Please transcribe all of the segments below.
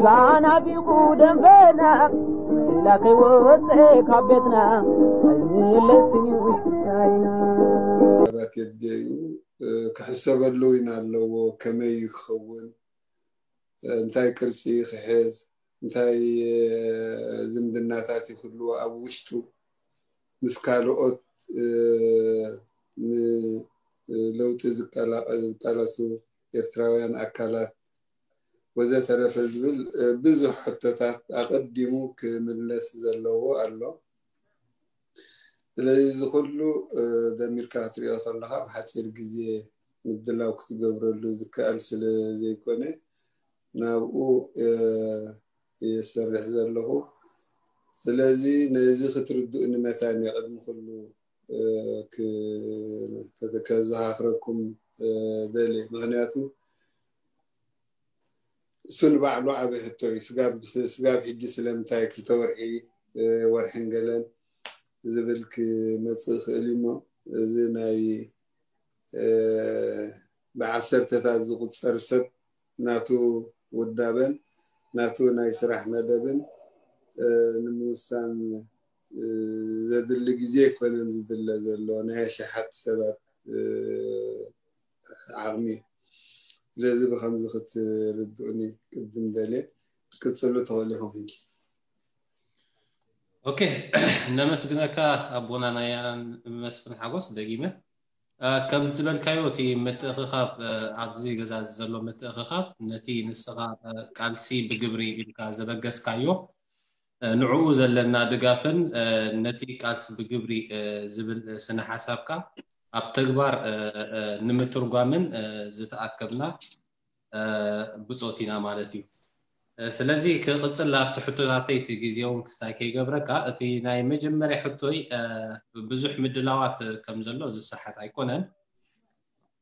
ተናፊቑ ደንበና፣ ምላኸይ ወፀ ካብ ቤትና፣ ኣይምለስን እዩ ውሽጣይና። ሰባት የድልየዩ፣ እ፣ ክሕሰበሉ እውን ኣለዎ። ከመይ እዩ ክኸውን? እ፣ እንታይ ቅርጺ ክሕዝ? እንታይ፣ እ፣ ዝምድናታት ይህልዎ ኣብ ውሽጡ? ምስ ካልኦት፣ እ፣ ን-፣ እ፣ ለውጢ ዝቃላ-፣ ዝቃለሱ ኤርትራውያን ኣካላት ወዘተረፈ ዝብል፣ እ፣ ብዙሕ ሕቶታት ኣቐዲሙ ክምለስ ዘለዎ ኣሎ። ስለዚ እዚ ኩሉ፣ እ፣ ደሚርካ ክትሪኦ ከለኻ፣ ኣብ ሓጺር ግዜ ምድላው ክትገብረሉ ዝከኣል ስለ ዘይኮነ፣ ናብኡ፣ እ፣ እየ ዝሰርሕ ዘለኹ። ስለዚ ነዚ ክትርድኡኒ መታን እየ ቅድሚ ኩሉ፣ እ፣ ክ-፣ ከ-፣ ከዘኻኽረኩም፣ እ፣ ደልየ። ምኽንያቱ እሱ ንባዕሉ ዓቢ ሕቶ እዩ። ስጋብ፣ ስጋብ ሕጂ ስለምንታይ ክልተ ወርሒ፣ እ፣ ወርሕን ገለን ዝብል ክመጽእ ይኽእል እዩ እሞ፣ እዚ ናይ፣ እ፣ ብዓሰርተታት ዝቑጸር ሰብ ናቱ ውዳበን ናቱ ናይ ስራሕ መደብን፣ እ፣ ንምውሳን፣ እ፣ ዘድሊ ግዜ ኣይኮነን ዝድለ ዘሎ፣ ናይ ኣሽሓት ሰባት፣ እ፣ ዓቕሚ እዩ። ስለዚ ብኸምዚ ክትርድኡኒ ቅድም ደልየ። ክትቅጽሉ ትኽእሉ ኢኹም ሕጂ። ኦኬ፣ ነመስግነካ ኣቦና ናይ ኣናን መስፍን ሓጎስ ደጊመ። እ፣ ከም ዝበልካዮ እቲ ምትእኽኻብ፣ እ፣ ኣብዚ ገዛ ዘሎ ምትእኽኻብ ነቲ ንስኻ፣ እ፣ ቃልሲ ብግብሪ ኢልካ ዘበገስካዮ፣ እ፣ ንዕኡ ዘለና ድጋፍን፣ እ፣ ነቲ ቃልሲ ብግብሪ፣ እ፣ ዝብል፣ እ፣ ስነ ሓሳብካ ኣብ ተግባር፣ እ፣ እ፣ ንምትርጓምን፣ እ፣ ዝተኣከብና፣ እ፣ ብጾት ኢና ማለት እዩ። እ፣ ስለዚ ክቕጽል ኣብቲ ሕቶታተይ እቲ ግዜ እውን ክስታይ ከይገብረካ፣ እቲ ናይ መጀመርያ ሕቶይ፣ እ፣ ብዙሕ ምድላዋት ከም ዘሎ ዝሰሓት ኣይኮነን።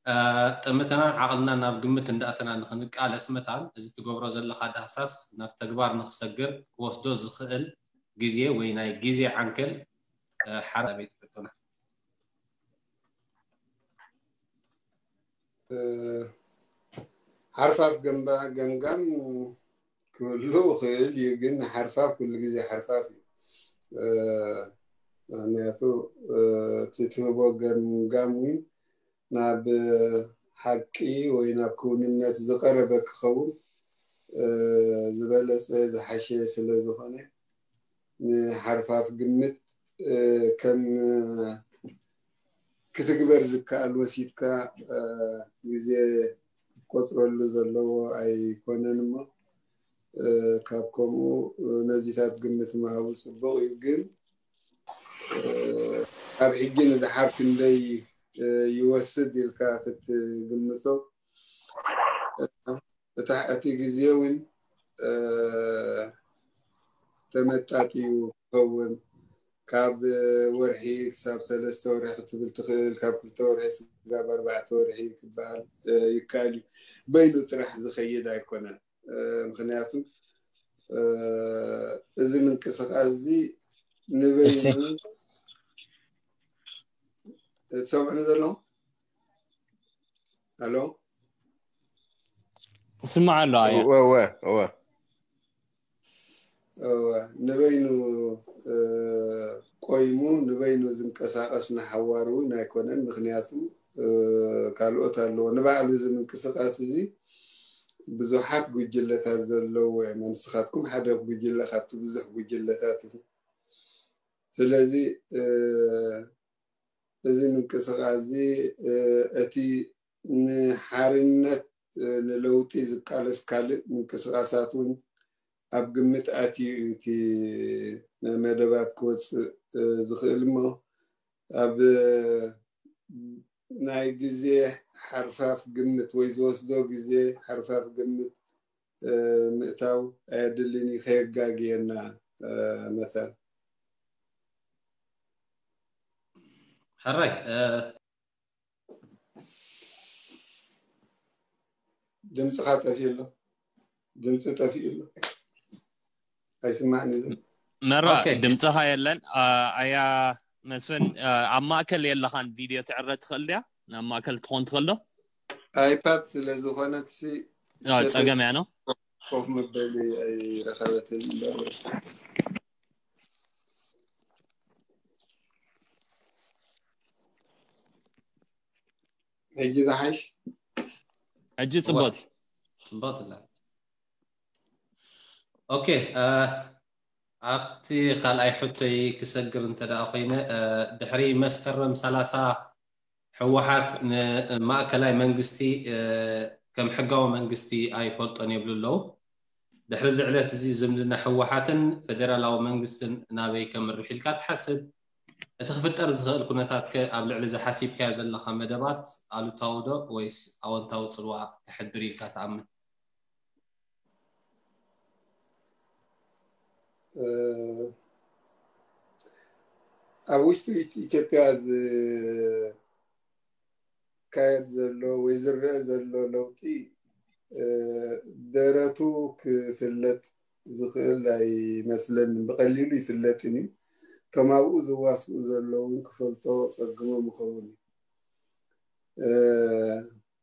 እ፣ ጠመተናን ዓቕልናን ናብ ግምት እንዳእተና ንኽንቃለስ መታን፣ እዚ ትገብሮ ዘለኻ ዳህሳስ ናብ ተግባር ንኽሰግር ክወስዶ ዝኽእል ግዜ ወይ ናይ ግዜ ዓንኬል፣ እ፣ ሓራ ቤት ሕቶና። እ፣ ሓርፋፍ ገምባ-፣ ገምጋም ክህሉ ይኽእል እዩ፣ ግን ሓርፋፍ ኩሉ ግዜ ሓርፋፍ እዩ። እ፣ ምኽንያቱ፣ እ፣ እቲ ትህቦ ገምጋም እውን ናብ ሓቂ ወይ ናብ ክውንነት ዝቐረበ ክኸውን፣ እ፣ ዝበለጸ ዝሓሸ ስለ ዝኾነ፣ ንሓርፋፍ ግምት፣ እ፣ ከም ክትግበር ዝከኣል ወሲድካ፣ እ፣ ግዜ ክትቆጽረሉ ዘለዎ ኣይኮነን እሞ፣ እ፣ ካብ ከምኡ፣ እ፣ ነዚታት ግምት ምሃቡ ጽቡቕ እዩ። ግን፣ እ፣ ኣብ ሕጂ ንደሓር ክንደይ፣ እ፣ ይወስድ ኢልካ ክትግምቶ፣ እ፣ እታ፣ እቲ ግዜ እውን፣ እ፣ ተመጣጢኡ ክኸውን፣ ካብ ወርሒ ክሳብ ሰለስተ ወርሒ ክትብል ትኽእል፣ ካብ ክልተ ወርሒ ክሳብ ኣርባዕተ ወርሒ ክበሃል፣ እ፣ ይከኣል እዩ። በይኑ ጥራሕ ዝኸይድ ኣይኮነን። እ፣ ምኽንያቱ፣ እ፣ እዚ ምንቅስቓስ እዚ ንበይኑ፣ እሺ። ትሰምዑኒ ዘለኹም? ኣሎ? ስማዕ ኣሎ ኣያ። እወ፣ እወ፣ እወ። እወ፣ ንበይኑ፣ እ፣ ቆይሙ፣ ንበይኑ ዝንቀሳቐስ ንሓዋሩ እውን ኣይኮነን። ምኽንያቱ፣ እ፣ ካልኦት ኣለዎ። ንባዕሉ እዚ ምንቅስቓስ እዚ ብዙሓት ጉጅለታት ዘለዎ እዮም። ንስኻትኩም ሓደ ጉጅለ ካብቲ ብዙሕ ጉጅለታት ኢኹም። ስለዚ፣ እ፣ እዚ ምንቅስቓስ እዚ፣ እ፣ እቲ ንሓርነት፣ እ፣ ንለውጢ ዝቃለስ ካልእ ምንቅስቓሳት እውን ኣብ ግምት ኣትዩ እዩ እቲ መደባት ክወፅእ፣ እ፣ ዝኽእል እሞ፣ ኣብ ናይ ግዜ ሓርፋፍ ግምት ወይ ዝወስዶ ግዜ ሓርፋፍ ግምት፣ እ፣ ምእታው ኣየድልን እዩ፣ ከየጋግየና፣ እ፣ መታን። ሕራይ፣ እ፣ ድምፅኻ ጠፊኡ ኣሎ። ድምፂ ጠፊኡ ኣሎ። ኣይስማዕን እዩ። መራ ኦኬ። ድምፅኻ የለን። አ፣ ኣያ መስፍን፣ አ፣ ኣብ ማእከል የለኻን፣ ቪድዮ ትዕረ ትኽእል ድያ? ናብ ማእከል ትኾን ትኽእል ዶ? ኣይፓድ ስለ ዝኾነት ሲ አ፣ ጸገም እያ ነው። ኮፍ መበሊ ኣይረኸበትን እምበር። ሕጂ ዝሓሽ? ሕጂ ጽቡቅ። ጽቡቅ ትላ። ኦኬ፣ ኣብቲ ካልኣይ ሕቶይ ክሰግር እንተ ደኣ ኮይነ፣ ድሕሪ መስከረም ሰላሳ ህወሓት ንማእከላይ መንግስቲ ከም ሕጋዊ መንግስቲ ኣይፈልጦን ይብሉ ኣለዉ። ድሕሪ እዚ ዕለት እዚ ዝምድና ህወሓትን ፌደራላዊ መንግስትን ናበይ ከምርሕ ኢልካ ትሓስብ? እቲ ክፍጠር ዝኽእል ኩነታት ከ ኣብ ልዕሊ እዚ ሓሲብካዮ ዘለኻ መደባት ኣሉታዊ ዶ ወይስ ኣወንታዊ ጽልዋ ከሕድር ኢልካ ትኣምን? ኣብ ውሽጢ ኢትዮጵያ ዝካየድ ዘሎ ወይ ዝረአ ዘሎ ለውጢ ደረቱ ክፍለጥ ዝኽእል ኣይመስለንን። ብቐሊሉ ይፍለጥን እዩ። እቶም ኣብኡ ዝዋስኡ ዘለውን ክፈልጦ ጸግሞም ይኸውን እዩ።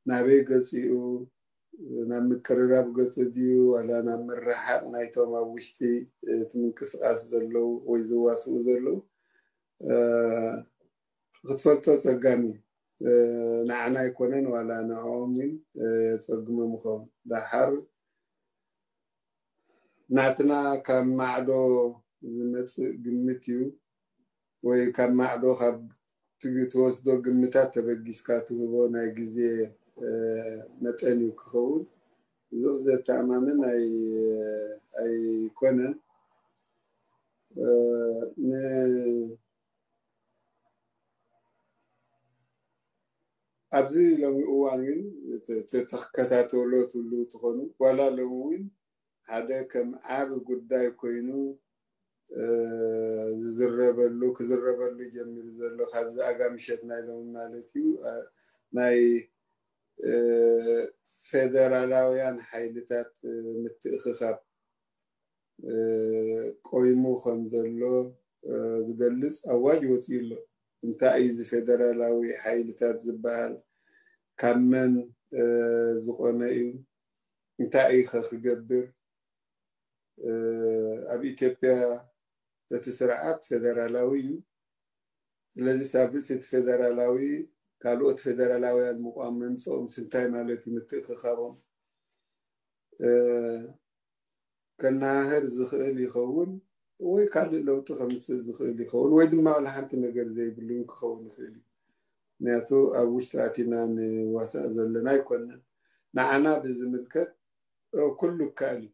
ናበይ ገጺኡ፣ ናብ ምቅርራብ ገጹ ድዩ ዋላ ናብ ምርሓቕ ናይቶም ኣብ ውሽጢ እቲ ምንቅስቃስ ዘለዉ ወይ ዝዋስኡ ዘለዉ ክትፈልጦ ጸጋሚ እዩ። ንዓና ኣይኮነን ዋላ ንዕኦም እውን የጸግሞም ይኸውን። ደሓር ናትና ካብ ማዕዶ ዝመጽእ ግምት እዩ ወይ ካብ ማዕዶ ካብ ትወስዶ ግምታት ተበጊስካ ትህቦ ናይ ግዜ መጠን እዩ ክኸውን። እዚ ዘተኣማምን ኣይኮነን። ኣብዚ ሎሚ እዋን እውን ተከታተሎ ትብሉ ትኾኑ ዋላ ሎሚ እውን ሓደ ከም ዓቢ ጉዳይ ኮይኑ ዝዝረበሉ ክዝረበሉ ጀሚሩ ዘሎ ካብዚ ኣጋ ምሸት ናይ ሎሚ ማለት እዩ። ናይ ፌደራላውያን ሓይልታት ምትእኽኻብ ቆይሙ ከም ዘሎ ዝገልጽ ኣዋጅ ወፂኡ ኣሎ። እንታይ እዩ እዚ ፌደራላዊ ሓይልታት ዝበሃል? ካብ መን ዝቆመ እዩ? እንታይ እዩ ከ ክገብር? ኣብ ኢትዮጵያ እቲ ስርዓት ፌደራላዊ እዩ። ስለዚ ኣብ ርእሲ እቲ ፌደራላዊ ካልኦት ፌደራላውያን ምቋም መምፅኦም እንታይ ማለት እዩ? ምትእኽኻቦም ከናህር ዝኽእል ይኸውን ወይ ካልእ ለውጢ ከምፅእ ዝኽእል ይኸውን ወይ ድማ ዋላ ሓንቲ ነገር ዘይብሉ እውን ክኸውን ይኽእል እዩ። ምክንያቱ ኣብ ውሽጢ ኣቲና ንዋሳእ ዘለና ኣይኮነን። ንዓና ብዝምልከት ኩሉ ይከኣል እዩ።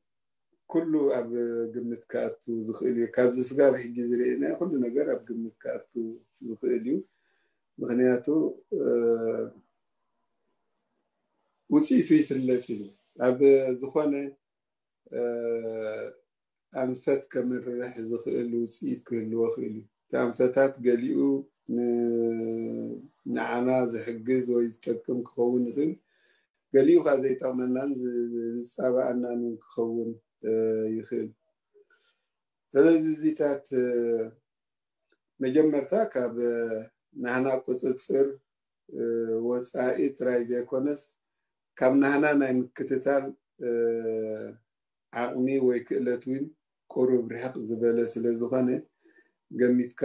ኩሉ ኣብ ግምት ክኣቱ ዝኽእል እዩ። ካብዚ ስጋብ ሕጂ ዝርኤናዮ ኩሉ ነገር ኣብ ግምት ክኣቱ ዝኽእል እዩ። ምክንያቱ ውፅኢቱ ይፍለጥ እዩ። ኣብ ዝኾነ ኣንፈት ከምርሕ ዝኽእል ውፅኢት ክህልዎ ይኽእል እዩ። እቲ ኣንፈታት ገሊኡ ንዓና ዝሕግዝ ወይ ዝጠቅም ክኸውን ይኽእል፣ ገሊኡ ከዓ ዘይጠቕመናን ዝፃባኣናን ክኸውን ይኽእል። ስለዚ እዚታት መጀመርታ ካብ ናህና ቁፅፅር ወፃኢ ጥራይ ዘይኮነስ ካብ ናህና ናይ ምክትታል ዓቕሚ ወይ ክእለት እውን ቁሩብ ርሕቕ ዝበለ ስለ ዝኾነ ገሚትካ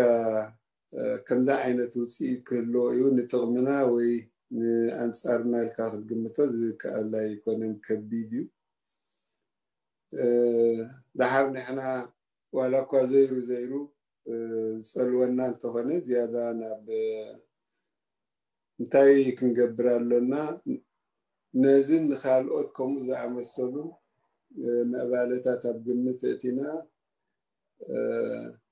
ከምዛ ዓይነት ውፅኢት ክህልዎ እዩ። ንጥቕምና ወይ ንኣንፃርና ኢልካ ክትግምቶ ዝከኣል ኣይኮነን፣ ከቢድ እዩ። ደሓር ንሕና ዋላ እኳ ዘይሩ ዘይሩ ዝፀልወና እንተኾነ ዝያዳ ናብ እንታይ ክንገብር ኣሎና? ነዚ ንካልኦት ከምኡ ዝኣመሰሉ ምዕባለታት ኣብ ግምት እእቲና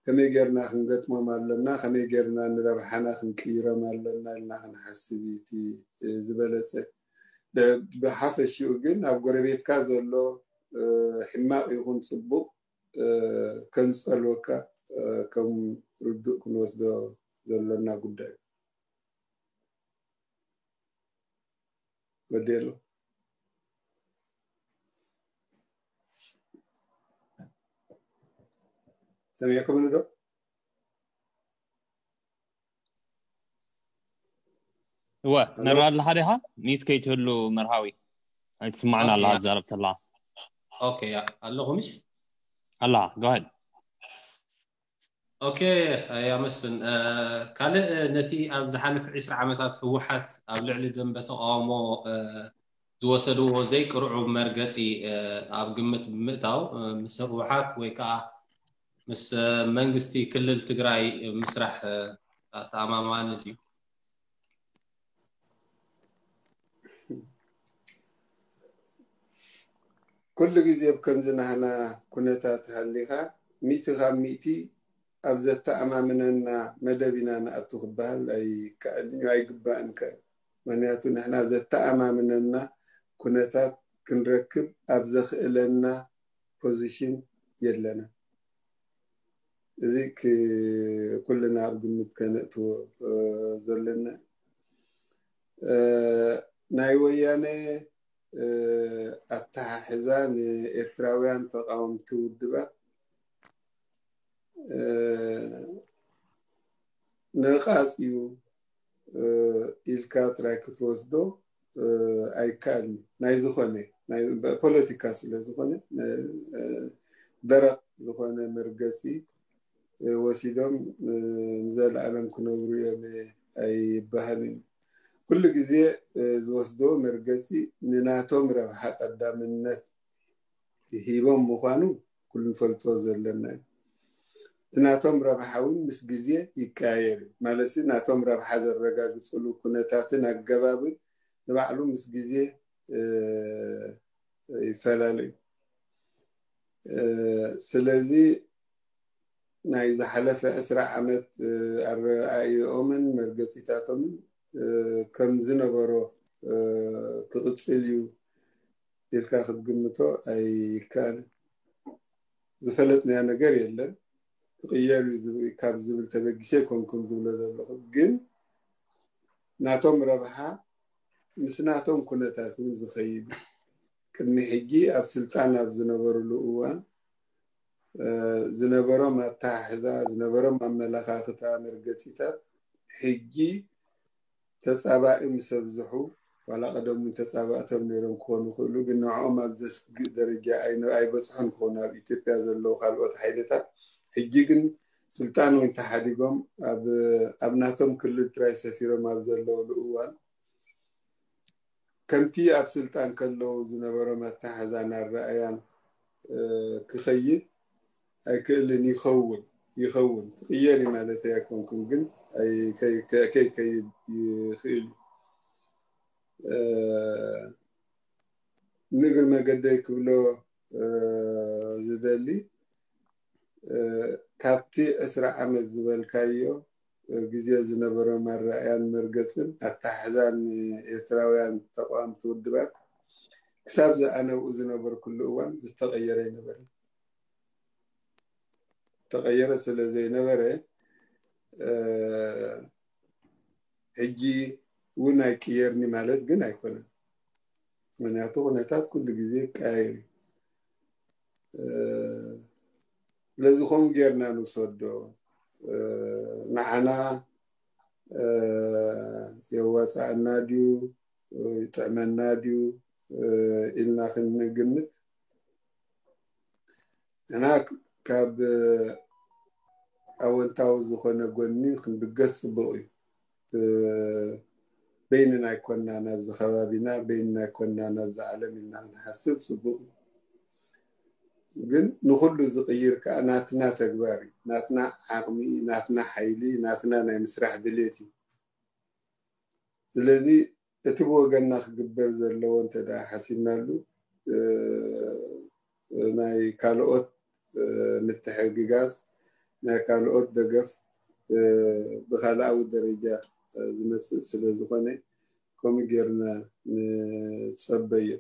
ከመይ ጌርና ክንገጥሞም ኣለና፣ ከመይ ጌርና ንረብሓና ክንቅይሮም ኣለና ኢልና ክንሓስብ እዩ እቲ ዝበለፀ። ብሓፈሽኡ ግን ኣብ ጎረቤትካ ዘሎ ሕማቕ ይኹን ፅቡቕ ከንፀልወካ ከም ርዱእ ክንወስዶ ዘሎና ጉዳይ እዩ። ወዲኤሉ ሰሚዕኩምኒ ዶ? እወ፣ ንርኢ ኣለኻ ዲኻ? ሚዩት ከይትህሉ መርሃዊ። ኣይትስማዕን ኣለኻ ትዛረብ ተለኻ። ኦኬ፣ ያ ኣለኹ ምሽ? ኣላ go ahead። ኦኬ፣ ያ መስፍን፣ እ፣ ካልእ፣ እ፣ ነቲ ኣብ ዝሓለፈ ዕስራ ዓመታት ህወሓት ኣብ ልዕሊ ደንበ ተቃውሞ፣ እ፣ ዝወሰድዎ ዘይቅርዑ መርገጺ፣ እ፣ ኣብ ግምት ብምእታው፣ እ፣ ምስ ህወሓት ወይ ከዓ ምስ፣ እ፣ መንግስቲ ክልል ትግራይ ምስራሕ፣ እ፣ ኣተኣማማኒ ድዩ? ኩሉ ግዜ ብከምዚ ናህና ኩነታት ሃሊኻ፣ ሚእቲ ካብ ሚእቲ ኣብ ዘተኣማምነና መደብ ኢና ንኣቱ ክበሃል ኣይከኣልን እዩ፣ ኣይግባእን ከ። ምኽንያቱ ንሕና ዘተኣማምነና ኩነታት ክንረክብ ኣብ ዘኽእለና ፖዚሽን የለና። እዚ ክ-፣ ኩልና ኣብ ግምት ከነእትዎ፣ እ፣ ዘለና። እ፣ ናይ ወያነ፣ እ፣ ኣተሓሕዛ ንኤርትራውያን ተቃወምቲ ውድባት፣ እ፣ ነቃጽ እዩ፣ እ፣ ኢልካ ጥራይ ክትወስዶ፣ እ፣ ኣይከኣልን። ናይ ዝኾነ፣ ናይ ፖለቲካ ስለ ዝኾነ፣ እ፣ ደረቕ ዝኾነ መርገጺ፣ እ፣ ወሲዶም፣ እ፣ ንዘለኣለም ክነብሩ እዮም ኣይበሃልን። ኩሉ ግዜ፣ እ፣ ዝወስዶ መርገጺ ንናቶም ረብሓ ቀዳምነት ሂቦም ምዃኑ ኩሉ ንፈልጦ ዘለና እዩ። እቲ ናቶም ረብሓ እውን ምስ ግዜ ይቀያየር እዩ። ማለት ሲ ናቶም ረብሓ ዘረጋግጽሉ ኩነታትን ኣገባብን ንባዕሉ ምስ ግዜ፣ እ፣ ይፈላለ እዩ። እ፣ ስለዚ ናይ ዝሓለፈ ዕስራ ዓመት፣ እ፣ ኣረኣእዮኦምን መርገጺታቶምን፣ እ፣ ከም ዝነበሮ፣ እ፣ ክቕጽል እዩ ኢልካ ክትግምቶ ኣይከኣልን። ዝፈለጥናዮ ነገር የለን። ክቕየር እዩ ዝብ-፣ ካብ ዝብል ተበጊሰ ኣይኮንኩን ዝብሎ ዘለኹ። ግን ናቶም ረብሓ ምስ ናቶም ኩነታት እውን ዝኸይድ እዩ። ቅድሚ ሕጂ ኣብ ስልጣን ኣብ ዝነበሩሉ እዋን፣ እ፣ ዝነበሮም ኣተሓሕዛ፣ ዝነበሮም ኣመለኻኽታ፣ መርገጺታት ሕጂ ተጻባኢ ምስ ኣብዝሑ፣ ዋላ ቀደም እውን ተጻባእቶም ነይሮም ክኾኑ ይኽእሉ፣ ግን ንዕኦም ኣብ ዘስግእ ደረጃ ኣይነ-፣ ኣይበጽሑን ክኾኑ ኣብ ኢትዮጵያ ዘለዉ ካልኦት ሓይልታት። ሕጂ ግን ስልጣን እውን ተሓዲጎም ኣብ፣ ኣብ ናቶም ክልል ጥራይ ሰፊሮም ኣብ ዘለውሉ እዋን፣ ከምቲ ኣብ ስልጣን ከለዉ ዝነበሮም ኣተሓሕዛን ኣረኣእያን፣ እ፣ ክኸይድ ኣይክእልን። ይኸውን፣ ይኸውን፣ ክቕየር እዩ ማለት ኣይኮንኩን፣ ግን ኣይ-፣ ከይ-፣ ከ-፣ ከይከይድ ይኽእል እዩ። እ፣ ንእግሪ መገደይ ክብሎ፣ እ፣ ዝደሊ፣ እ፣ ካብቲ ዕስራ ዓመት ዝበልካዮ፣ እ፣ ግዜ ዝነበሮም ኣረኣእያን መርገጽን ኣተሓሕዛን ኤርትራውያን ተቃወምቲ ውድባት ክሳብ ዝኣነብኡ ዝነበርኩሉ እዋን ዝተቐየረ ኣይነበረን። ተቐየረ ስለ ዘይነበረ፣ እ፣ ሕጂ እውን ኣይቅየርኒ ማለት ግን ኣይኮነን። ምኽንያቱ ኩነታት ኩሉ ግዜ ይቀያየር እዩ። እ፣ ስለዚ ከምኡ ጌርና ንውሰዶ። እ፣ ንዓና፣ እ፣ የዋፅኣና ድዩ፣ እ፣ ይጥዕመና ድዩ፣ እ፣ ኢልና ክንግምት፣ ንሕና ካብ ኣወንታዊ ዝኾነ ጎኒ ክንብገስ ጽቡቕ እዩ። እ፣ በይንና ኣይኮንና ናብዚ ከባቢና፣ በይንና ኣይኮንና ናብዚ ዓለም ኢልና ክንሓስብ ጽቡቕ እዩ። ግን ንኹሉ ዝቕይር ከኣ ናትና ተግባር እዩ። ናትና ዓቕሚ፣ ናትና ሓይሊ፣ ናትና ናይ ምስራሕ ድሌት እዩ። ስለዚ እቲ ብወገንና ክግበር ዘለዎ እንተ ደኣ ሓሲብናሉ፣ እ፣ ናይ ካልኦት፣ እ፣ ምትሕግጋዝ፣ ናይ ካልኦት ደገፍ፣ እ፣ ብኻልኣዊ ደረጃ፣ እ፣ ዝመጽእ ስለ ዝኾነ፣ ከምኡ ጌርና ንጸበዮ።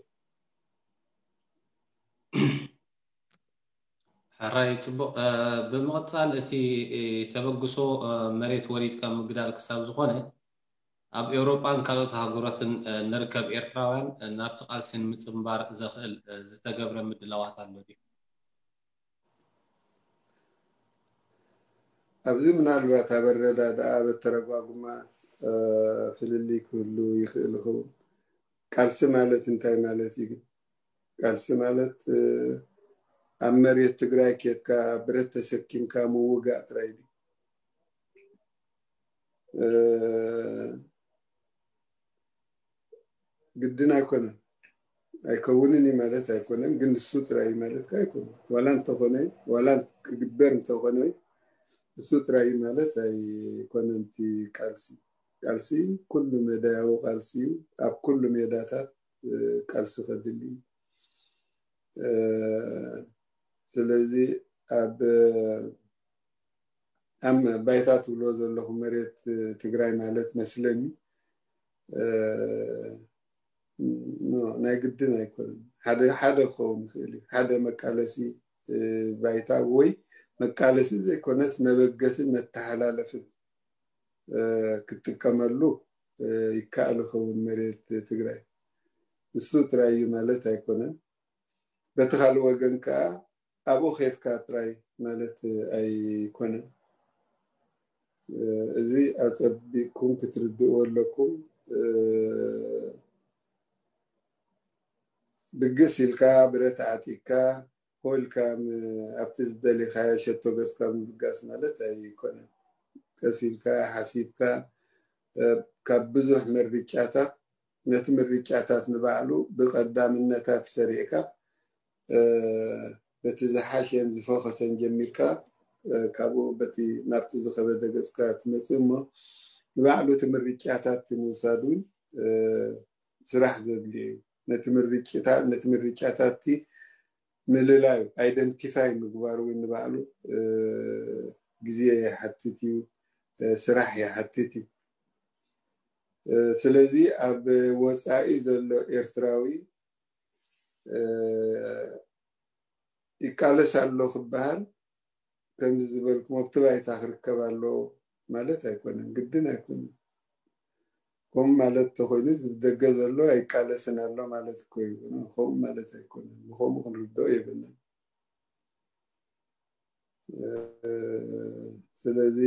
ሕራይ፣ ጽቡቕ። እ፣ ብምቕጻል እቲ፣ እ፣ ተበግሶ፣ እ፣ መሬት ወሪድካ ምግዳል ክሳብ ዝኾነ፣ ኣብ ኤውሮጳን ካልኦት ሃገራትን፣ እ፣ ንርከብ ኤርትራውያን፣ እ፣ ናብቲ ቃልሲ ንምጽንባር ዘኽእል፣ እ፣ ዝተገብረ ምድላዋት ኣሎ ድዩ? ኣብዚ ምናልባት ኣብ ኣረዳድኣ፣ ኣብ ኣተረጓጉማ፣ እ፣ ፍልልይ ክህሉ ይኽእል ይኸውን። ቃልሲ ማለት እንታይ ማለት እዩ ግን? ቃልሲ ማለት ኣብ መሬት ትግራይ ኬድካ ብረት ተሰኪምካ ምውጋእ ጥራይ ድዩ? ግድን ኣይኮነን። ኣይከውንን እዩ ማለት ኣይኮነን፣ ግን ንሱ ጥራይ ማለት ኣይኮነን። ዋላ እንተኾነ ዋላ ክግበር እንተኾነ ንሱ ጥራይ ማለት ኣይኮነን። እቲ ቃልሲ ቃልሲ ኩሉ መዳያዊ ቃልሲ እዩ። ኣብ ኩሉ ሜዳታት ቃልሲ ከድሊ እዩ። ስለዚ ኣብ ኣብ ባይታ ትብሎ ዘለኹ መሬት ትግራይ ማለት መስለኒ ናይ ግድን ኣይኮነን። ሓደ ሓደ ክኸውን ይኽእል እዩ። ሓደ መቃለሲ ባይታ ወይ መቃለሲ ዘይኮነስ መበገስን መተሓላለፍን ክትጥቀመሉ ይከኣል ይኸውን መሬት ትግራይ። እሱ ጥራይ እዩ ማለት ኣይኮነን። በቲ ካልእ ወገን ከዓ ኣብኡ ኬድካ ጥራይ ማለት ኣይኮነን። እዚ ኣጸቢቕኩም ክትርድእዎ ኣለኩም። ብግስ ኢልካ ብረት ዓጢቅካ ኮ ኢልካ ኣብቲ ዝደሊኻዮ ሸቶ ገጽካ ምብጋስ ማለት ኣይኮነን። ቀስ ኢልካ ሓሲብካ ካብ ብዙሕ ምርጫታት ነቲ ምርጫታት ንባዕሉ ብቐዳምነታት ሰሪዕካ በቲ ዝሓሸን ዝፈኸሰን ጀሚርካ ካብኡ በቲ ናብቲ ዝኸበደ ገጽካ ትመጽእ እሞ ንባዕሉ እቲ ምርጫታት ምውሳድ እውን ስራሕ ዘድልዮ እዩ። ነቲ ምርጫታት ምልላይ ኣይደንቲፋይ ምግባር እውን ንባዕሉ ግዜ ይሓትት እዩ፣ ስራሕ ይሓትት እዩ። ስለዚ ኣብ ወፃኢ ዘሎ ኤርትራዊ ይቃለስ ኣሎ ክበሃል ከምዚ ዝበልኩም ኣብቲ ባይታ ክርከብ ኣሎ ማለት ኣይኮነን፣ ግድን ኣይኮነን። ከምኡ ማለት ተኮይኑ እዚ ብደገ ዘሎ ኣይቃለስን ኣሎ ማለት እኮ እዩ። ከምኡ ማለት ኣይኮነን። ብከምኡ ክንርድኦ የብልናን። ስለዚ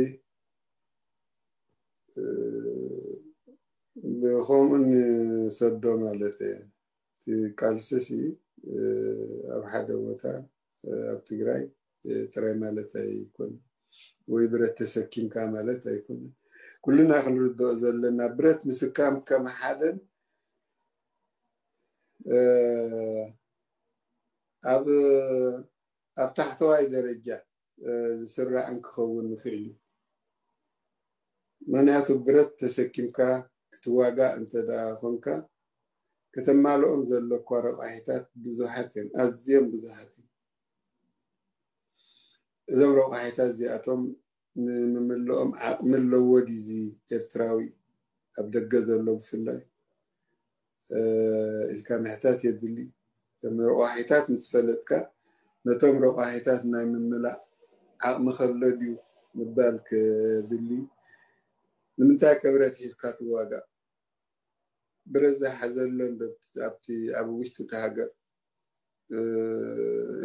ብከምኡ ንሰዶ ማለት እየ። እቲ ቃልስሲ ኣብ ሓደ ቦታ ኣብ ትግራይ ጥራይ ማለት ኣይኮነን፣ ወይ ብረት ተሰኪምካ ማለት ኣይኮነን። ኩልና ክንርድኦ ዘለና ብረት ምስካም ከም ሓደን ኣብ ኣብ ታሕተዋይ ደረጃ ዝስራዕን ክኸውን ይኽእል እዩ። ምክንያቱ ብረት ተሰኪምካ ክትዋጋእ እንተ ደኣ ኮንካ ከተማልኦም ዘለኳ ረቋሒታት ብዙሓት እዮም፣ ኣዝዮም ብዙሓት እዮም። እዞም ረቋሒታት እዚኣቶም ንምምልኦም ዓቕሚ ኣለዎ ድዩ እዚ ኤርትራዊ ኣብ ደገ ዘሎ ብፍላይ ኢልካ ምሕታት የድሊ። እቶም ረቋሒታት ምስ ፈለጥካ ነቶም ረቋሒታት ናይ ምምላእ ዓቕሚ ከሎ ድዩ ምባል ከድሊ። ንምንታይ ከ ብረት ሒዝካ ትዋጋእ? ብረት ዝሓዘለን ኣብቲ ኣብ ውሽጢ እቲ ሃገር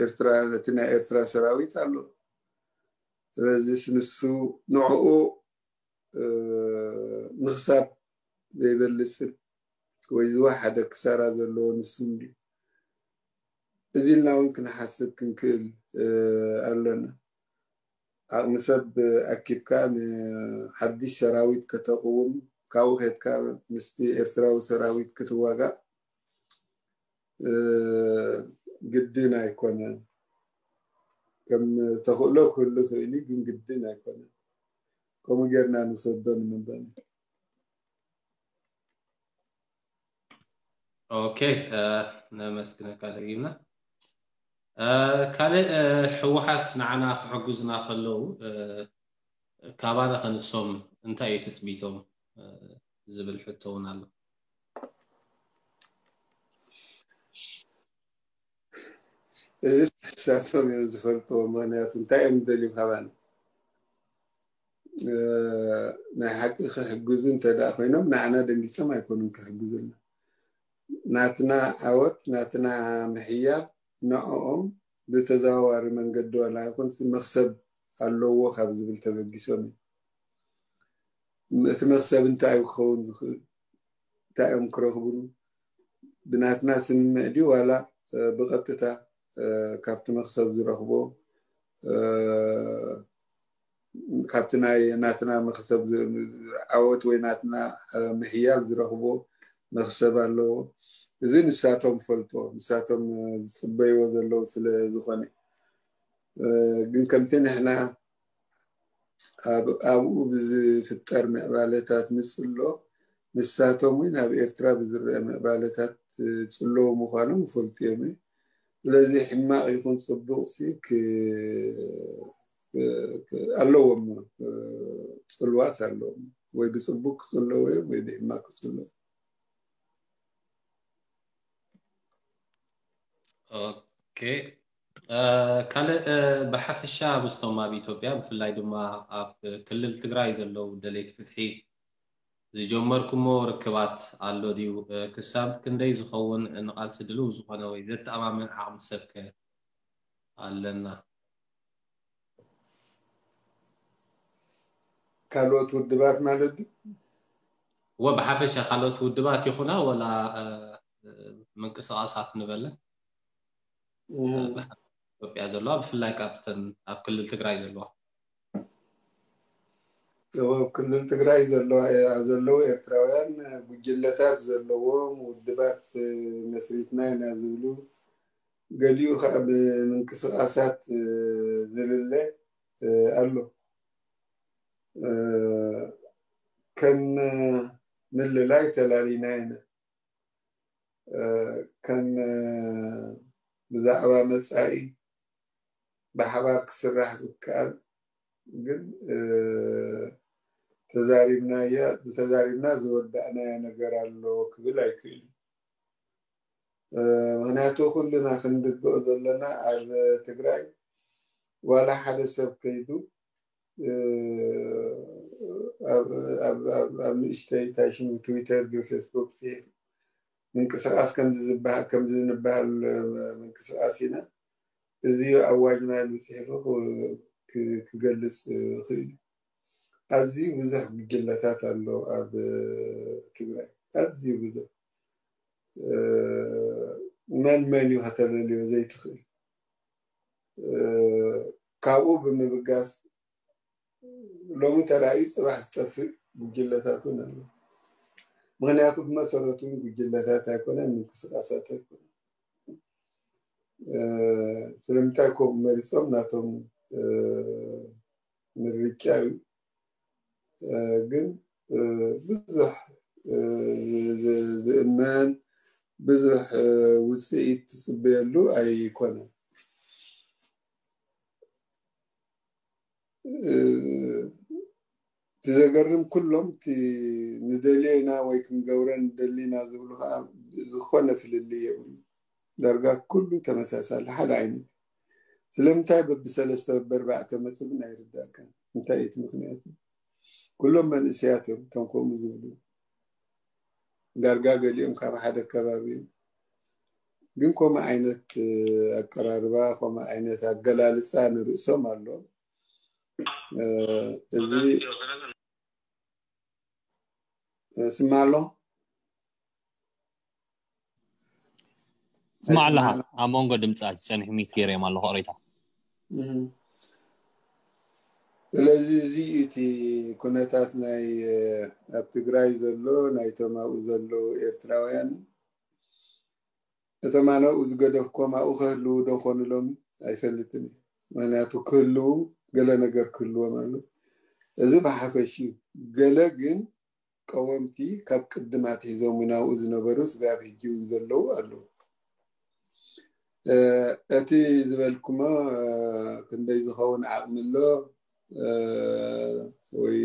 ኤርትራ ነቲ ናይ ኤርትራ ሰራዊት ኣሎ። ስለዚ ንሱ ንዕኡ ምኽሳብ ዘይበልጽን ወይ ዝወሓደ ክሳራ ዘለዎ ንሱ እንድዩ። እዚ ኢልና እውን ክንሓስብ ክንክእል ኣለና። ዓቕሚ ሰብ ኣኪብካ ንሓድሽ ሰራዊት ከተቕውም ካብኡ ከድካ ምስቲ ኤርትራዊ ሰራዊት ክትዋጋእ ግድን ኣይኮነን። ከም ተኽእሎ ክህሉ ክእል ግን ግድን ኣይኮነን። ከምኡ ጌርና ንሰዶ ንምንበል። ኦኬ፣ ነመስግነካ ደጊምና። ካልእ ህወሓት ንዓና ክሕግዙና ከለዉ ካባና ከንሶም እንታይ እዩ ትፅቢቶም ዝብል ሕቶ እውን ኣሎ። እዚ ንሳቶም እዮም ዝፈልጥዎ። ምክንያቱ እንታይ እዮም ደልዩ ካባና? ናይ ሓቂ ክሕግዙ እንተ ደኣ ኮይኖም ንዓና ደንጊሶም ኣይኮኑን ክሕግዙና። ናትና ዓወት ናትና ምሕያል ንዕኦም ብተዘዋዋሪ መንገዲ ዋላ ይኹን መኽሰብ ኣለዎ ካብ ዝብል ተበጊሶም እዮም። እቲ መኽሰብ እንታይ እዩ ክኸውን ዝኽእል? እንታይ እዮም ክረኽብሉ? ብናትና ስምምዕ ድዩ ዋላ ብቐጥታ ካብቲ መክሰብ ዝረኽቦ፣ ካብቲ ናይ ናትና መክሰብ ዓወት ወይ ናትና ምሕያል ዝረኽቦ መክሰብ ኣለዎ። እዚ ንሳቶም ፈልጦ፣ ንሳቶም ዝፅበይዎ ዘለዉ ስለ ዝኾነ፣ ግን ከምቲ ንሕና ኣብኡ ብዝፍጠር ምዕባለታት ንፅሎ፣ ንሳቶም እውን ኣብ ኤርትራ ብዝረአ ምዕባለታት ፅለዉ ምዃኖም ይፈልጡ እዮም። ስለዚ ሕማቕ ይኹን ፅቡቕ ሲ ኣለዎም፣ ፅልዋት ኣለዎም። ወይ ብፅቡቅ ክፅለዉ እዮም ወይ ብሕማቕ ክፅለዉ። ኦኬ። ካልእ ብሓፈሻ ምስቶም ኣብ ኢትዮጵያ ብፍላይ ድማ ኣብ ክልል ትግራይ ዘለዉ ደለይቲ ፍትሒ ዝጀመርኩሞ ርክባት ኣሎ ድዩ? ክሳብ ክንደይ ዝኸውን ንቓልሲ ድልው ዝኾነ ወይ ዘተኣማምን ዓቕሚ ሰብከ ኣለና? ካልኦት ውድባት ማለት ድዩ? ወ ብሓፈሻ ካልኦት ውድባት ይኹና ወላ ምንቅስቃሳት ንበለን ኢትዮጵያ ዘለዋ ብፍላይ ካብተን ኣብ ክልል ትግራይ ዘለዋ ኣብ ክልል ትግራይ ዘለዋ ዘለዉ ኤርትራውያን ጉጅለታት ዘለዎም ውድባት መስሪትና ኢና ዝብሉ፣ ገሊኡ ከዓ ብምንቅስቃሳት ዝልለ ኣሎ። ከም ምልላይ ተላሊና ኢና። ከም ብዛዕባ መፃኢ ብሓባር ክስራሕ ዝከኣል ግን ተዛሪብናያ ዝተዛሪብና ዝወዳእናዮ ነገር ኣሎ ክብል ኣይክእልን። ምክንያቱ ኩልና ክንርድኦ ዘለና ኣብ ትግራይ ዋላ ሓደ ሰብ ከይዱ ኣብ ንእሽተይ ታይ ሽሙ ትዊተር ፌስቡክ ምንቅስቃስ ከምዚ ዝበሃል ከምዚ ንበሃል ምንቅስቃስ ኢና። እዚ ኣዋጅና ኢሉ ፅሒፉ ክገልፅ ይኽእል። ኣዝዩ ብዙሕ ጉጅለታት ኣሎ ኣብ ትግራይ፣ ኣዝዩ ብዙሕ። መን መን እዩ ከተለልዮ ዘይትኽእል። ካብኡ ብምብጋስ ሎሚ ተራእዩ ፅባሕ ዝጠፍእ ጉጅለታት እውን ኣሎ። ምክንያቱ ብመሰረቱ እውን ጉጅለታት ኣይኮነን፣ ምንቅስቃሳት ኣይኮነን። ስለምንታይ ከምኡ መሪፆም ናቶም ምርጫ እዩ። ግን ብዙሕ ዝእመን ብዙሕ ውፅኢት ትፅበየሉ ኣይኮነን። እቲ ዘገርም ኩሎም ንደልዮ ኢና ወይ ክንገብረ ንደሊ ኢና ዝብሉ ከዓ ዝኾነ ፍልልይ የብሉ። ዳርጋ ኩሉ ተመሳሳሊ ሓደ ዓይነት። ስለምንታይ በብሰለስተ በብኣርባዕተ መፁ ግን ኣይርዳእካን። እንታይ እቲ ምክንያቱ? ኩሎም መንእሰያት እዮም እቶም ከምኡ ዝብሉ። ዳርጋ ገሊኦም ካብ ሓደ ከባቢ እዮም። ግን ከምኡ ዓይነት ኣቀራርባ ከምኡ ዓይነት ኣገላልፃ ንርእሶም ኣሎ። እዚ ስማ ኣሎ ስማ ኣለኻ ኣብ መንጎ ድምፃ ዝፀንሑ ሚት ገይረዮም ኣለኹ ቅሬታ ስለዚ እዚ እቲ ኩነታት ናይ ኣብ ትግራይ ዘሎ ናይቶም ኣብኡ ዘለዉ ኤርትራውያን እቶም ኣነ ኣብኡ ዝገደፍኮም ኣብኡ ክህልዉ ዶ ኮኑ ሎሚ ኣይፈልጥን እዩ። ምክንያቱ ክህልዉ ገለ ነገር ክህልዎም ኣሎ። እዚ ብሓፈሽ እዩ። ገለ ግን ቀወምቲ ካብ ቅድም ኣትሒዞም እውን ኣብኡ ዝነበሩ ስጋብ ሕጂ እውን ዘለዉ ኣለዉ። እቲ ዝበልኩሞ ክንደይ ዝኸውን ዓቕሚ ኣሎ ወይ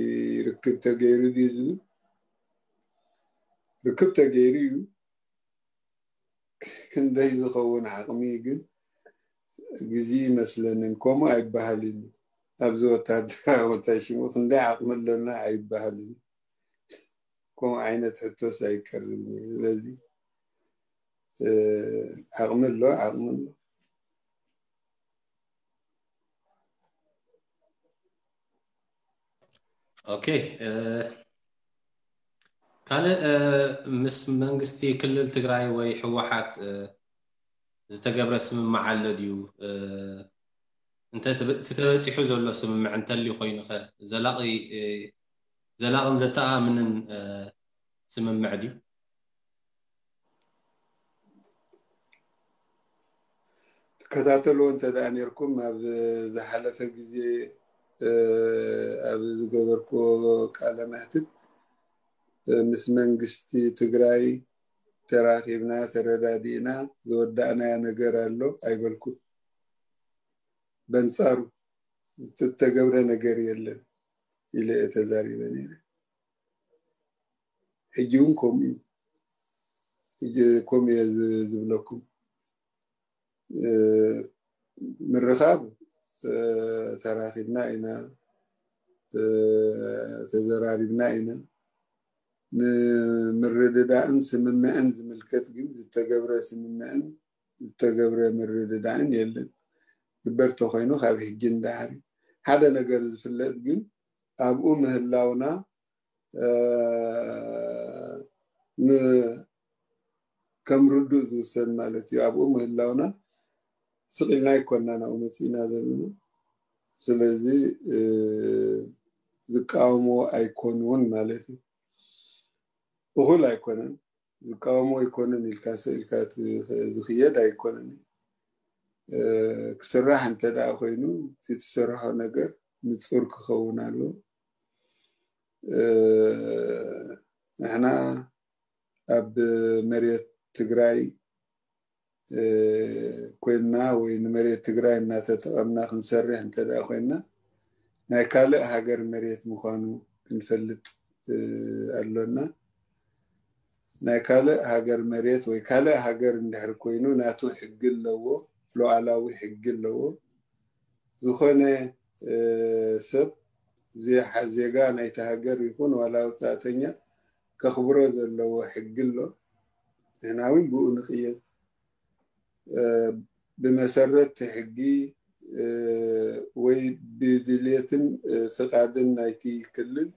ርክብ ተገይሩ ድዩ ዝብል ርክብ ተገይሩ እዩ። ክንደይ ዝኸውን ዓቕሚ ግን ግዜ ይመስለንን ከምኡ ኣይበሃልን ኣብዚ ወታደራዊ እንታይ ሽሙ ክንደይ ዓቕሚ ኣለና ኣይበሃልን ከምኡ ዓይነት ሕቶስ ኣይቀርብን እዩ ስለዚ ዓቕሚ ኣሎ ዓቕሚ ኣሎ ኦኬ ካልእ ምስ መንግስቲ ክልል ትግራይ ወይ ህወሓት ዝተገብረ ስምምዕ ኣሎ ድዩ? እንተ እቲ ተበፂሑ ዘሎ ስምምዕ እንተልዩ ኮይኑኸ ዘላቒ ዘላቕን ዘተኣምንን ስምምዕ ድዩ? ትከታተልዎ እንተ ደኣ ነርኩም ኣብ ዝሓለፈ ግዜ ኣብ ዝገበርኩዎ ቃለ መሕትት ምስ መንግስቲ ትግራይ ተራኺብና ተረዳዲእና ዝወዳእናዮ ነገር ኣሎ ኣይበልኩን። በንጻሩ ዝተገብረ ነገር የለን ኢለ ተዛሪበ ነይረ። ሕጂ እውን ከምኡ እዩ። ከምኡ እየ ዝብለኩም። ምርኻብ ተራኺብና ኢና፣ ተዘራሪብና ኢና። ንምርድዳእን ስምምዕን ዝምልከት ግን ዝተገብረ ስምምዕን ዝተገብረ ምርድዳእን የለን። ግበር ተኮይኑ ካብ ሕጂ ንዳሕሪ ሓደ ነገር ዝፍለጥ ግን ኣብኡ ምህላውና ከም ርዱእ ዝውሰድ ማለት እዩ። ኣብኡ ምህላውና ስቕ ኢልና ኣይኮና ናብኡ መፂእና ዘለና። ስለዚ ዝቃወምዎ ኣይኮኑን ማለት እዩ። እኹል ኣይኮነን። ዝቃወምዎ ኣይኮኑን ኢልካ ስቕ ኢልካ ዝኽየድ ኣይኮነን። ክስራሕ እንተ ደኣ ኮይኑ እቲ ትሰርሖ ነገር ንፁር ክኸውን ኣለዎ። ንሕና ኣብ መሬት ትግራይ ኮይንና ወይ ንመሬት ትግራይ እናተጠቐምና ክንሰርሕ እንተ ደኣ ኮይንና ናይ ካልእ ሃገር መሬት ምዃኑ ክንፈልጥ ኣሎና። ናይ ካልእ ሃገር መሬት ወይ ካልእ ሃገር እንድሕር ኮይኑ ናቱ ሕጊ ኣለዎ፣ ሉዓላዊ ሕጊ ኣለዎ። ዝኾነ ሰብ ዜጋ ናይቲ ሃገር ይኹን ዋላ ወፃእተኛ ከኽብሮ ዘለዎ ሕጊ ኣሎ። ንሕና እውን ብኡ ንቕየድ። ብመሰረት ሕጊ ወይ ብድልየትን ፍቓድን ናይቲ ክልል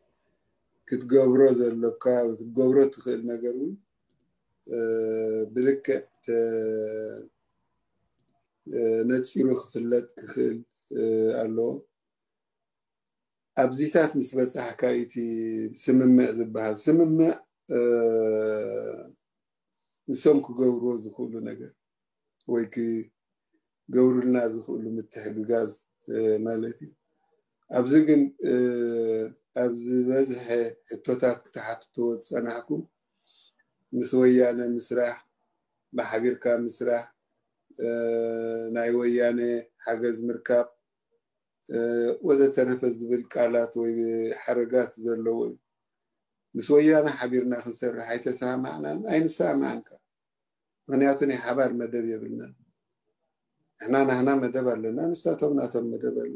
ክትገብሮ ዘሎካ ክትገብሮ ትኽእል ነገር እውን ብልክዕ ነፂሩ ክፍለጥ ክኽእል ኣለዎ። ኣብዚታት ምስ በፃሕካ እቲ ስምምዕ ዝበሃል ስምምዕ ንሶም ክገብርዎ ዝኽእሉ ነገር ወይ ክገብሩልና ዝኽእሉ ምትሕግጋዝ ማለት እዩ። ኣብዚ ግን ኣብ ዝበዝሐ ሕቶታት ክትሓትትዎ ዝፀናሕኩም ምስ ወያነ ምስራሕ፣ ብሓቢርካ ምስራሕ፣ ናይ ወያነ ሓገዝ ምርካብ ወዘተረፈ ዝብል ቃላት ወይ ሓረጋት ዘለዎ እዩ። ምስ ወያነ ሓቢርና ክንሰርሕ ኣይተሰማማዕናን ኣይንሰማማዕን ከኣ። ምኽንያቱ ናይ ሓባር መደብ የብልናን። ንሕና ናህና መደብ ኣለና፣ ንሳቶም ናቶም መደብ ኣሎ።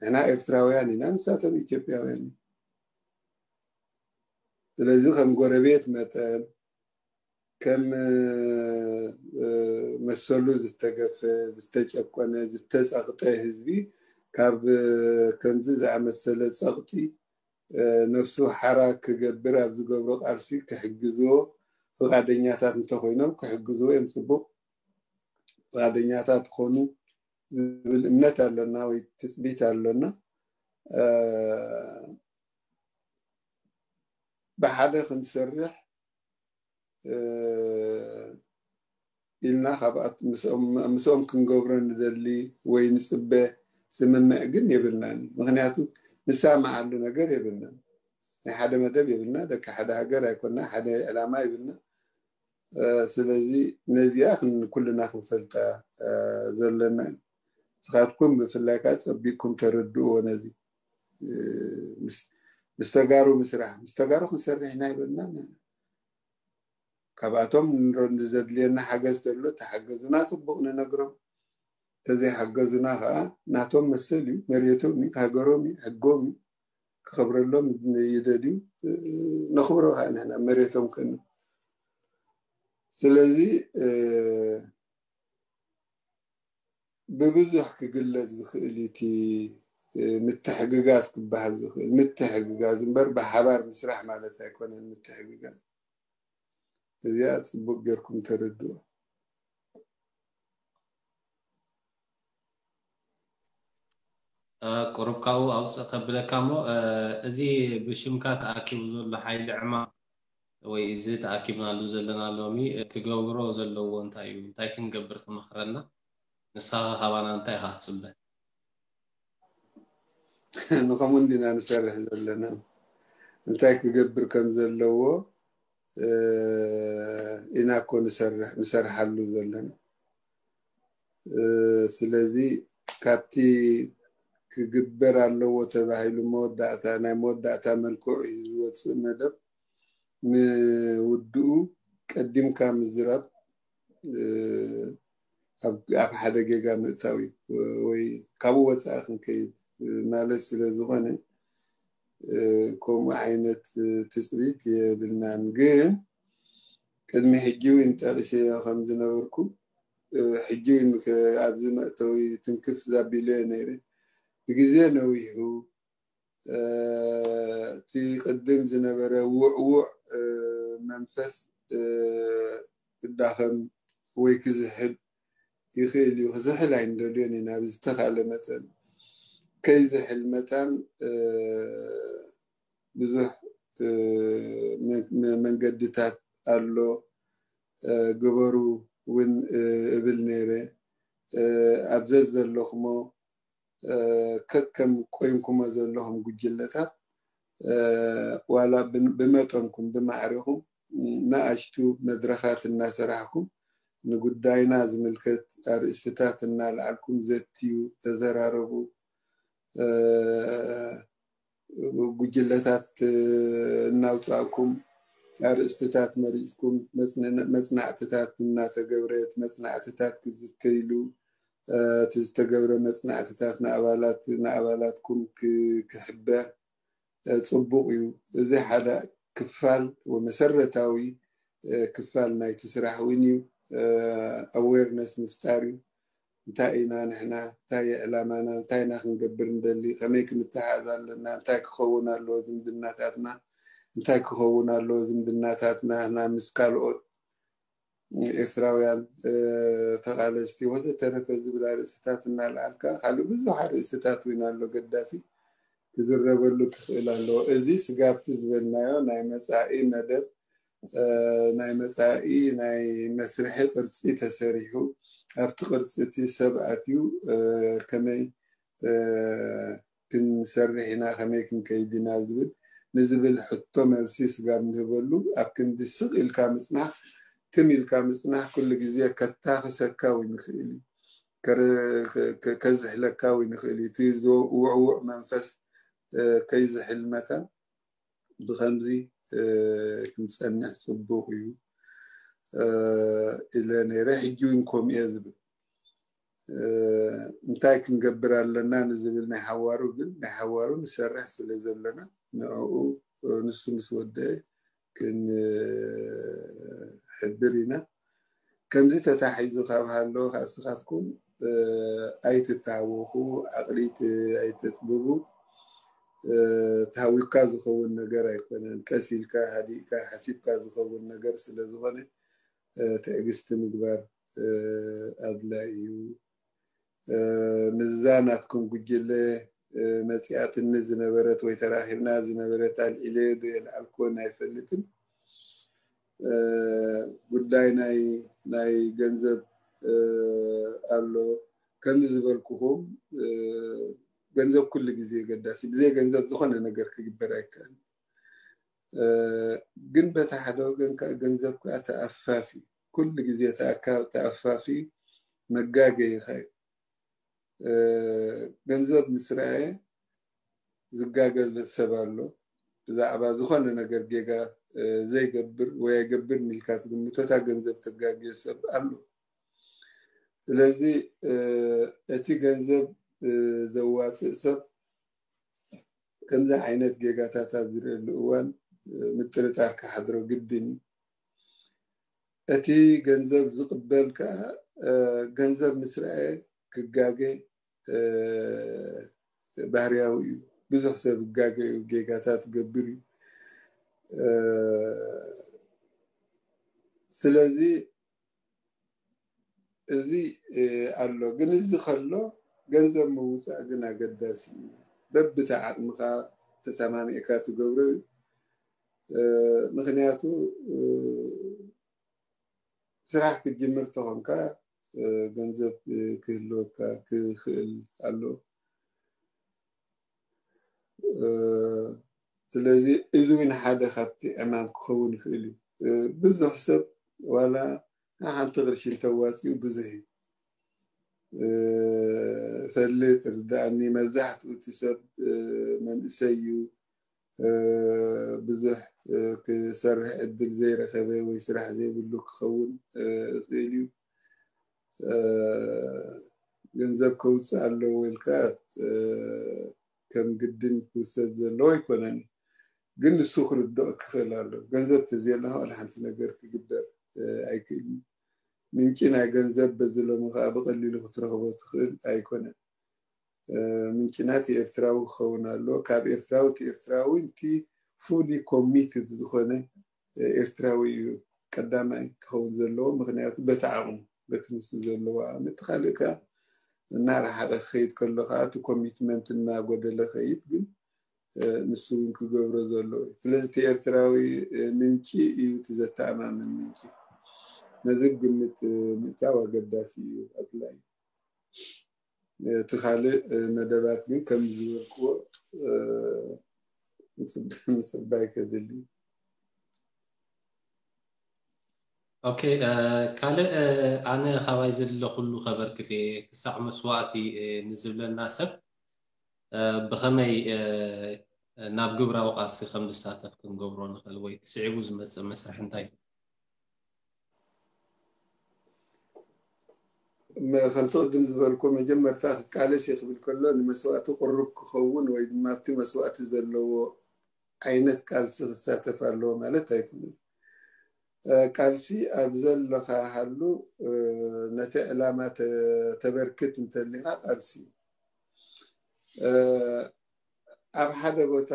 ንሕና ኤርትራውያን ኢና፣ ንሳቶም ኢትዮጵያውያን እዮም። ስለዚ ከም ጎረቤት መጠን ከም መሰሉ ዝተገፈ፣ ዝተጨቆነ፣ ዝተፀቕጠ ህዝቢ ካብ ከምዚ ዝኣመሰለ ፀቕጢ ነፍሱ ሓራ ክገብር ኣብ ዝገብሮ ቃልሲ ክሕግዝዎ ፍቓደኛታት እንተኮይኖም ክሕግዝዎ እዮም። ፅቡቕ ፍቓደኛታት ክኾኑ ዝብል እምነት ኣለና ወይ ትፅቢት ኣለና። ብሓደ ክንሰርሕ ኢልና ምስኦም ክንገብሮ ንደሊ ወይ ንፅበ ስምምዕ ግን የብልናን። ምክንያቱ ንሳማዓሉ ነገር የብልናን። ናይ ሓደ መደብ የብልና፣ ደቂ ሓደ ሃገር ኣይኮና፣ ሓደ ዕላማ የብልና። ስለዚ ነዚኣ ኩልና ክንፈልጣ ዘለና እዩ። ንስኻትኩም ብፍላይ ከዓ ፀቢቕኩም ተረድእዎ። ነዚ ምስ ተጋሩ ምስራሕ፣ ምስ ተጋሩ ክንሰርሕ ኢና ይበልና። ካብኣቶም ንዘድልየና ሓገዝ ተሎ ተሓገዙና፣ ፅቡቕ ንነግሮም። ተዘይሓገዙና ከዓ ናቶም መሰል እዩ፣ መሬቶም እዩ፣ ሃገሮም እዩ፣ ሕጎም እዩ። ክኸብረሎም ይደልዩ፣ ነኽብሮ ከዓ ንሕና መሬቶም ከኑ። ስለዚ ብብዙሕ ክግለፅ ዝኽእል እቲ ምትሕግጋዝ ክበሃል ዝኽእል ምትሕግጋዝ እምበር ብሓባር ምስራሕ ማለት ኣይኮነን። ምትሕግጋዝ እዚኣ ፅቡቅ ጌርኩም ተረድኦ። ቁሩብ ካብኡ ኣውፅእ ከብለካ እሞ፣ እዚ ብሽምካ ተኣኪቡ ዘሎ ሓይሊ ዕማም ወይ እዚ ተኣኪብናሉ ዘለና ሎሚ ክገብሮ ዘለዎ እንታይ እዩ? እንታይ ክንገብር ትመኽረና? ንስኻ ካባና እንታይ ኢኻ ትፅበ? ንኸምኡ እንዲና ንሰርሕ ዘለና። እንታይ ክገብር ከም ዘለዎ ኢና እኮ ንሰርሓሉ ዘለና። ስለዚ ካብቲ ክግበር ኣለዎ ተባሂሉ መወዳእታ ናይ መወዳእታ መልክዑ እዩ ዝወፅእ መደብ፣ ንውድኡ ቀዲምካ ምዝራብ ኣብ ሓደ ጌጋ ምእታው እዩ፣ ወይ ካብኡ ወፃኢ ክንከይድ ማለት ስለ ዝኾነ፣ ከምኡ ዓይነት ትፅቢት የብልናን። ግን ቅድሚ ሕጂ እውን ጠቂሰዮ ከም ዝነበርኩ፣ ሕጂ እውን ኣብዚ መእተዊ ትንክፍ ዛቢለ ነይረ። ብግዜ ነዊሑ እቲ ቅድም ዝነበረ ውዕውዕ መንፈስ ክዳኸም ወይ ክዝሕል ይኽእል እዩ። ክዝሕል ኣይንደልዮን ኢና። ብዝተኻለ መጠን ከይዝሕል መታን ብዙሕ መንገድታት ኣሎ፣ ግበሩ እውን እብል ነይረ። ኣብ ዘዘለኹሞ ከከም ቆይምኩሞ ዘለኹም ጉጅለታት፣ ዋላ ብመጠንኩም ብማዕሪኹም ንኣሽቱ መድረኻት እናሰራሕኩም ንጉዳይና ዝምልከት ኣርእስትታት እናልዓልኩም ዘትዩ፣ ተዘራረቡ። ጉጅለታት እናውፃእኩም ኣርእስትታት መሪፅኩም መፅናዕትታት እናተገብረት፣ መፅናዕትታት ክዝተይሉ፣ እቲ ዝተገብረ መፅናዕትታት ንኣባላት ንኣባላትኩም ክሕበር ፅቡቕ እዩ። እዚ ሓደ ክፋል መሰረታዊ ክፋል ናይቲ ስራሕ እውን እዩ። ኣዌርነስ ምፍጣር እዩ። እንታይ ኢና ንሕና፣ እንታይ ዕላማና፣ እንታይ ኢና ክንገብር እንደሊ፣ ከመይ ክንተሓዝ ኣለና፣ እንታይ ክኸውን ኣለዎ ዝምድናታትና፣ እንታይ ክኸውን ኣለዎ ዝምድናታትና ምስ ካልኦት ኤርትራውያን ተቃለስቲ ወዘተረፈ ዝብል ኣርእስትታት እናልዓልካ፣ ካልእ ብዙሕ ኣርእስትታት እውን ኣሎ ገዳሲ ክዝረበሉ ክኽእል ኣለዎ። እዚ ስጋብቲ ዝበልናዮ ናይ መፃኢ መደብ፣ ናይ መፃኢ ናይ መስርሒ ቅርፂ ተሰሪሑ፣ ኣብቲ ቅርፂ እቲ ሰብ ኣትዩ ከመይ ክንሰርሕ ኢና፣ ከመይ ክንከይድ ኢና ዝብል ንዝብል ሕቶ መልሲ ስጋብ ንህበሉ፣ ኣብ ክንዲ ስቕ ኢልካ ምፅናሕ፣ ትም ኢልካ ምፅናሕ ኩሉ ግዜ ከታኽሰካ እውን ይኽእል እዩ፣ ከዝሕለካ እውን ይኽእል እዩ። እቲ ውዕውዕ መንፈስ ከይዝሕል መታን ብኸምዚ ክንፀንሕ ፅቡቕ እዩ ኢለ ነይረ። ሕጂ እውን ከምኡ እየ ዝብል። እንታይ ክንገብር ኣለና ንዝብል ናይ ሓዋሩ ግን ናይ ሓዋሩ ንሰርሕ ስለ ዘለና ንዕኡ ንሱ ምስ ወደአ ክንሕብር ኢና። ከምዚ ተታሒዙ ካብ ሃለወ ከዓ ንስኻትኩም ኣይትታወኹ፣ ዓቕሊት ኣይተፅብቡ። ተሃዊካ ዝኸውን ነገር ኣይኮነን። ቀስ ኢልካ ሃዲእካ ሓሲብካ ዝኸውን ነገር ስለ ዝኾነ ትዕግስቲ ምግባር ኣድላይ እዩ። ምዛ ናትኩም ጉጅለ መፂኣትኒ ዝነበረት ወይ ተራኺብና ዝነበረት ኣልዒለ ዶ የልዓልኮን ኣይፈልጥን። ጉዳይ ናይ ናይ ገንዘብ ኣሎ። ከምዚ ዝበልኩኹም ገንዘብ ኩሉ ግዜ ገዳሲ፣ ብዘይ ገንዘብ ዝኾነ ነገር ክግበር ኣይከኣልን። ግን በቲ ሓደ ወገን ከዓ ገንዘብ ከዓ ተኣፋፊ፣ ኩሉ ግዜ ተኣፋፊ መጋገይኻ እዩ። ገንዘብ ምስ ረኣየ ዝጋገ ሰብ ኣሎ። ብዛዕባ ዝኾነ ነገር ጌጋ ዘይገብር ወይ ኣይገብርን ኢልካ ትግምቶ እታ ገንዘብ ተጋግዮ ሰብ ኣሎ። ስለዚ እቲ ገንዘብ ዘዋፅእ ሰብ ከምዚ ዓይነት ጌጋታት ኣብ ዝርእየሉ እዋን ምጥርጣር ክሓድሮ ግድን እዩ። እቲ ገንዘብ ዝቕበል ከዓ ገንዘብ ምስ ረኣየ ክጋገ ባህርያዊ እዩ። ብዙሕ ሰብ ይጋገ እዩ፣ ጌጋታት ይገብር እዩ። ስለዚ እዚ ኣሎ። ግን እዚ ከሎ ገንዘብ ምውፃእ ግን ኣገዳሲ እዩ። በብታ ዓቕምኻ ተሰማሚዕካ ትገብሮ እዩ። ምክንያቱ ስራሕ ክትጅምር ተኾንካ ገንዘብ ክህልወካ ክኽእል ኣሎ። ስለዚ እዚ እውን ሓደ ካብቲ ዕማም ክኸውን ይኽእል እዩ። ብዙሕ ሰብ ዋላ ሓንቲ ቅርሺ እንተዋፂኡ ብዙሕ እዩ። ፈልጥ ርዳእኒ፣ መብዛሕትኡ እቲ ሰብ መንእሰይ እዩ። ብዙሕ ክሰርሕ ዕድል ዘይረኸበ ወይ ስራሕ ዘይብሉ ክኸውን ይኽእል እዩ። ገንዘብ ከውፅእ ኣለዎ ኢልካ ከም ግድን ክውሰድ ዘለዎ ኣይኮነን። ግን ንሱ ክርድኦ ክኽእል ኣሎ። ገንዘብ ተዘየለካ ዋላ ሓንቲ ነገር ክግበር ኣይክእልን። ምንጪ ናይ ገንዘብ በዚ ሎሚ ከዓ ብቐሊሉ ክትረኽቦ ትኽእል ኣይኮነን። ምንጭና እቲ ኤርትራዊ ክኸውን ኣለዎ። ካብ ኤርትራዊ እቲ ኤርትራዊ እቲ fully committed ዝኾነ ኤርትራዊ እዩ ቀዳማይ ክኸውን ዘለዎ። ምክንያቱ በቲ ዓቕሙ፣ በቲ ንሱ ዘለዎ ዓቕሚ። እቲ ካልእ ከዓ እናረሓቐ ክኸይድ ከሎ ከዓ እቲ ኮሚትመንት እናጎደለ ከይድ፣ ግን ንሱ እውን ክገብሮ ዘለዎ እዩ። ስለዚ እቲ ኤርትራዊ ምንጪ እዩ እቲ ዘተኣማምን ምንጪ። ነዚ ግምት ምእታው ኣገዳሲ እዩ፣ ኣድላይ። እቲ ካልእ መደባት ግን ከም ዝበልክዎ ምፅባይ ከድሊ። ኦኬ፣ ካልእ ኣነ ካባይ ዘለ ኩሉ ከበርክት እየ። ክሳዕ መስዋእቲ ንዝብለና ሰብ ብኸመይ ናብ ግብራዊ ቃልሲ ከም ዝሳተፍ ክንገብሮ ንኽእል ወይ ስዒቡ ዝመፅእ መስርሕ እንታይ እዩ? ከምቲ ቅድም ዝበልኩ መጀመርታ ክቃለስ እየ ክብል ከሎ ንመስዋእቲ ቅሩብ ክኸውን ወይ ድማ ኣብቲ መስዋእቲ ዘለዎ ዓይነት ቃልሲ ክሳተፍ ኣለዎ ማለት ኣይኮነን። ቃልሲ ኣብ ዘለኻ ሃሉ ነቲ ዕላማ ተበርክት እንተሊኻ ቃልሲ እዩ። ኣብ ሓደ ቦታ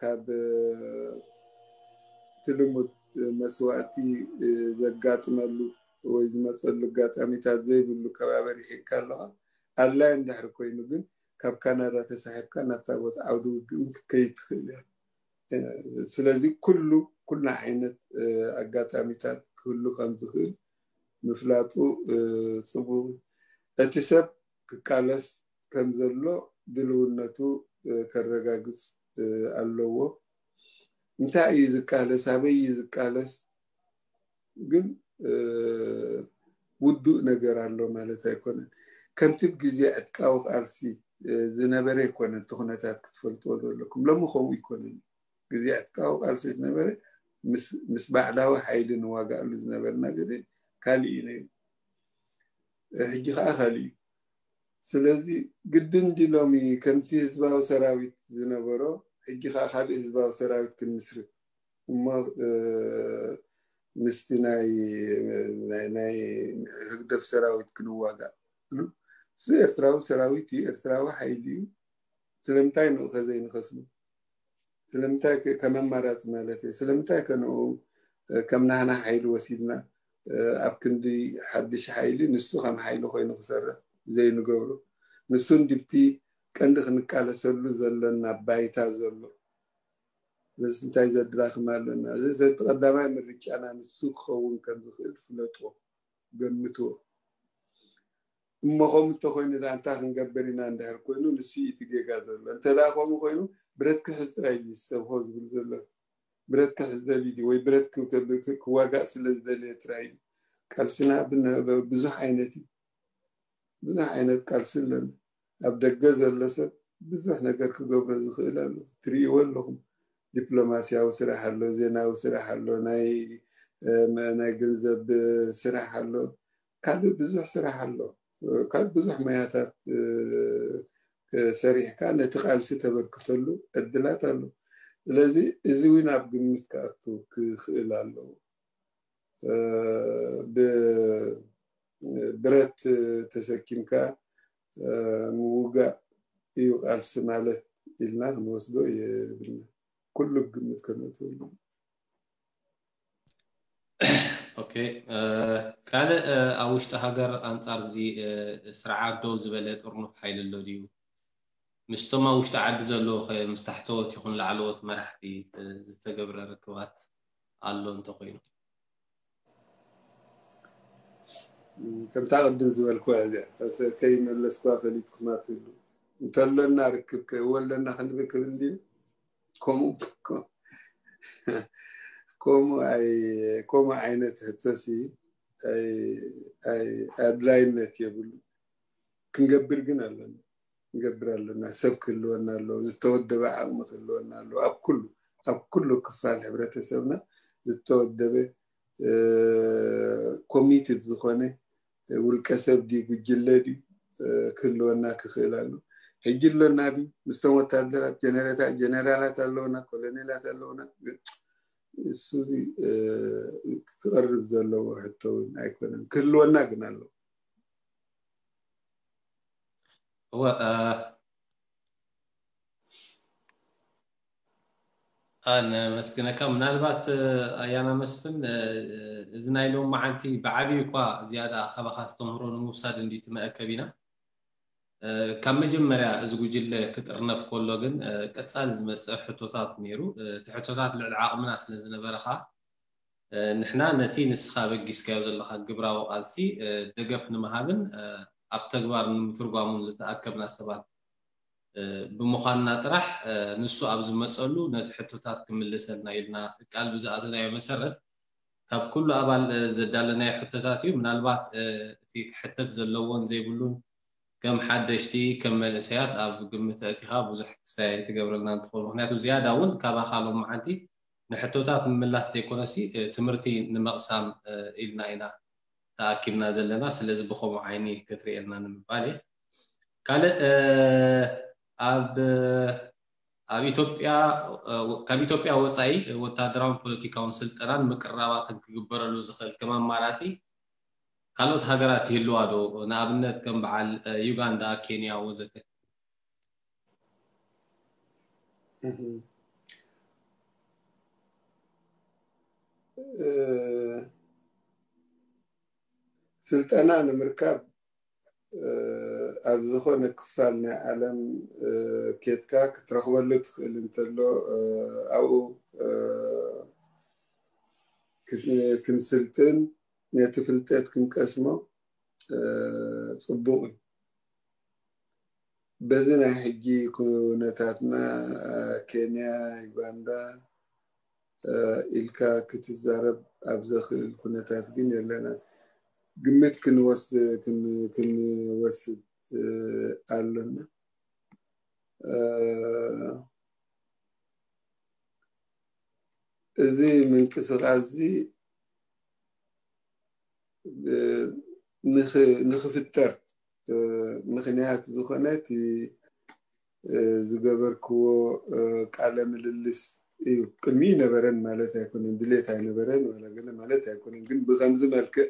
ካብ እቲ ልሙድ መስዋእቲ ዘጋጥመሉ ወይ ዝመፀሉ ኣጋጣሚታት ዘይብሉ ከባቢ ርሒቕካ ኣለኻ፣ ኣድላይ እንድሕር ኮይኑ ግን ካብ ካናዳ ተሳሒብካ ናብታ ቦታ ዓውዲ ውግእ እውን ክትከይድ ትኽእል እያ። ስለዚ ኩሉ ኩላ ዓይነት ኣጋጣሚታት ክህሉ ከም ዝኽእል ምፍላጡ ፅቡቕ። እቲ ሰብ ክቃለስ ከም ዘሎ ድልውነቱ ከረጋግፅ ኣለዎ። እንታይ እዩ ዝቃለስ፣ ኣበይ እዩ ዝቃለስ ግን ውዱእ ነገር ኣሎ ማለት ኣይኮነን። ከምቲ ግዜ ዕጥቃዊ ቃልሲ ዝነበረ ኣይኮነን እቲ ኩነታት ክትፈልጥዎ ዘለኩም። ሎሚ ከምኡ ኣይኮነን። ግዜ ዕጥቃዊ ቃልሲ ዝነበረ ምስ ባዕዳዊ ሓይሊ ንዋጋኣሉ ዝነበርና ግዜ ካሊእ እዩ ነይሩ። ሕጂ ከዓ ካሊእ እዩ። ስለዚ ግድን ድዩ ሎሚ ከምቲ ህዝባዊ ሰራዊት ዝነበሮ ሕጂ ከዓ ካልእ ህዝባዊ ሰራዊት ክንምስርት እሞ ምስቲ ናይ ህግደፍ ሰራዊት ክንዋጋእ? እሱ ኤርትራዊ ሰራዊት እዩ፣ ኤርትራዊ ሓይሊ እዩ። ስለምንታይ ንኡ ከዘይንኸስቡ? ስለምንታይ ከም ኣማራፂ ማለት እየ፣ ስለምንታይ ከንኡ ከም ናህና ሓይሊ ወሲድና ኣብ ክንዲ ሓድሽ ሓይሊ ንሱ ከም ሓይሊ ኮይኑ ክሰርሕ ዘይንገብሮ? ንሱ እንዲብቲ ቀንዲ ክንቃለሰሉ ዘለና ባይታ ዘሎ ስለዚ እንታይ ዘድራኽም ኣለና? እዚ እቲ ቀዳማይ ምርጫና ንሱ ክኸውን ከም ዝኽእል ፍለጥዎ፣ ገምትዎ። እሞ ከምኡ እንተኾይኑ ደኣ እንታይ ክንገብር ኢና እንድሕር ኮይኑ ንሱ እዩ እቲ ጌጋ ዘሎ። እንተ ደኣ ከምኡ ኮይኑ ብረት ክሕዝ ጥራይ እዩ ሰብ ሆ ዝብል ዘሎ። ብረት ክሕዝ ደልዩ ድዩ ወይ ብረት ክዋጋእ ስለ ዝደለየ ጥራይ እዩ። ቃልስና ብዙሕ ዓይነት እዩ። ብዙሕ ዓይነት ቃልሲ ኣለና። ኣብ ደገ ዘሎ ሰብ ብዙሕ ነገር ክገብሮ ዝኽእል ኣሎ። ትርእይዎ ኣለኹም። ዲፕሎማስያዊ ስራሕ ኣሎ፣ ዜናዊ ስራሕ ኣሎ፣ ናይ ናይ ገንዘብ ስራሕ ኣሎ፣ ካልእ ብዙሕ ስራሕ ኣሎ። ካልእ ብዙሕ ሞያታት ሰሪሕካ ነቲ ቃልሲ ተበርክተሉ ዕድላት ኣሎ። ስለዚ እዚ እውን ኣብ ግምት ክኣቱ ክኽእል ኣለዎ። ብብረት ተሰኪምካ ምውጋእ እዩ ቃልሲ ማለት ኢልና ክንወስዶ የብልና። ኩሉ ግምት ከነእትወሉ። ኦኬ፣ ካልእ ኣብ ውሽጢ ሃገር ኣንጻር እዚ ስርዓት ደው ዝበለ ጥርኑፍ ሓይሊ ኣሎ ድዩ? ምስቶም ኣብ ውሽጢ ዓዲ ዘለዉ ኸ ምስ ታሕተዎት ይኹን ላዕለዎት መራሕቲ ዝተገብረ ርክባት ኣሎ እንተኾይኑ? ከምታ ቅድም ዝበልኩ እዚኣ ከይመለስኩዋ ፈሊጥኩማ ትህሉ እንተሎና ርክብ ከይወለና ክንብል ክብል እንዲ ከምኡ ከምኡ ኣይ ከምኡ ዓይነት ሕቶሲ ኣይ ኣይ ኣድላይነት የብሉ። ክንገብር ግን ኣለና፣ ክንገብር ኣለና። ሰብ ክህልወና ኣለዎ፣ ዝተወደበ ዓቕሚ ክህልወና ኣለዎ። ኣብ ኩሉ ኣብ ኩሉ ክፋል ሕብረተሰብና ዝተወደበ ኮሚትድ ዝኾነ ውልቀ ሰብ ድዩ ጉጅለ ድዩ ክህልወና ክኽእል ኣሎ። ሕጂ ኣሎና ድዩ? ምስቶም ወታደራት ጀነሬታ ጀነራላት ኣለውና፣ ኮሎኔላት ኣለውና። እሱ ክቐርብ ዘለዎ ሕቶ እውን ኣይኮነን፣ ክህልወና ግን ኣለዎ። እወ ኣነመስግነካ። ምናልባት ኣያና መስፍን፣ እዚ ናይ ሎም መዓንቲ ብዓብዩ እኳ ዝያዳ ካባኻ ኣስተምህሮ ንምውሳድ እንዲ ትመእከብ ኢና። ካብ መጀመርያ እዚ ጉጅለ ክጥርነፍ ከሎ ግን ቀጻሊ ዝመጽእ ሕቶታት ነይሩ። እቲ ሕቶታት ልዕሊ ዓቕምና ስለ ዝነበረ ኸኣ ንሕና ነቲ ንስኻ በጊስካዮ ዘለኻ ግብራዊ ቃልሲ ደገፍ ንምሃብን ኣብ ተግባር ንምትርጓሙን ዝተኣከብና ሰባት ብምዃንና ጥራሕ፣ ንሱ ኣብ ዝመጸሉ ነቲ ሕቶታት ክምልሰልና ኢልና ቃል ብዝኣተናዮ መሰረት ካብ ኩሉ ኣባል ዘዳለናዮ ሕቶታት እዩ። ምናልባት እቲ ክሕተት ዘለዎን ዘይብሉን ከም ሓደሽቲ ከም መንእሰያት ኣብ ግምት ኣእቲኻ ብዙሕ ክስታይ ኣይትገብረልና እንትኾን፣ ምክንያቱ ዝያዳ እውን ካብ ኣኻሎም መዓንቲ ንሕቶታት ምምላስ ዘይኮነሲ ትምህርቲ ንምቕሳም ኢልና ኢና ተኣኪብና ዘለና። ስለዚ ብኸምኡ ዓይኒ ክትርእየልና ንምባል እየ። ካልእ ኣብ ኣብ ኢትዮጵያ ካብ ኢትዮጵያ ወፃኢ ወታደራውን ፖለቲካውን ስልጠናን ምቅርራባትን ክግበረሉ ዝኽእል ከም ኣማራፂ ካልኦት ሃገራት ይህልዋ ዶ? ንኣብነት ከም በዓል ዩጋንዳ፣ ኬንያ ወዘተ። ስልጠና ንምርካብ ኣብ ዝኾነ ክፋል ናይ ዓለም ኬድካ ክትረኽበሉ ትኽእል እንተሎ ኣብኡ ክንስልጥን ነቲ ፍልጠት ክንቀስሞ ፅቡቕ እዩ። በዚ ናይ ሕጂ ኩነታትና ኬንያ፣ ዩጋንዳ ኢልካ ክትዛረብ ኣብ ዘኽእል ኩነታት ግን የለና። ግምት ክንወስድ ኣሎና። እዚ ምንቅስቃስ እዚ ንኽፍጠር ምኽንያት ዝኾነ እቲ ዝገበርክዎ ቃለ ምልልስ እዩ። ቅድሚ ነበረን ማለት ኣይኮነን፣ ድሌት ኣይነበረን ዋላ ገለ ማለት ኣይኮነን። ግን ብኸምዚ መልክዕ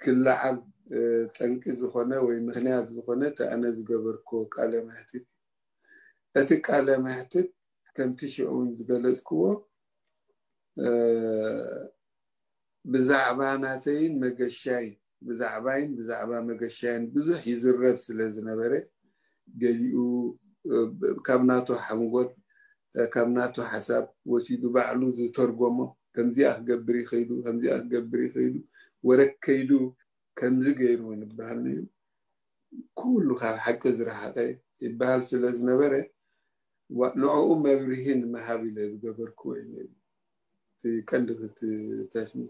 ክለዓል ጠንቂ ዝኾነ ወይ ምኽንያት ዝኾነ እቲ ኣነ ዝገበርክዎ ቃለ መሕትት፣ እቲ ቃለ መሕትት ከምቲ ሽዑ እውን ዝገለጽክዎ ብዛዕባ ናተይን መገሻይን ብዛዕባይን ብዛዕባ መገሻይን ብዙሕ ይዝረብ ስለ ዝነበረ፣ ገሊኡ ካብ ናቱ ሓንጎል ካብ ናቱ ሓሳብ ወሲዱ ባዕሉ ዝተርጎሞ፣ ከምዚኣ ክገብር ይኽእሉ፣ ከምዚኣ ክገብር ይኽእሉ፣ ወረ ከይዱ ከምዚ ገይሩ ንበሃል ነይሩ። ኩሉ ካብ ሓቂ ዝረሓቐ ይበሃል ስለ ዝነበረ ንዕኡ መብርሂ ንምሃብ ኢለ ዝገበርክዎ እዩ ነይሩ። እቲ ቀንዲ ክትተሽሙ።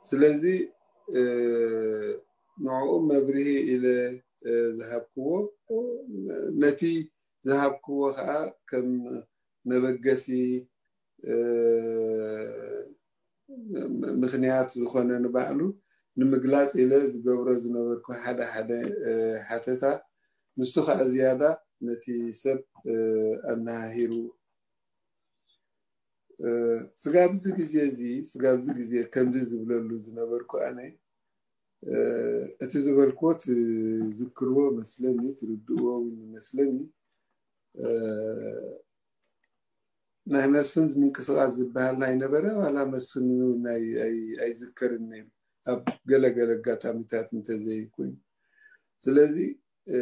ስለዚ ንዕኡ መብርሂ ኢለ ዝሃብክዎ፣ ነቲ ዝሃብክዎ ከዓ ከም መበገሲ ምኽንያት ዝኾነ ንባዕሉ ንምግላፅ ኢለ ዝገብሮ ዝነበርኩ ሓደ ሓደ ሓተታ፣ ንሱ ከዓ ዝያዳ ነቲ ሰብ ኣነሃሂሩ። ስጋብ እዚ ግዜ እዚ፣ ስጋብ እዚ ግዜ ከምዚ ዝብለሉ ዝነበርኩ ኣነ፣ እቲ ዝበልክዎ ትዝክርዎ መስለኒ፣ ትርድእዎ እውን ይመስለኒ። ናይ መስፍን ምንቅስቃስ ዝበሃል ናይ ነበረ ዋላ መስፍን ናይ ኣይ- ኣይዝከርን ነይሩ ኣብ ገለ ገለ ኣጋጣሚታት እንተዘይኮይኑ። ስለዚ እ፣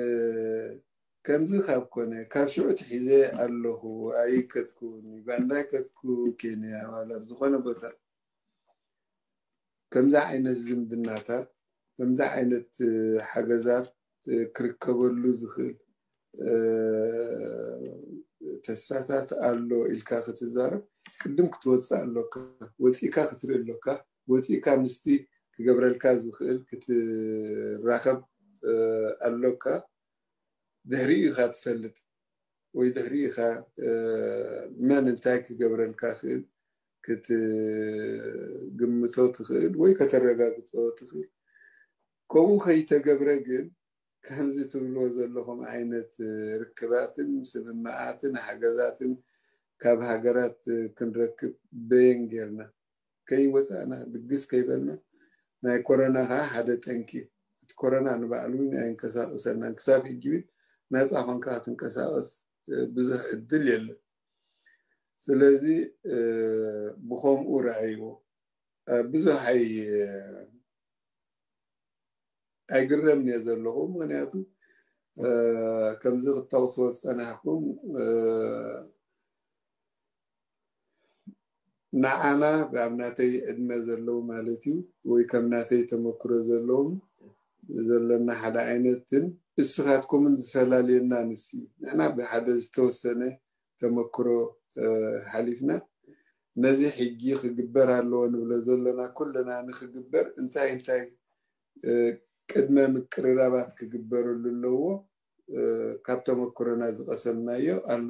ከምዚ ካብ ኮነ ካብ ሽዑ ትሒዘ ኣለኹ ኣይከድኩን ዩጋንዳ ኣይከድኩ ኬንያ ዋላ ኣብ ዝኾነ ቦታ ከምዚ ዓይነት ዝምድናታት ከምዚ ዓይነት ሓገዛት ክርከበሉ ዝኽእል ተስፋታት ኣሎ ኢልካ ክትዛረብ ቅድም ክትወፅእ ኣሎካ። ወፂእካ ክትርኢ ኣሎካ። ወፂእካ ምስቲ ክገብረልካ ዝኽእል ክትራኸብ ኣሎካ። ድሕሪኡ ኢኻ ትፈልጥ ወይ ድሕሪኡ ኢኻ መን እንታይ ክገብረልካ ክእል ክትግምቶ ትኽእል ወይ ከተረጋግጾ ትኽእል። ከምኡ ከይተገብረ ግን ከምዚ ትብልዎ ዘለኹም ዓይነት ርክባትን ስምምዓትን ሓገዛትን ካብ ሃገራት ክንረክብ በየን ጌርና ከይወፃእና ድግስ ከይበልና ናይ ኮረና ከዓ ሓደ ጠንቂ እቲ ኮረና ንባዕሉ እውን ኣየንቀሳቅሰናን ክሳብ ሕጂ እውን ናፃ ኮንካ ክትንቀሳቀስ ብዙሕ ዕድል የለን። ስለዚ ብከምኡ ረኣይዎ ብዙሕ ኣይ ኣይግረምን እየ ዘለኹ። ምክንያቱ ከምዚ ክጠቕስዎ ዝፀናሕኩም ንዓና ኣብ ናተይ ዕድመ ዘለዉ ማለት እዩ ወይ ከም ናተይ ተመክሮ ዘለዎም ዘለና ሓደ ዓይነትን እስኻትኩምን ዝፈላልየና ንስ እዩ። ንሕና ብሓደ ዝተወሰነ ተመክሮ ሓሊፍና ነዚ ሕጂ ክግበር ኣለዎ ንብሎ ዘለና ኩልና ንክግበር እንታይ እንታይ ቅድመ ምቅርራባት ክግበረሉ ኣለዎ። ካብ ተመክሮና ዝቀሰምናዮ ኣሎ።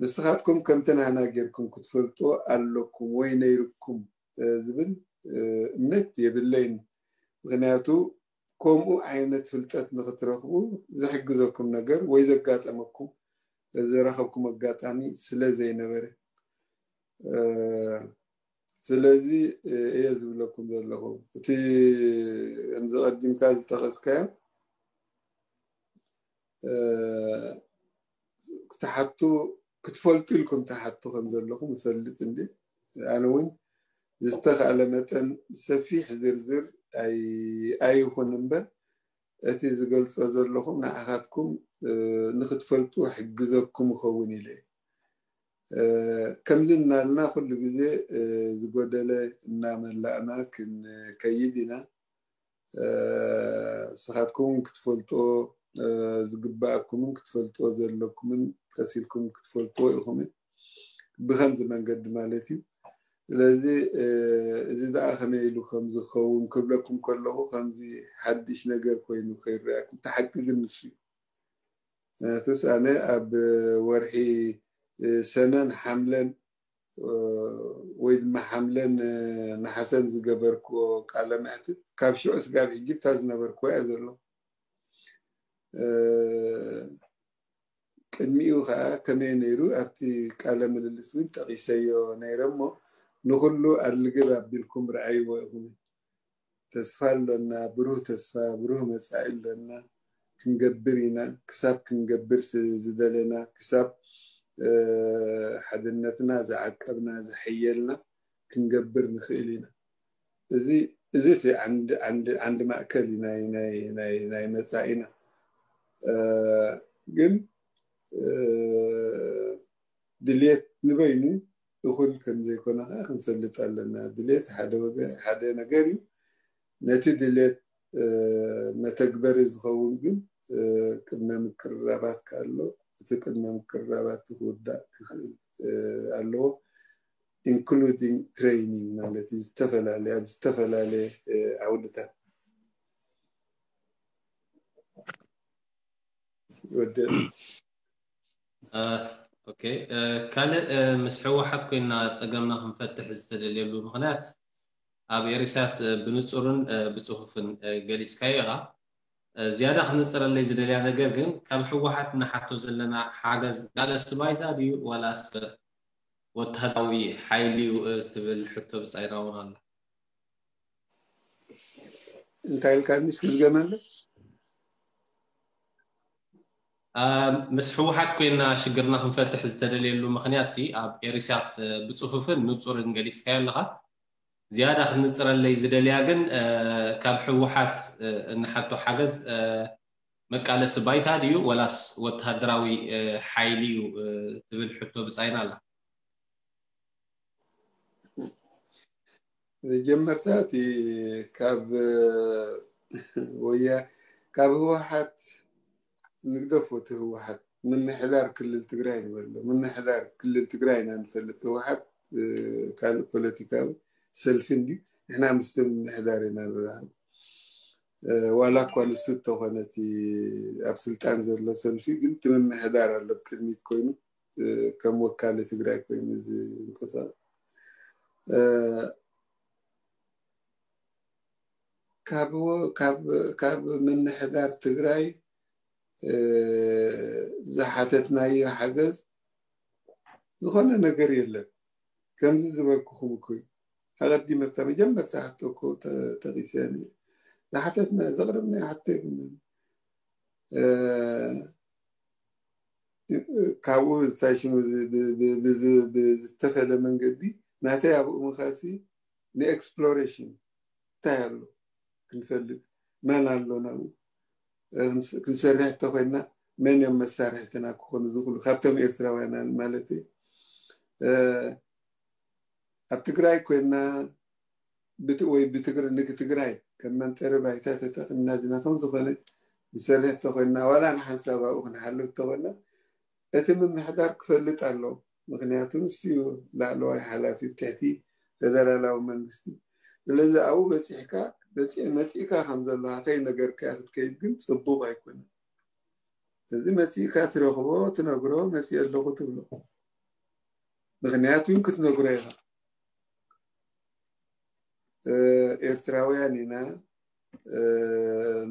ንስኻትኩም ከምቲ ናና ጌርኩም ክትፈልጥዎ ኣለኩም ወይ ነይርኩም ዝብል እምነት የብለይን። ምክንያቱ ከምኡ ዓይነት ፍልጠት ንክትረኽቡ ዝሕግዘኩም ነገር ወይ ዘጋጠመኩም ዝረኸብኩም ኣጋጣሚ ስለ ዘይነበረ ስለዚ እየ ዝብለኩም ዘለኹ። እቲ ከምዚ ቀዲምካ ዝጠቐስካዮ ክትሓቱ ክትፈልጡ ኢልኩም ትሓቱ ከም ዘለኹም እፈልጥ እንዲ ኣነ እውን ዝተኻእለ መጠን ሰፊሕ ዝርዝር ኣይኹን እምበር እቲ ዝገልፆ ዘለኹም ንዓኻትኩም ንክትፈልጡ ሕግዘኩም ይኸውን ኢለ ከምዚ እናልና ኩሉ ግዜ ዝጎደለ እናመላእና ክንከይድ ኢና። ንስኻትኩም ክትፈልጦ ዝግባኣኩምን ክትፈልጦ ዘለኩምን ቀሲልኩም ክትፈልጥዎ ኢኹም። ብከምዚ መንገዲ ማለት እዩ። ስለዚ እዚ ደኣ ከመይ ኢሉ ከም ዝኸውን ክብለኩም ከለኹ ከምዚ ሓድሽ ነገር ኮይኑ ከይረኣኩም። እቲ ሓቂ ግን ንሱ እዩ። ምክንያቱስ ኣነ ኣብ ወርሒ ሰነን ሓምለን ወይ ድማ ሓምለን ነሓሰን ዝገበርክዎ ቃለ መሕትት ካብ ሽዑ ስጋብ ሕጂ ብታ ዝነበርክዎ እያ ዘሎ። ቅድሚኡ ከዓ ከመይ ነይሩ ኣብቲ ቃለ ምልልስ እውን ጠቂሰዮ ነይረ እሞ ንኩሉ ኣልግብ ኣቢልኩም ረኣይዎ ኢኹም። ተስፋ ኣለና፣ ብሩህ ተስፋ፣ ብሩህ መፃኢ ኣለና። ክንገብር ኢና። ክሳብ ክንገብር ዝደለና፣ ክሳብ ሓድነትና ዝዓቀብና፣ ዝሐየልና ክንገብር ንኽእል ኢና። እዚ እዚ እቲ ዓንዲ ዓንዲ ዓንዲ ማእከል እዩ ናይ ናይ ናይ ናይ መጻኢና። እ፣ ግን እ፣ ድልየት ንበይኑ እኹል ከም ዘይኮነ ከዓ ክንፈልጥ ኣለና። ድልየት ሓደ ወገ ሓደ ነገር እዩ። ነቲ ድልየት እ፣ መተግበሪ ዝኸውን ግን እ፣ ቅድመ ምቅርራባት ከኣሎ እቲ ቅድመ ምቅርራባት ክውዳእ ክኽእል እ፣ ኣለዎ። ኢንክሉዲንግ ትሬይኒንግ ማለት እዩ። ዝተፈላለየ ኣብ ዝተፈላለየ ዓውድታት ወደ ኦኬ። ካልእ ምስ ህወሓት ኮይና ፀገምና ክንፈትሕ ዝተደልየሉ ምክንያት ኣብ ኤሪሳት ብንፁርን ብፅፉፍን ገሊፅካዮ ኢኻ። ዝያዳ ክነፅረለይ ዝደልያ ነገር ግን ካብ ህወሓት ንሓቶ ዘለና ሓገዝ ቃለሲ ባይታ ድዩ ዋላስ ወተሃደራዊ ሓይሊ እዩ ትብል ሕቶ ብፃይና እውን ኣላ። እንታይ ኢልካኒ እስኪ ድገመለይ? ምስ ህወሓት ኮይና ሽግርና ክንፈትሕ ዝተደልየሉ ምክንያት ሲ ኣብ ኤሪሳት ብፅፉፍን ንፁርን ገሊፅካዮ ኣለካ። ዝያዳ ክትንፅረለይ ዝደልያ ግን ካብ ህወሓት እንሓቶ ሓገዝ መቃለሲ ባይታ ድዩ ወላስ ወተሃደራዊ ሓይሊ እዩ ትብል ሕቶ ብፃይና ኣላ። መጀመርታ እቲ ካብ ወያ ካብ ህወሓት ንግደፎ፣ እቲ ህወሓት ምምሕዳር ክልል ትግራይ ንበሎ። ምምሕዳር ክልል ትግራይ ኢና ንፈልጥ። ህወሓት ካልእ ፖለቲካዊ ሰልፊ እንዲ ንሕና ምስቲ ምምሕዳር ኢና ንራኸብ። ዋላ እኳ ንሱ እንተኾነ እቲ ኣብ ስልጣን ዘሎ ሰልፊ ግን እቲ ምምሕዳር ኣሎ ቅድሚት ኮይኑ ከም ወካሊ ትግራይ ኮይኑ ዝንቀሳቀስ ካብ ምምሕዳር ትግራይ ዝሓተትናዮ ሓገዝ ዝኾነ ነገር የለን። ከምዚ ዝበልኩኹም እኮ ኣቐዲመ ኣብታ መጀመርታ ሕቶ እኮ ጠቂሰ ዝሓተትና ዘቕረብናዮ ሕቶ የብልናን። ካብኡ ብዝታይ ሽሙ ብዝተፈለ መንገዲ ናተይ ኣብኡ ምኻሲ ንኤክስፕሎሬሽን እንታይ ኣሎ ክንፈልጥ፣ መን ኣሎ ናብኡ ክንሰርሕ እንተኮይና መን እዮም መሳርሕትና ክኾኑ ዝኽእሉ ካብቶም ኤርትራውያን ማለት እዩ። ኣብ ትግራይ ኮይና ወይ ንትግራይ ከም መንጠሪ ባይታ ተጠቅምና ዝና ከም ዝኾነ ንሰርሕ እንተኮይና ዋላ ንሓንሳብ ኣብኡ ክንሓልፍ እንተኮይና እቲ ምምሕዳር ክፈልጥ ኣሎ። ምክንያቱ ንሱ እዩ ላዕለዋይ ሓላፊ ትሕቲ ፌደራላዊ መንግስቲ። ስለዚ ኣብኡ በፂሕካ መፂእካ ከም ዘለካ ከይነገርካ ክትከይድ ግን ፅቡቅ ኣይኮነን። እዚ መፂእካ ትረኽቦ ትነግሮ መፂእ ኣለኹ ትብሎ። ምክንያቱ ክትነግሮ ኢኻ። ኤርትራውያን ኢና።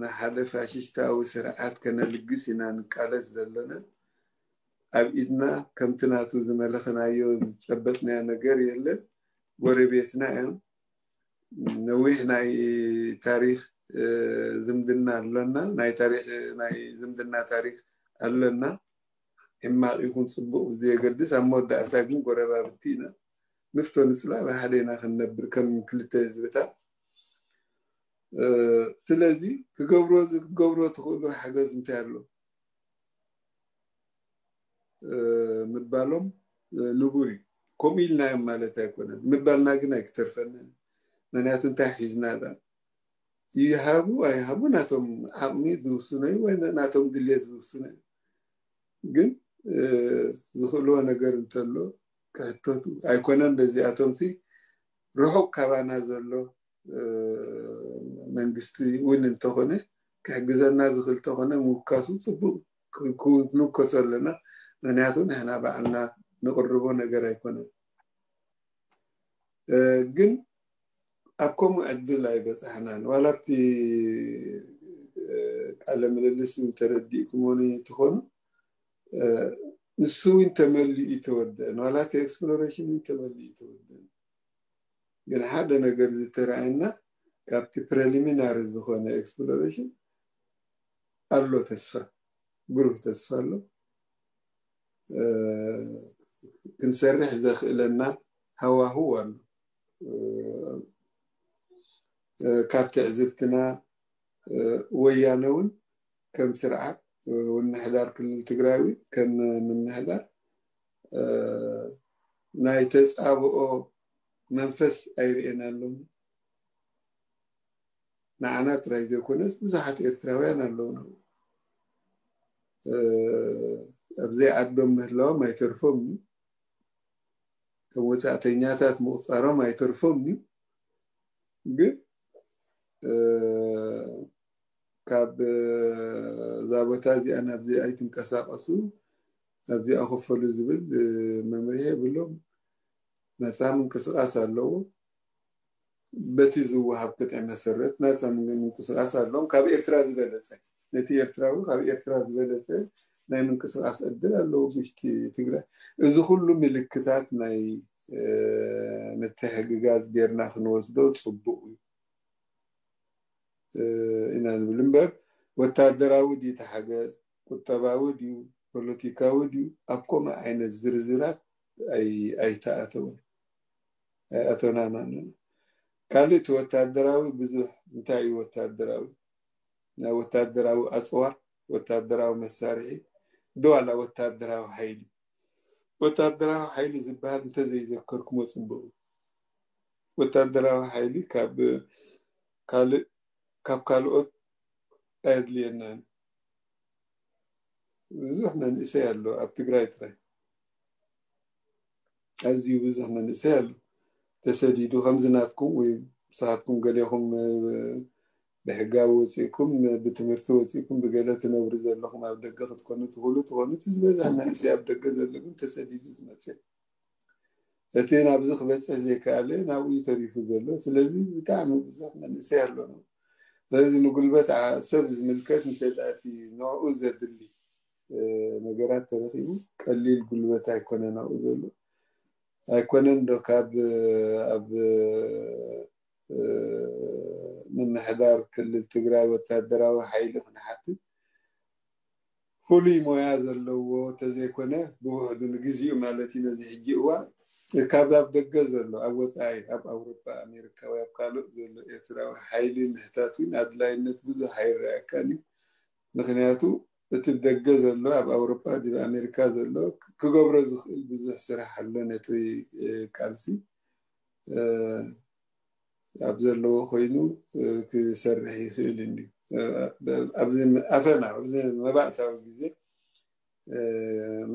ንሓደ ፋሽስታዊ ስርዓት ከነልግስ ኢና ንቃለስ ዘለና። ኣብ ኢድና ከምቲ ናቱ ዝመለኽናዮ ዝጨበጥናዮ ነገር የለን። ጎረቤትና እዮም። ነዊሕ ናይ ታሪክ ዝምድና ኣሎና። ናይ ታሪክ ናይ ዝምድና ታሪክ ኣሎና። ሕማቅ ይኹን ፅቡቅ ብዘየገድስ ኣብ መወዳእታ ግን ጎረባብቲ ኢና። ንፍቶ ንፅላእ ብሓደ ኢና ክንነብር ከም ክልተ ህዝብታት። ስለዚ ክገብሮ ክትገብሮ ትኽእሉ ሓገዝ እንታይ ኣሎ ምባሎም ንቡር እዩ። ከምኡ ኢልናዮም ማለት ኣይኮነን። ምባልና ግን ኣይክተርፈንን። ምክንያቱ እንታይ ሒዝና ዳ ይሃቡ ኣይሃቡ ናቶም ዓቕሚ ዝውስኖ እዩ ወይ ናቶም ድሌት ዝውስኖ እዩ። ግን ዝኽእልዎ ነገር እንተሎ ክሕተቱ ኣይኮነን። ነዚኣቶም ሲ ርሑቕ ካባና ዘሎ መንግስቲ እውን እንተኾነ ክሕግዘና ዝኽእል እንተኾነ ምውካሱ ፅቡቅ ክንውከሶ ኣለና። ምክንያቱ ንሕና ባዕልና ንቅርቦ ነገር ኣይኮነን። ግን ኣብ ከምኡ ዕድል ኣይበፃሕናን። ዋላ ኣብቲ ቃለ ምልልስ ተረዲእኩሞኒ ትኾኑ ንሱ እውን ተመሊኡ ይተወደአን ዋላ እቲ ኤክስፕሎሬሽን እውን ተመሊኡ ይተወደአን። ግን ሓደ ነገር ዝተረኣየና ካብቲ ፕሬሊሚናሪ ዝኾነ ኤክስፕሎሬሽን ኣሎ ተስፋ፣ ብሩህ ተስፋ ኣሎ። ክንሰርሕ ዘኽእለና ሃዋህው ኣሎ። ካብ ትዕዝብትና ወያነ እውን ከም ስርዓት ምምሕዳር ክልል ትግራይ እውን ከም ምምሕዳር ናይ ተፃብኦ መንፈስ ኣይርእየናሉን። ንዓና ጥራይ ዘይኮነስ ብዙሓት ኤርትራውያን ኣለውና። ኣብዘይ ዓዶም ምህላዎም ኣይተርፎም እዩ። ከም ወፃእተኛታት ምቁፃሮም ኣይተርፎም እዩ። ግን ካብ እዛ ቦታ እዚኣ ናብዚ ኣይትንቀሳቀሱ፣ ኣብዚኣ ክፈሉ ዝብል መምርሒ የብሎም። ነፃ ምንቅስቃስ ኣለዎ። በቲ ዝወሃብ ቅጥዒ መሰረት ናፃ ምንቅስቃስ ኣለዎም። ካብ ኤርትራ ዝበለፀ ነቲ ኤርትራዊ ካብ ኤርትራ ዝበለፀ ናይ ምንቅስቃስ ዕድል ኣለዎ ውሽጢ ትግራይ። እዚ ኩሉ ምልክታት ናይ ምትሕግጋዝ ጌርና ክንወስዶ ፅቡቅ እዩ ኢና ንብል እምበር ወታደራዊ ድዩ ተሓገዝ ቁጠባዊ ድዩ ፖለቲካዊ ድዩ ኣብ ከምኡ ዓይነት ዝርዝራት ኣይተኣተውን ኣይኣተናን። ካልእ እቲ ወታደራዊ ብዙሕ እንታይ እዩ ወታደራዊ ናይ ወታደራዊ ኣፅዋር ወታደራዊ መሳርሒ ድዋላ ወታደራዊ ሓይሊ ወታደራዊ ሓይሊ ዝበሃል እንተዘይዘከርኩሞ ፅቡቅ ወታደራዊ ሓይሊ ካብ ካልእ ካብ ካልኦት ኣየድልየናን። ብዙሕ መንእሰይ ኣሎ ኣብ ትግራይ ጥራይ ኣዝዩ ብዙሕ መንእሰይ ኣሎ ተሰዲዱ ከምዚ ናትኩም ወይ ንስኻትኩም ገሌኹም ብሕጋዊ ወፂእኩም ብትምህርቲ ወፂእኩም ብገለ ትነብሩ ዘለኹም ኣብ ደገ ክትኮኑ ትኽእሉ ትኾኑ እቲ ዝበዝሕ መንእሰይ ኣብ ደገ ዘሎ ግን ተሰዲዱ ዝመፅእ እቲ ናብዚ ክበፅሕ ዘይከኣለ ናብኡ ተሪፉ ዘሎ ስለዚ ብጣዕሚ ብዙሕ መንእሰይ ኣሎ ስለዚ ንጉልበት ሰብ ዝምልከት እንተዳእቲ ንዕኡ ዘድሊ ነገራት ተረኪቡ ቀሊል ጉልበት ኣይኮነን ኣብኡ ዘሎ ኣይኮነን ዶ ካብ ኣብ ምምሕዳር ክልል ትግራይ ወታደራዊ ሓይሊ ክንሓትት ፍሉይ ሞያ ዘለዎ ተዘይኮነ ብውሕዱ ንግዚኡ ማለት እዩ ነዚ ሕጂ እዋን ካብ ኣብ ደገ ዘሎ ኣብ ወፃኢ ኣብ ኣውሮፓ ኣሜሪካ ወይ ኣብ ካልእ ዘሎ ኤርትራዊ ሓይሊ ምሕታት እውን ኣድላይነት ብዙሕ ኣይረኣየካን እዩ ምክንያቱ እቲ ደገ ዘሎ ኣብ ኣውሮፓ ዲብ ኣሜሪካ ዘሎ ክገብሮ ዝኽእል ብዙሕ ስራሕ ኣሎ ነቲ ቃልሲ ኣብ ዘለዎ ኮይኑ ክሰርሕ ይኽእል እንዲ ኣብዚ ኣፈና ኣብዚ መባእታዊ ግዜ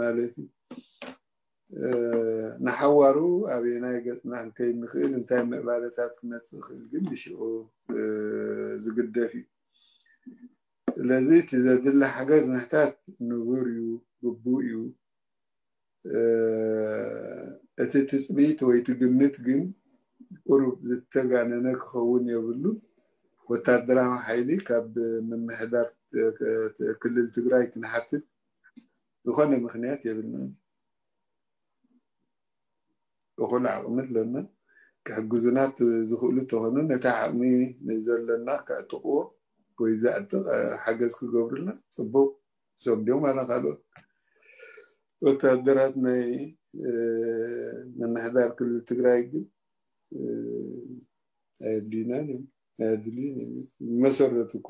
ማለት ንሓዋሩ ኣበየናይ ገፅና ክንከይድ ንኽእል እንታይ ምዕባለታት ክመፅእ ይኽእል ግን ብሽዑ ዝግደፍ እዩ ስለዚ እቲ ዘድሊ ሓገዝ ምሕታት ንቡር እዩ ግቡእ እዩ እቲ ትፅቢት ወይ እቲ ግምት ግን ቁሩብ ዝተጋነነ ክኸውን የብሉን ወታደራዊ ሓይሊ ካብ ምምሕዳር ክልል ትግራይ ክንሓትት ዝኾነ ምክንያት የብልናን እኹል ዓቕሚ ኣለና ክሕግዙና ዝኽእሉ ተኾኑ ነቲ ዓቕሚ ዘለና ከዕጥቕዎ ወይ ዘዕጥቕ ሓገዝ ክገብሩልና ፅቡቕ እሶም ድዮም ዋላ ካልኦት ወታደራት ናይ ምምሕዳር ክልል ትግራይ ግን ኣየድልዩናን እዮም ኣየድልዩን እዮም ብመሰረቱ እኮ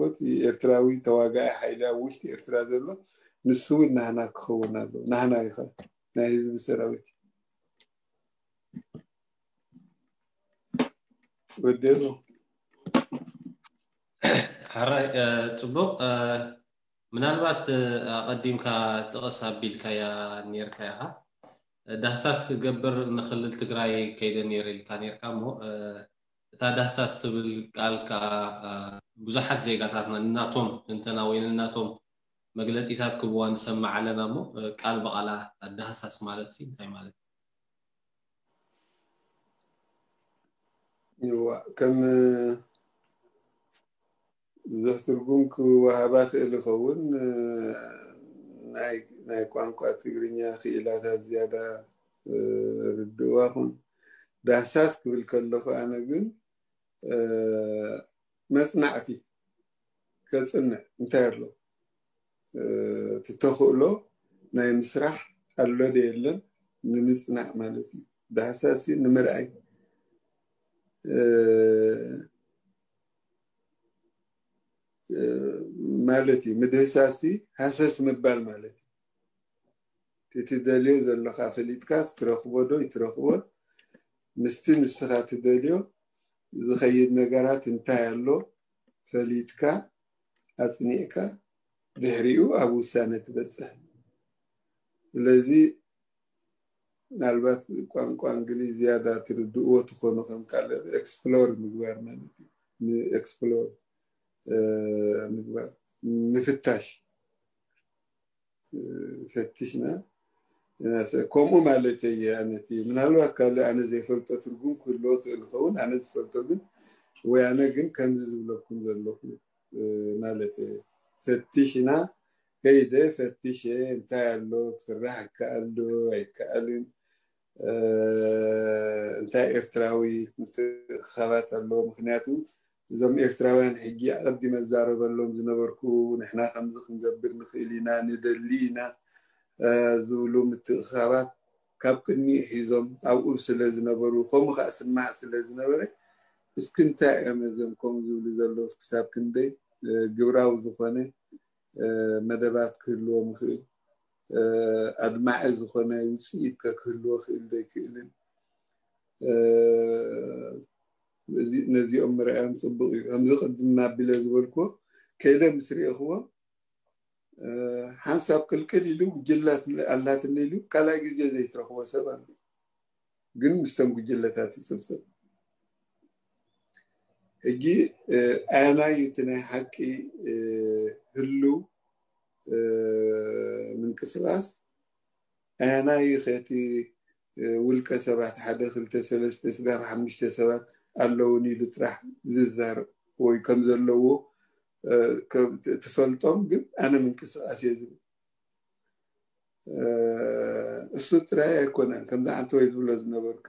ኤርትራዊ ተዋጋኢ ሓይሊ ኣብ ውሽጢ ኤርትራ ዘሎ ንሱ እውን ናህና ክኸውን ኣለዎ ናህና ኢኻ ናይ ህዝቢ ሰራዊት ወደሎ ሕራይ ፅቡቕ ምናልባት ኣቐዲምካ ጥቕስ ኣቢልካያ ኔርካ ኢኻ ዳህሳስ ክገብር ንክልል ትግራይ ከይደ ነይረ ኢልካ ኔርካ እሞ እታ ዳህሳስ ትብል ቃል ከዓ ብዙሓት ዜጋታትና ንናቶም ትንተና ወይ ንናቶም መግለፂታት ክብዋ ንሰምዕ ኣለና እሞ ቃል ብቓላ ዳህሳስ ማለት ሲ እንታይ ማለት ይዋ ከም ብዙሕ ትርጉም ክወሃባ ክእል ይኸውን ናይ ቋንቋ ትግርኛ ክኢላታት ዝያዳ ርድእዋ ኹን ዳህሳስ ክብል ከለኹ ኣነ ግን መፅናዕቲ ከፅንዕ እንታይ ኣሎ እቲ ተኽእሎ ናይ ምስራሕ ኣሎ ዶ የለን ንምፅናዕ ማለት እዩ ዳህሳስ ንምርኣይ ማለት እዩ ምድህሳሲ ሃሰስ ምባል ማለት እዩ ትደልዮ ዘለካ ፈሊጥካ ትረክቦ ዶ ይትረክቦን ምስቲ ንስካ ትደልዮ ዝከይድ ነገራት እንታይ ኣሎ ፈሊጥካ ኣፅኒዕካ ድሕሪኡ ኣብ ውሳነ ትበፅሕ ስለዚ ምናልባት ቋንቋ እንግሊዝ ዝያዳ ትርድእዎ ትኾኑ ከም ካልእ explore ምግባር ማለት እዩ explore ምግባር ምፍታሽ ፈትሽና ከምኡ ማለት እየ ኣነቲ ምናልባት ካልእ ኣነ ዘይፈልጦ ትርጉም ክህልዎ ክእል ኸውን ኣነ ዝፈልጦ ግን ወይ ኣነ ግን ከምዚ ዝብለኩም ዘለኹ ማለት ፈትሽና ከይደ ፈትሸ እንታይ ኣሎ ክስራሕ ይከኣል ዶ ኣይከኣልን እንታይ ኤርትራዊ ምትእኽኻባት ኣለዎ ምክንያቱ እዞም ኤርትራውያን ሕጂ ኣቐዲመ እዛረበሎም ዝነበርኩ፣ ንሕና ከምዚ ክንገብር ንኽእል ኢና፣ ንደሊ ኢና ዝብሉ ምትእኽኻባት ካብ ቅድሚኡ ሒዞም ኣብኡ ስለ ዝነበሩ፣ ከምኡ ከዓ ስማዕ ስለ ዝነበረ፣ እስኪ እንታይ እዮም እዞም ከምኡ ዝብሉ ዘለዉ፣ ክሳብ ክንደይ ግብራዊ ዝኾነ መደባት ክህልዎም ይኽእል፣ ኣድማዒ ዝኾነ ውፅኢት ከክህልዎ ክእል ዶ ይክእልን፣ ነዚኦም ምርኣዮም ፅቡቅ እዩ። ከምዚ ቅድም ኣቢለ ዝበልኩዎ፣ ከይደ ምስ ርኤኽዎም ሓንሳብ ቅልቅል ኢሉ ጉጅላት ኣላትኒ ኢሉ ካልኣይ ግዜ ዘይትረኽቦ ሰብ ኣሎ። ግን ምስቶም ጉጅለታት ይፅብፅብ። ሕጂ ኣየናይ እቲ ናይ ሓቂ ህልው ምንቅስቃስ፣ ኣየናይ ከቲ ውልቀ ሰባት ሓደ ክልተ ሰለስተ ስጋብ ሓሙሽተ ሰባት ኣለውን ኢሉ ጥራሕ ዝዛረብ ወይ ከም ዘለዎ ትፈልጦም፣ ግን ኣነ ምንቅስቃስ እየ ዝብል። እሱ ጥራይ ኣይኮነን፣ ከምዚ ዓንተ ወይ ዝብሎ ዝነበርኩ።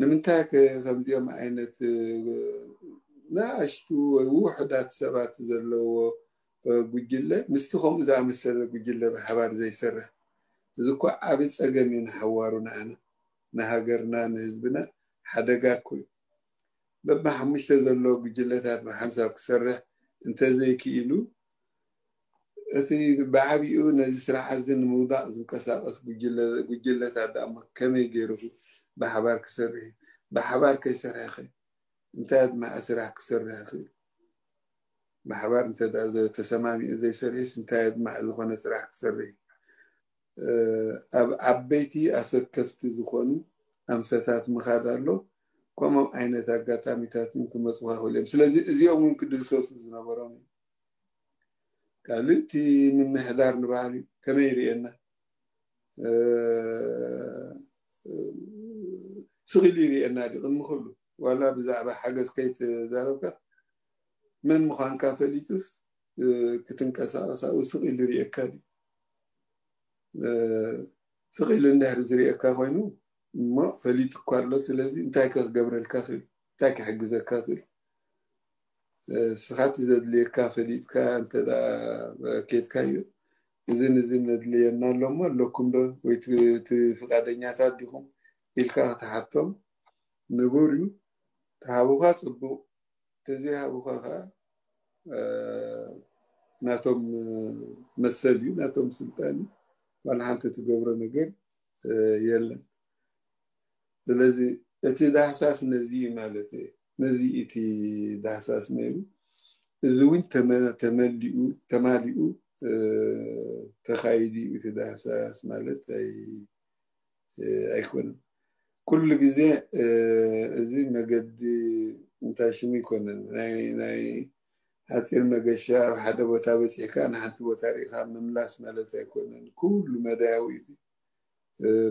ንምንታይ ከ ከምዚኦም ዓይነት ንኣሽቱ ወይ ውሑዳት ሰባት ዘለዎ ጉጅለ ምስቲ ከምኡ ዝኣመሰለ ጉጅለ ብሓባር ዘይሰርሕ? እዚ እኮ ዓቢ ጸገም እዩ ንሓዋሩ፣ ንዓና፣ ንሃገርና፣ ንህዝብና ሓደጋ እኮ እዩ። በብሓሙሽተ ዘሎ ጉጅለታት ብሓንሳብ ክሰርሕ እንተዘይክኢሉ፣ እቲ ብዓቢኡ ነዚ ስርዓት እዚ ንምውዳቕ ዝንቀሳቐስ ጉጅለ-፣ ጉጅለታት ደኣ እሞ ከመይ ገይሩ ብሓባር ክሰርሕ እዩ? ብሓባር ከይሰርሐ ኸ እንታይ ኣድማዒ ስራሕ ክሰርሕ ይኽእል? ብሓባር እንተ ደኣ ዘ-፣ ተሰማሚዑ ዘይሰርሕስ እንታይ ኣድማዒ ዝኾነ ስራሕ ክሰርሕ እዩ? ኣብ ዓበይቲ ኣሰከፍቲ ዝኾኑ ኣንፈታት ምኻድ ኣሎ። ከምኦም ዓይነት ኣጋጣሚታት እውን ክመፁኻ ይኽእሉ እዮም። ስለዚ እዚኦም እውን ክድህሰሱ ዝነበሮም እዮም። ካልእ እቲ ምምሕዳር ንባዕሉ ከመይ ይርእየና? ስቕ ኢሉ ይርእየና ድዩ? ቅድሚ ኩሉ ዋላ ብዛዕባ ሓገዝ ከይተዛረብካ መን ምዃንካ ፈሊጡስ ክትንቀሳቐስ ኣብኡ ስቕ ኢሉ ይርእየካ ድዩ? ስቕ ኢሉ እንድሕር ዝርእየካ ኮይኑ እሞ ፈሊጡ እኳ ኣሎ። ስለዚ እንታይ ከ ክገብረልካ ክእል? እንታይ ክሕግዘካ ክእል? ስኻ እቲ ዘድልየካ ፈሊጥካ እንተ ደኣ ኬድካዮ፣ እዝን እዝን ነድልየና ኣሎ እሞ ኣለኩም ዶ? ወይ እቲ ፍቓደኛታት ዲኹም ኢልካ ክትሓቶም ንቡር እዩ። ተሃቡኻ ጽቡቕ፣ ተዘይሃቡኻ ኸዓ ናቶም መሰል እዩ፣ ናቶም ስልጣን እዩ። ዋላ ሓንቲ ትገብሮ ነገር የለን። ስለዚ እቲ ዳህሳስ ነዚ እዩ ማለት እዩ። ነዚ እቲ ዳህሳስ ነይሩ። እዚ እውን ተመ-፣ ተመሊኡ፣ ተማሊኡ ተኻይዱ እዩ። እቲ ዳህሳስ ማለት ኣይ-፣ ኣይኮነን። ኩሉ ግዜ እዚ መገዲ እንታይ ሽሙ ኣይኮነን። ናይ፣ ናይ ሓፂር መገሻ ኣብ ሓደ ቦታ በፂሕካ ንሓንቲ ቦታ ርኢኻ ምምላስ ማለት ኣይኮነን። ኩሉ መዳያዊ እዩ።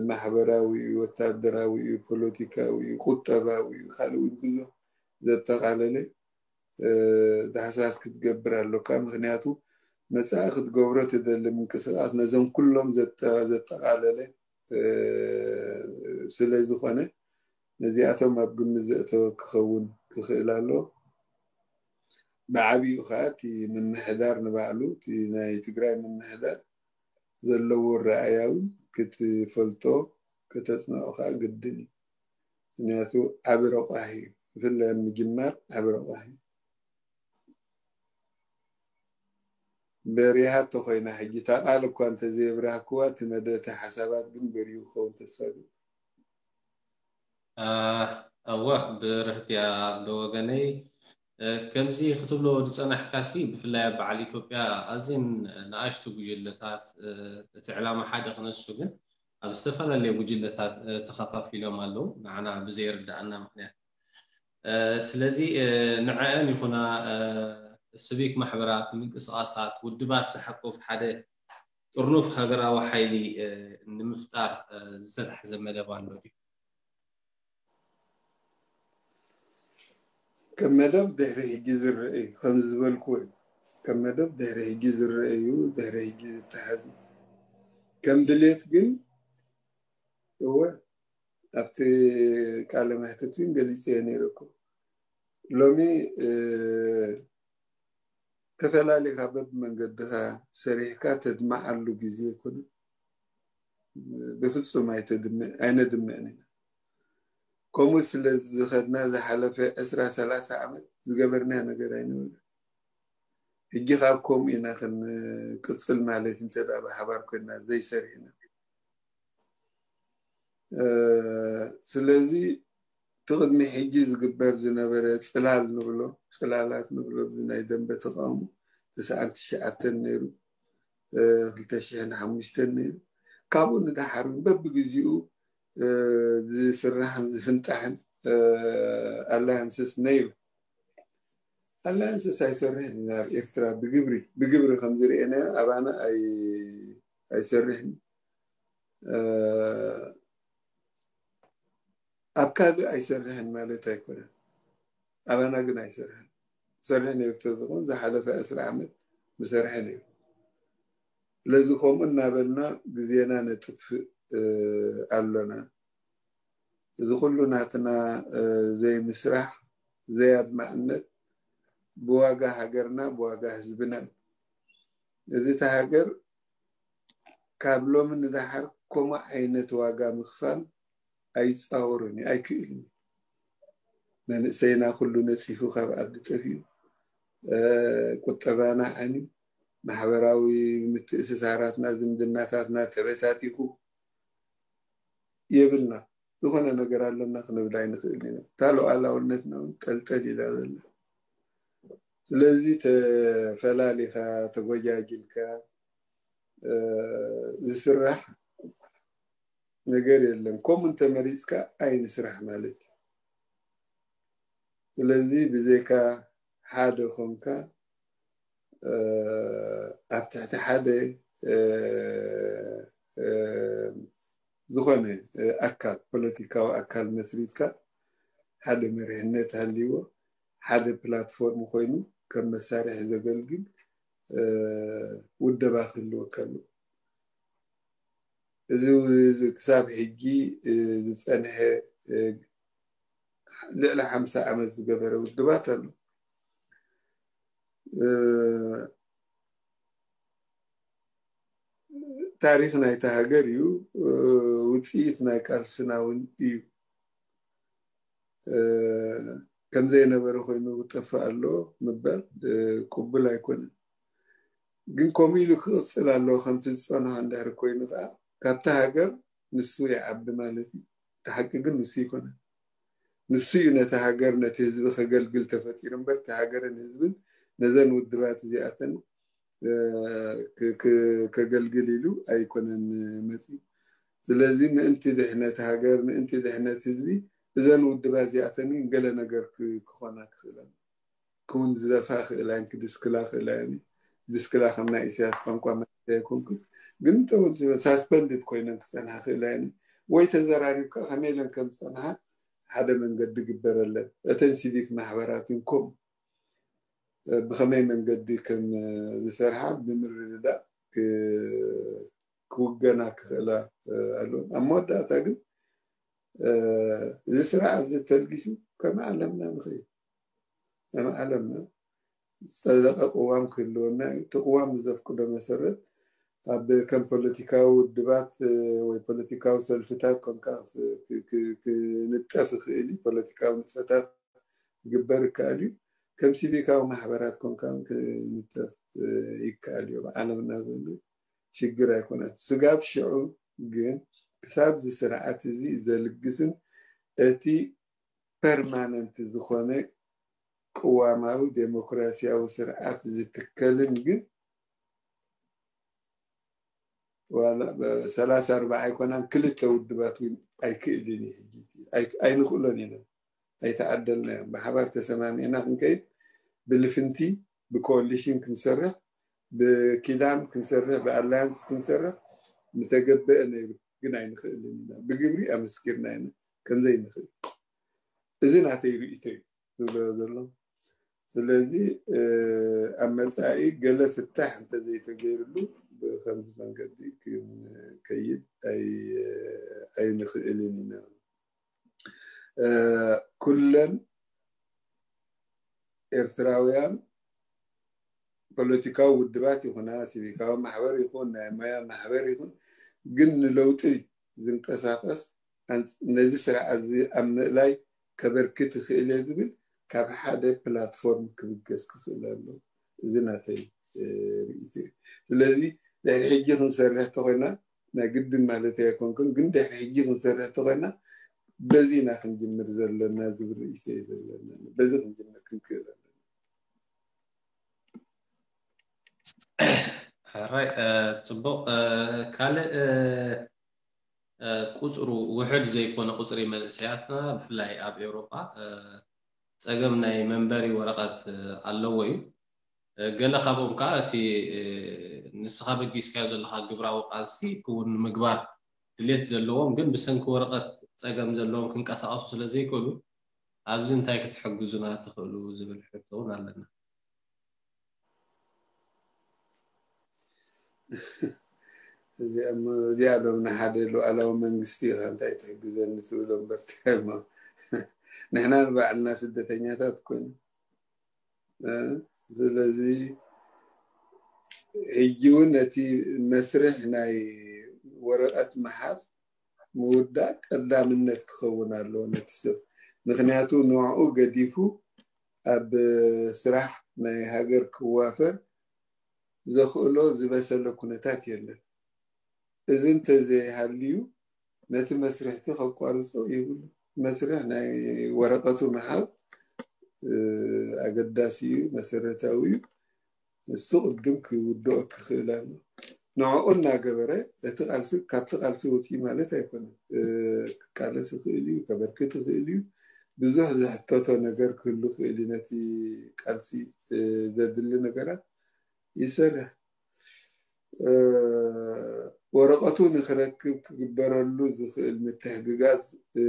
ማሕበራዊ እዩ፣ ወታደራዊ እዩ፣ ፖለቲካዊ እዩ፣ ቁጠባዊ እዩ፣ ካልእ እውን ብዙሕ ዘጠቓለለ ዳህሳስ ክትገብር ኣሎካ። ምኽንያቱ መጻኢ ክትገብሮ ትደሊ ምንቅስቃስ ነዞም ኩሎም ዘጠ-፣ ዘጠቓለለ ስለ ዝኾነ ነዚኣቶም ኣብ ግምት ዘእተወ ክኸውን ክኽእል ኣሎ። ብዓቢኡ ኸዓ እቲ ምምሕዳር ንባዕሉ፣ እቲ ናይ ትግራይ ምምሕዳር ዘለዎ ኣረኣእያ እውን ክትፈልጦ ከተጽንዖ ኸዓ ግድን እዩ። ምኽንያቱ ዓቢ ረቋሒ እዩ። ብፍላይ ኣብ ምጅማር ዓቢ ረቋሒ እዩ። በሪሃ እንተኾይና ሕጂ እታ ቃል እኳ እንተዘየብራህክዋ፣ እቲ መደ-፣ እቲ ሓሳባት ግን በሪሁ ክኸውን ተስፋ እገብር። አ፣ እወ፣ ብርህት እያ ብወገነይ። እ፣ ከምዚ ክትብሎ ዝጸናሕካሲ፣ ብፍላይ ኣብ በዓል ኢትዮጵያ ኣዝየን ንኣሽቱ ጉጅለታት፣ እ፣ እቲ ዕላማ ሓደ ክነሱ ግን ኣብ ዝተፈላለየ ጉጅለታት፣ እ፣ ተኸፋፊሎም ኣለዉ፣ ንዓና ብዘይርድኣና ምኽንያት። እ፣ ስለዚ፣ እ፣ ንዐአን ይኹና፣ እ፣ ስቪክ ማሕበራት፣ ምንቅስቃሳት፣ ውድባት ዝሓቁፍ ሓደ ጥርኑፍ ሃገራዊ ሓይሊ፣ እ፣ ንምፍጣር፣ እ፣ ዝተታሕዘ መደብ ኣሎ ድዩ? ከም መደብ ድሕሪ ሕጂ ዝረአ እዩ። ከምዚ ዝበልክዎ እዩ። ከም መደብ ድሕሪ ሕጂ ዝረአ እዩ። ድሕሪ ሕጂ ዝተሓዝ እዩ። ከም ድሌት ግን፣ እወ፣ ኣብቲ ቃለ መሕትት እውን ገሊጸዮ ነይረ እኮ። ሎሚ ተፈላሊኻ በብመንገድኻ ሰሪሕካ ተድምዓሉ ግዜ ኣይኮነን። ብፍጹም ኣይነድምዕን ኢና። ከምኡ ስለ ዝኸድና ዝሓለፈ ዕስራ ሰላሳ ዓመት ዝገበርናዮ ነገር ኣይነበረን። ሕጂ ካብ ከምኡ ኢና ክንቅጽል ማለት እንተ ብሓባር ኮይና ዘይሰሪሕና። ስለዚ እቲ ቅድሚ ሕጂ ዝግበር ዝነበረ ጽላል ንብሎ፣ ጽላላት ንብሎ፣ እዚ ናይ ደንበ ተቃውሞ ተስዓን ትሽዓተን ነይሩ፣ ክልተ ሽሕን ሓሙሽተን ነይሩ። ካብኡ ንደሓር በብግዚኡ ዝስራሕን ዝፍንጣሕን ኣላያንስስ ነይሩ። ኣላያንስስ ኣይሰርሕን ኢና ኣብ ኤርትራ ብግብሪ ብግብሪ ከም ዝርኤናዮ ኣባና ኣይሰርሕን። ኣብ ካልእ ኣይሰርሕን ማለት ኣይኮነን። ኣባና ግን ኣይሰርሕን። ዝሰርሕ ነይሩ ተዝኾን ዝሓለፈ ዕስራ ዓመት ምሰርሐ ነይሩ። ስለዚ ከምኡ እናበልና ግዜና ነጥፍእ ኣሎና። እዚ ኩሉ ናትና ዘይምስራሕ፣ ዘይኣድማዕነት ብዋጋ ሃገርና፣ ብዋጋ ህዝብና እዩ። እዚ እቲ ሃገር ካብ ሎሚ ንደሓር ከምኡ ዓይነት ዋጋ ምኽፋል ኣይጻወርን እዩ፣ ኣይክእልን እዩ። መንእሰይና ኩሉ ነጺፉ ካብ ዓዲ ጠፊኡ፣ ቁጠባና ዓንዩ፣ ማሕበራዊ ምትእስሳራትና፣ ዝምድናታትና ተበታቲኹ የብልና። ዝኾነ ነገር ኣለና ክንብል ኣይንኽእልን ኢና። እታ ሉዓላውነትና እውን ጠልጠል ኢላ ዘላ። ስለዚ ተፈላሊኻ፣ ተጎጃጊልካ ዝስራሕ ነገር የለን። ከምኡ እንተመሪጽካ ኣይንስራሕ ማለት እዩ። ስለዚ ብዘይካ ሓደ ኮንካ ኣብ ትሕቲ ሓደ ዝኾነ ኣካል፣ ፖለቲካዊ ኣካል መስሪትካ፣ ሓደ መሪሕነት ሃልይዎ፣ ሓደ ፕላትፎርም ኮይኑ ከም መሳርሒ ዘገልግል ውደባ ክህልወካ ኣለዎ። እዚ ክሳብ ሕጂ ዝጸንሐ ልዕሊ ሓምሳ ዓመት ዝገበረ ውድባት ኣሎ። ታሪኽ ናይታ ሃገር እዩ፣ ውፅኢት ናይ ቃልስና እውን እዩ። ከምዘይነበረ ኮይኑ ክጠፍእ ኣሎ ምባል ቅቡል ኣይኮነን። ግን ከምኡ ኢሉ ክቕፅል ኣለዎ። ከምቲ ዝፀንሖ እንድሕር ኮይኑ ከዓ ካብቲ ሃገር ንሱ ይዓቢ ማለት እዩ። እቲ ሓቂ ግን ንሱ ይኮነን። ንሱ እዩ ነቲ ሃገር፣ ነቲ ህዝቢ ከገልግል ተፈጢሩ እምበር፣ እቲ ሃገርን ህዝብን ነዘን ውድባት እዚኣተን ከገልግል ኢሉ ኣይኮነን መፂኡ። ስለዚ ምእንቲ ድሕነት ሃገር፣ ምእንቲ ድሕነት ህዝቢ፣ እዘን ውድባት እዚኣተን እውን ገለ ነገር ክኾና ክኽእለን። ክውንዘፋ ክእላን ክድስክላ ክእላን። ድስክላ ከም ናይ ኢሳያስ ቋንቋ ማለት ኣይኮንኩን፣ ግን ሳስፐንድድ ኮይነን ክጸንሓ ክእላን ወይ ተዘራሪብካ ከመይ ኢለን ከም ዝጸንሓ ሓደ መንገዲ ግበረለን። እተን ሲቪክ ማሕበራት እውን ከምኡ ብኸመይ መንገዲ ከም ዝሰርሓ ብምርድዳእ ክውገና ክኽእላ ኣለዎ። ኣብ መወዳእታ ግን እዚ ስርዓት እዚ ተልጊሱ ከም ዓለምና ንኽእል፣ ከም ዓለምና ዝጸደቐ ቅዋም ክህልወና እዩ። እቲ ቅዋም ብዘፍቅዶ መሰረት ኣብ ከም ፖለቲካዊ ውድባት ወይ ፖለቲካዊ ሰልፍታት ኮንካ ክንጠፍ ይኽእል እዩ። ፖለቲካዊ ንጥፈታት ክግበር ይከኣል እዩ። ከም ሲቪካዊ ማሕበራት ኮንካ ክንጠፍ ይከኣል እዩ። ኣብ ዓለምና ዘሎ ሽግር ኣይኮነን። ስጋብ ሽዑ ግን ክሳብ እዚ ስርዓት እዚ ዘልግስን እቲ ፐርማነንት ዝኾነ ቅዋማዊ ዴሞክራሲያዊ ስርዓት ዝትከልን ግን ዋላ ሰላሳ ኣርባዓ ኣይኮናን፣ ክልተ ውድባት እውን ኣይክእልን እዩ። ሕጂ ኣይንኽእሎን ኢና፣ ኣይተዓደልናዮን። ብሓባር ተሰማሚዕና ክንከይድ፣ ብልፍንቲ ብኮሊሽን ክንሰርሕ፣ ብኪዳን ክንሰርሕ፣ ብኣላያንስ ክንሰርሕ ምተገበአ ነይሩ፣ ግን ኣይንኽእልን ኢና። ብግብሪ ኣመስኪርና ኢና ከምዘይንኽእል። እዚ ናተይ ርእይቶ እዩ ዝብሎ ዘሎ። ስለዚ ኣብ መጻኢ ገለ ፍታሕ እንተዘይተገይርሉ ብከምዚ መንገዲ ክንከይድ ኣይንኽእልን ኢና። ኩለን ኤርትራውያን ፖለቲካዊ ውድባት ይኹና፣ ሲቪካዊ ማሕበር ይኹን፣ ናይ ሞያ ማሕበር ይኹን፣ ግን ንለውጢ ዝንቀሳቐስ ኣንጽ-፣ ነዚ ስርዓት እዚ ኣብ ምእላይ ከበርክት ይኽእል እየ ዝብል ካብ ሓደ ፕላትፎርም ክብገስ ክኽእል ኣሎ። እዚ ናተይ፣ እ፣ ርእይቶ እዩ። ስለዚ ድሕሪ ሕጂ ክንሰርሕ ተኾይና፣ ናይ ግድን ማለት ኣይኮንኩን፣ ግን ድሕሪ ሕጂ ክንሰርሕ ተኾይና በዚ ኢና ክንጅምር ዘለና ዝብል ርእይቶ እዩ ዘለና። በዚ ክንጅምር ክንክእል ኣለና። ሕራይ፣ እ፣ ጽቡቕ። እ፣ ካልእ፣ እ፣ እ፣ ቁጽሩ ውሕድ ዘይኮነ ቁጽሪ መንእሰያትና፣ ብፍላይ ኣብ ኤውሮጳ፣ እ፣ ጸገም ናይ መንበሪ ወረቐት፣ እ፣ ኣለዎ እዩ። እ፣ ገለ ካብኦም ከኣ እቲ፣ እ፣ ንስኻ በጊስካዮ ዘለኻ ግብራዊ ቃልሲ ክውን ንምግባር ድሌት ዘለዎም፣ ግን ብሰንኪ ወረቐት ጸገም ዘለዎም ክንቀሳቐሱ ስለ ዘይክእሉ፣ ኣብዚ እንታይ ክትሕግዙና ትኽእሉ ዝብል ሕቶ እውን ኣለና። እዚኣ ም-፣ እዚኣ ሎም ንሓደ ሉዓላዊ መንግስቲ ኢኻ እንታይ ትሕግዘኒ ትብሎ እምበር፣ እሞ ንሕና ንባዕልና ስደተኛታት ኮይኑ፣ እ፣ ስለዚ ሕጂ እውን ነቲ መስርሕ ናይ ወረቐት ምሓዝ ምውዳእ ቀዳምነት ክኸውን ኣለዎ ነቲ ሰብ። ምክንያቱ ንዕኡ ገዲፉ ኣብ ስራሕ ናይ ሃገር ክዋፈር ዘኽእሎ ዝበሰለ ኩነታት የለን። እዚ እንተዘይሃልዩ ነቲ መስርሕቲ ከቋርጾ ይብሉ። መስርሕ ናይ ወረቐቱ ምሓዝ፣ እ፣ ኣገዳሲ እዩ፣ መሰረታዊ እዩ። እሱ ቅድም ክውድኦ ክኽእል ኣሎ። ንዕኡ እናገበረ እቲ ቃልሲ፣ ካብቲ ቃልሲ ወፂኡ ማለት ኣይኮነን። እ፣ ክቃለስ ይኽእል እዩ፣ ከበርክት ይኽእል እዩ። ብዙሕ ዝሕተቶ ነገር ክህሉ ይኽእል እዩ። ነቲ ቃልሲ፣ እ፣ ዘድሊ ነገራት ይሰርሕ። እ፣ ወረቐቱ ንክረክብ ክግበረሉ ዝኽእል ምትሕግጋዝ፣ እ፣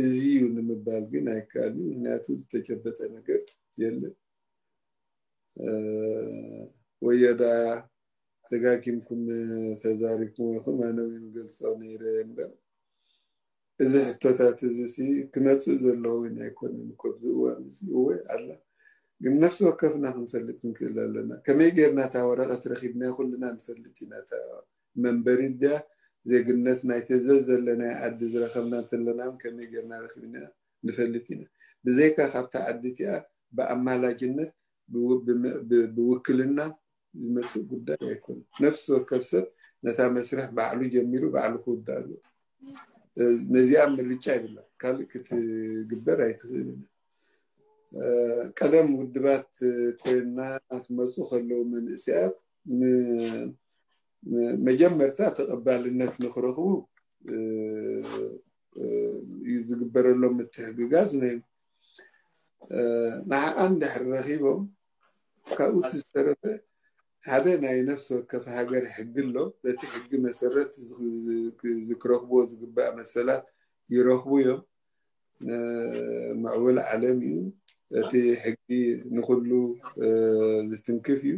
እዚ እዩ ንምባል ግን ኣይከኣልን። ምክንያቱ ዝተጨበጠ ነገር የለን። እ፣ ወዮ ደኣ ደጋጊምኩም ተዛሪብኩም ኢኹም፣ ኣነ እውን ገልጾ ነይረ እምበር፣ እዚ ሕቶታት እዚ ሲ ክመጽእ ዘለዎ እውን ኣይኮነን እኮ ኣብዚ እዋን እዚ። እወ ኣላ፣ ግን ነፍሲ ወከፍና ክንፈልጥ ክንክእል ኣለና። ከመይ ጌርና እታ ወረቐት ረኺብና ኩልና ንፈልጥ ኢና። እታ መንበሪ ድያ ዜግነት ናይ ተዘዝ ዘለናዮ ዓዲ ዝረኸብና እንተለና እውን ከመይ ጌርና ረኺብና ንፈልጥ ኢና። ብዘይካ ካብታ ዓዲ እቲኣ ብኣማላጅነት ብው-፣ ብመ-፣ ብ-፣ ብውክልና ዝመጽእ ጉዳይ ኣይኮነን። ነፍሲ ወከፍ ሰብ ነታ መስርሕ ባዕሉ ጀሚሩ ባዕሉ ክውዳእ ኣለዎ። እ፣ ነዚኣ ምርጫ ይብላ፣ ካልእ ክትግበር ኣይትኽእልን። እ፣ ቀደም ውድባት ኮይና ክመጹ ከለዉ መንእሰያት ን-፣ ን-፣ መጀመርታ ተቐባልነት ንክረኽቡ፣ እ፣ እ፣ እዩ ዝግበረሎም ምትሕግጋዝ ነይሩ። እ፣ ንዓኣ እንድሕር ረኺቦም ካብኡ እቲ ዝተረፈ ሓደ ናይ ነፍሲ ወከፍ ሃገር ሕጊ ኣሎ። በቲ ሕጊ መሰረት ዝ-፣ ዝ-፣ ዝ-፣ ክረኽብዎ ዝግባእ መሰላት ይረኽቡ እዮም። ን-፣ ምዕቡል ዓለም እዩ። እቲ ሕጊ ንኹሉ፣ እ፣ ዝትንክፍ እዩ።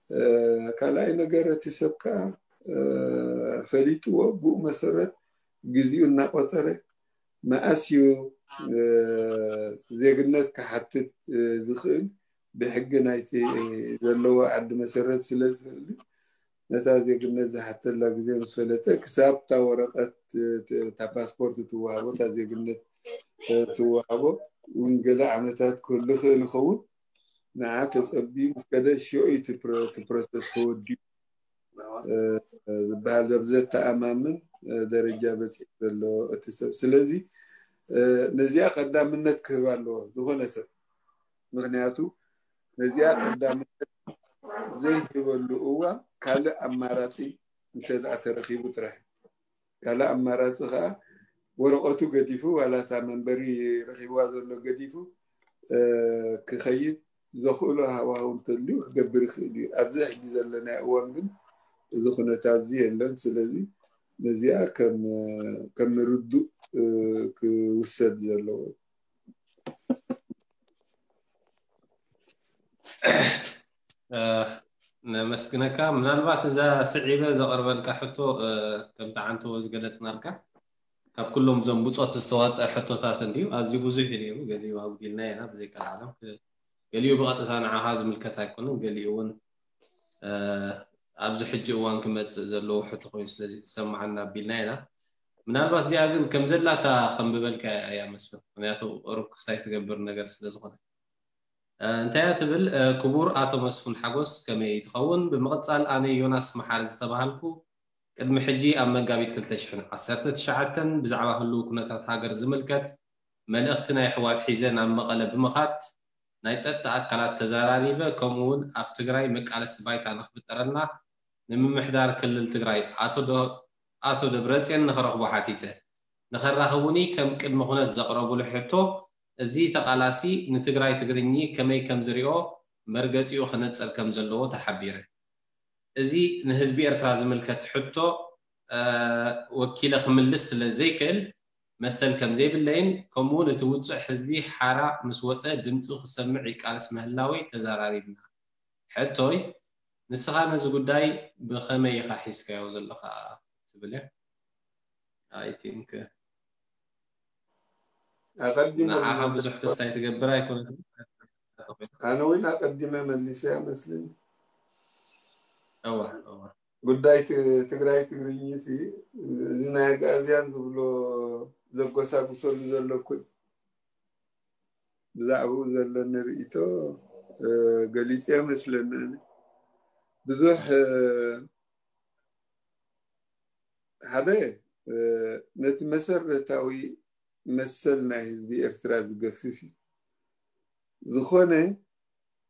እ፣ ካልኣይ ነገር እቲ ሰብ ከኣ፣ እ፣ ፈሊጥዎ ብኡ መሰረት ግዜኡ እናቆጸረ መኣስ እዩ፣ እ፣ ዜግነት ክሓትት፣ እ፣ ዝኽእል ብሕጊ ናይቲ ዘለዎ ዓዲ መሰረት ስለ ዝፈልጥ ነታ ዜግነት ዝሓተላ ግዜ ምስ ፈለጠ ክሳብ እታ ወረቐት፣ እ፣ ት-፣ እታ ፓስፖርት ትወሃቦ፣ እታ ዜግነት፣ እ፣ ትወሃቦ እውን ገለ ዓመታት ክህሉ ይኽእል ይኸውን። ንዓ ተጸቢዩ ምስ ከደ ሽዑ እዩ እቲ ፕሮ-፣ እቲ ፕሮሰስ ተወዲኡ፣ እ፣ ዝበሃል ኣብ ዘተኣማምን፣ እ፣ ደረጃ በጺሑ ዘሎ እቲ ሰብ። ስለዚ፣ እ፣ ነዚኣ ቀዳምነት ክህብ ኣለዎ ዝኾነ ሰብ። ምክንያቱ ነዚኣ ቀዳምነት ዘይህበሉ እዋን ካልእ ኣማራጺ እንተ ደኣ ተረኺቡ ጥራሕ። ካልእ ኣማራጺ ከኣ ወረቐቱ ገዲፉ፣ ዋላ እታ መንበሪ ረኺብዋ ዘሎ ገዲፉ፣ እ፣ ክኸይድ ዘኽእሎ ሃዋህው እንተልዩ ክገብር ይኽእል እዩ። ኣብዚ ሕጂ ዘለናዮ እዋን ግን እዚ ኩነታት እዚ የለን። ስለዚ ነዚኣ ከም፣ ከም ርዱእ፣ እ፣ ክውሰድ ዘለዎ። እ፣ ነመስግነካ። ምናልባት እዛ ስዒበ ዘቕርበልካ ሕቶ፣ እ፣ ከምቲ ዓንተቦ ዝገለጽናልካ፣ ካብ ኩሎም እዞም ብጾት ዝተዋጽአ ሕቶታት እንድዩ፣ ኣዝዩ ብዙሕ እዩ ነይሩ፣ ገሊኡ ኣጉዲልና ኢና፣ ብዘይካ ንዓለም ክ-፣ ገሊኡ ብቐጥታ ንዓኻ ዝምልከት ኣይኮነን፣ ገሊኡ እውን ኣብዚ ሕጂ እዋን ክመፅእ ዘለዎ ሕቶ ኮይኑ ስለ ዝሰማዓና ኣቢልና ኢና። ምናልባት እዚኣ ግን ከም ዘላታ ከንብበልካ እያ መስፍን፣ ምክንያቱ ሩብ ክስታይ ትገብር ነገር ስለ ዝኾነት። እንታይ እያ ትብል? ክቡር ኣቶ መስፍን ሓጎስ ከመይ ትኸውን? ብምቕፃል ኣነ ዮናስ መሓሪ ዝተባሃልኩ ቅድሚ ሕጂ ኣብ መጋቢት ክልተ ሽሕን ዓሰርተ ትሽዓተን ብዛዕባ ህልው ኩነታት ሃገር ዝምልከት መልእኽቲ ናይ ኣሕዋት ሒዘ ናብ መቐለ ብምኻድ ናይ ፀጥታ ኣካላት ተዘራሪበ፣ ከምኡ እውን ኣብ ትግራይ መቃለሲ ባይታ ንክፍጠረልና ንምምሕዳር ክልል ትግራይ ኣቶ ዶ- ኣቶ ደብረፅዮን ንክረኽቦ ሓቲተ። ንኸራኽቡኒ ከም ቅድመ ኩነት ዘቕረቡሉ ሕቶ፣ እዚ ተቓላሲ ንትግራይ ትግርኚ ከመይ ከም ዝሪኦ መርገፂኡ ክነፅር ከም ዘለዎ ተሓቢረ። እዚ ንህዝቢ ኤርትራ ዝምልከት ሕቶ ወኪለ ክምልስ ስለ ዘይክእል መሰል ከም ዘይብለይን ከምኡ እውን እቲ ውፁዕ ህዝቢ ሓራ ምስ ወፀ ድምፁ ክሰምዕ ይቃለስ ምህላወይ ተዘራሪብና። ሕቶይ፣ ንስኻ ነዚ ጉዳይ ብኸመይ ኢኻ ሒዝካዮ ዘለኻ ትብል እያ። I think ኣቐዲመ ንዓኻ ብዙሕ ክስታይ ትገብር ኣይኮነትን። ኣነ እውን ኣቐዲመ መሊሰያ መስልኒ። እዋ እዋ ጉዳይ ት- ትግራይ ትግርኝ ሲ እዚ ናይ ኣግኣዝያን ዝብሎ ዘጎሳጉሰሉ ዘሎ ኩ ብዛዕባኡ ዘለኒ ርእይቶ እ፣ ገሊፀ መስለኒ። ኣነ ብዙሕ እ፣ ሓደ እ፣ ነቲ መሰረታዊ መሰል ናይ ህዝቢ ኤርትራ ዝገፍፍ እዩ። ዝኾነ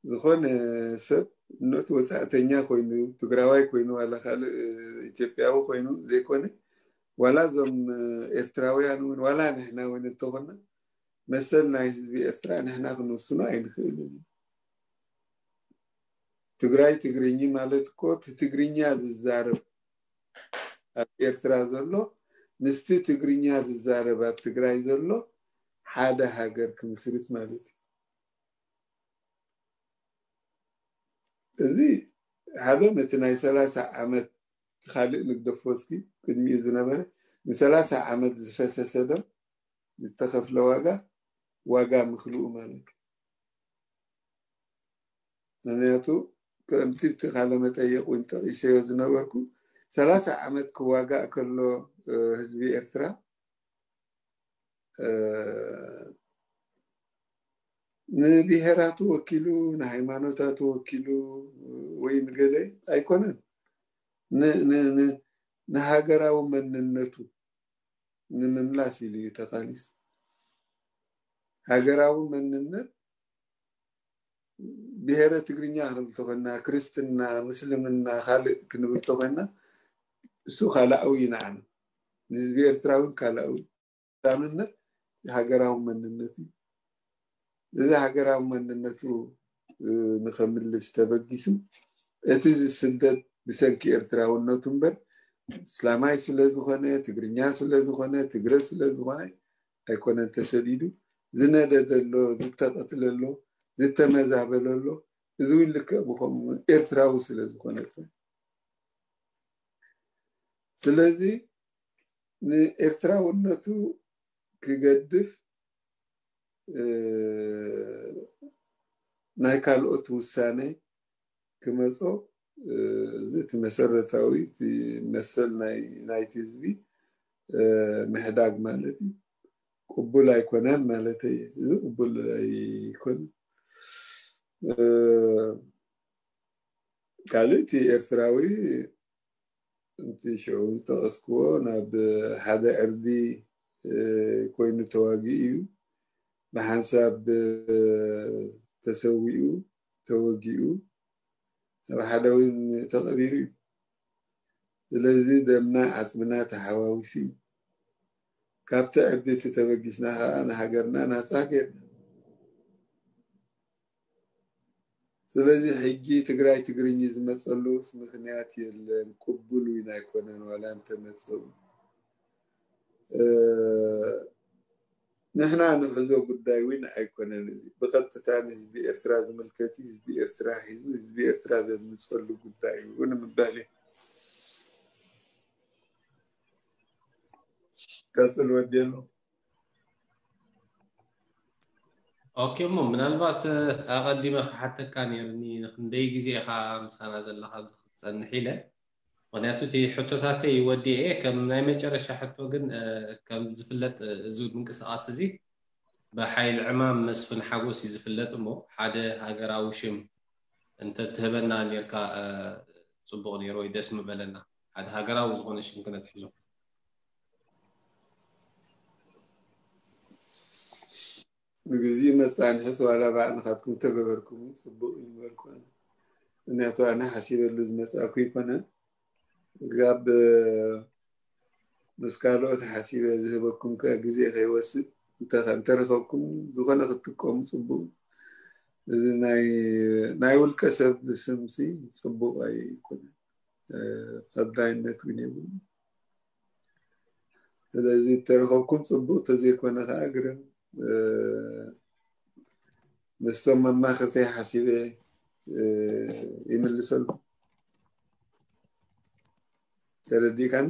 ዝኾነ ሰብ እነቱ ወፃእተኛ ኮይኑ ትግራዋይ ኮይኑ ዋላ ካልእ እ፣ ኢትዮጵያዊ ኮይኑ ዘይኮነ ዋላ እዞም እ፣ ኤርትራውያን እውን ዋላ ንሕና እውን እንተኾና መሰል ናይ ህዝቢ ኤርትራ ንሕና ክንውስኖ ኣይንኽእልን እዩ። ትግራይ ትግርኝ ማለት እኮ እቲ ትግርኛ ዝዛረብ ኣብ ኤርትራ ዘሎ ምስቲ ትግርኛ ዝዛረብ ኣብ ትግራይ ዘሎ ሓደ ሃገር ክምስርት ማለት እዩ። እዚ ሓደ ነቲ ናይ ሰላሳ ዓመት ካልእ ንግደፎ እስኪ ቅድሚኡ ዝነበረ ንሰላሳ ዓመት ዝፈሰሰ ደም ዝተኸፍለ ዋጋ ዋጋ ምክልኡ ማለት እዩ። ምክንያቱ ከምቲ እቲ ቃለ መጠየቅ እውን ጠቂሰዮ ዝነበርኩ ሰላሳ ዓመት ክዋጋእ ከሎ እ፣ ህዝቢ ኤርትራ እ፣ ንብሄራቱ ወኪሉ ንሃይማኖታቱ ወኪሉ ወይ ንገለ ኣይኮነን ን- ን- ን- ንሃገራዊ መንነቱ ንምምላስ ኢሉ እዩ ተቃሊሱ። ሃገራዊ መንነት ብሄረ ትግርኛ ክንብል ተኮና፣ ክርስትና፣ ምስልምና፣ ካልእ ክንብል ተኮና እሱ ካልኣዊ እዩ ንዓና። ንህዝቢ ኤርትራ እውን ካልኣዊ እዩ። ቀዳምነት ሃገራዊ መንነት እዩ። እዚ ሃገራዊ መንነቱ እ፣ ንኸምልስ ተበጊሱ እቲ ዝስደድ ብሰንኪ ኤርትራውነቱ እምበር እስላማይ ስለ ዝኾነ ትግርኛ ስለ ዝኾነ ትግረ ስለ ዝኾነ ኣይኮነን ተሰዲዱ። ዝነደደ ኣሎ፣ ዝተቐትለ ኣሎ፣ ዝተመዛበለ ኣሎ። እዚ እውን ልክዕ ብኸምኡ ኤርትራዊ ስለ ዝኾነ ጥራይ። ስለዚ ንኤርትራውነቱ ክገድፍ እ፣ ናይ ካልኦት ውሳነ ክመጾ እ፣ እዚ እቲ መሰረታዊ እቲ መሰል ናይ ናይቲ ህዝቢ እ፣ ምሕዳግ ማለት እዩ። ቅቡል ኣይኮነን ማለት እዩ። እዚ ቅቡል ኣይኮነን። እ፣ ካልእ እቲ ኤርትራዊ እቲ ሽዑ ዝጠቐስክዎ ናብ ሓደ ዕርዲ እ፣ ኮይኑ ተዋጊኡ እዩ። ብሓንሳብ እ፣ ተሰዊኡ ተወጊኡ ኣብ ሓደ እውን ተቐቢሩ እዩ። ስለዚ ደምና ዓፅምና ተሓዋዊሱ እዩ። ካብቲ ዕርዲ እቲ ተበጊስና ከዓ ንሃገርና ናፃ ገይርና። ስለዚ ሕጂ ትግራይ ትግርኝ ዝመፀሉስ ምክንያት የለን። ቅቡል እውን ኣይኮነን ዋላ እንተመፀ እውን። እ፣ ንሕና ንሕዞ ጉዳይ እውን ኣይኮነን። እዚ ብቐጥታ ንህዝቢ ኤርትራ ዝምልከት እዩ። ህዝቢ ኤርትራ ሒዙ ህዝቢ ኤርትራ ዘድምፀሉ ጉዳይ እዩ እውን ምባል እዩ። ቀፅል ወዲ ኣሎ። ኦኬ፣ እሞ ምናልባት ኣቐዲመ ክሓተካ ነይሩኒ፣ ንክንደይ ግዜ ኢኻ ምሳና ዘለኻ ኣብዚ ክትጸንሕ ኢለ። ምክንያቱ እቲ ሕቶታተይ ወዲኤ፣ ከም ናይ መጨረሻ ሕቶ ግን ከም ዝፍለጥ፣ እዚ ምንቅስቃስ እዚ ብሓይሊ ዕማም መስፍን ሓጎስ እዩ ዝፍለጥ። እሞ ሓደ ሃገራዊ ሽም እንተትህበና ነርካ ጽቡቕ ነይሩ ወይ ደስ ምበለና። ሓደ ሃገራዊ ዝኾነ ሽም ክነትሕዞ። ንግዜ መጻንሕስ ዋላ ባዕልኻትኩም ተገበርኩም ጽቡቕ እዩ ምበልኩ ኣነ። ምክንያቱ ኣነ ሓሲበሉ ዝመጻእኩ ይኮነን። ጋብ ምስ ካልኦት ሓሲበ ዝህበኩም ከ ግዜ ከይወስድ እንተረኸብኩም ዝኾነ ክትጥቀሙ ጽቡቕ። እዚ ናይ ውልቀ ሰብ ስምሲ ጽቡቕ ኣይኮነን። ቀዳይነት ግን የብሉ። ስለዚ እተረኸብኩም ጽቡቕ ተዘይኮነ ከዓ ግርም ምስቶም መማኽርተይ ሓሲበ ይምልሰሉ። ተረዲእካኒ?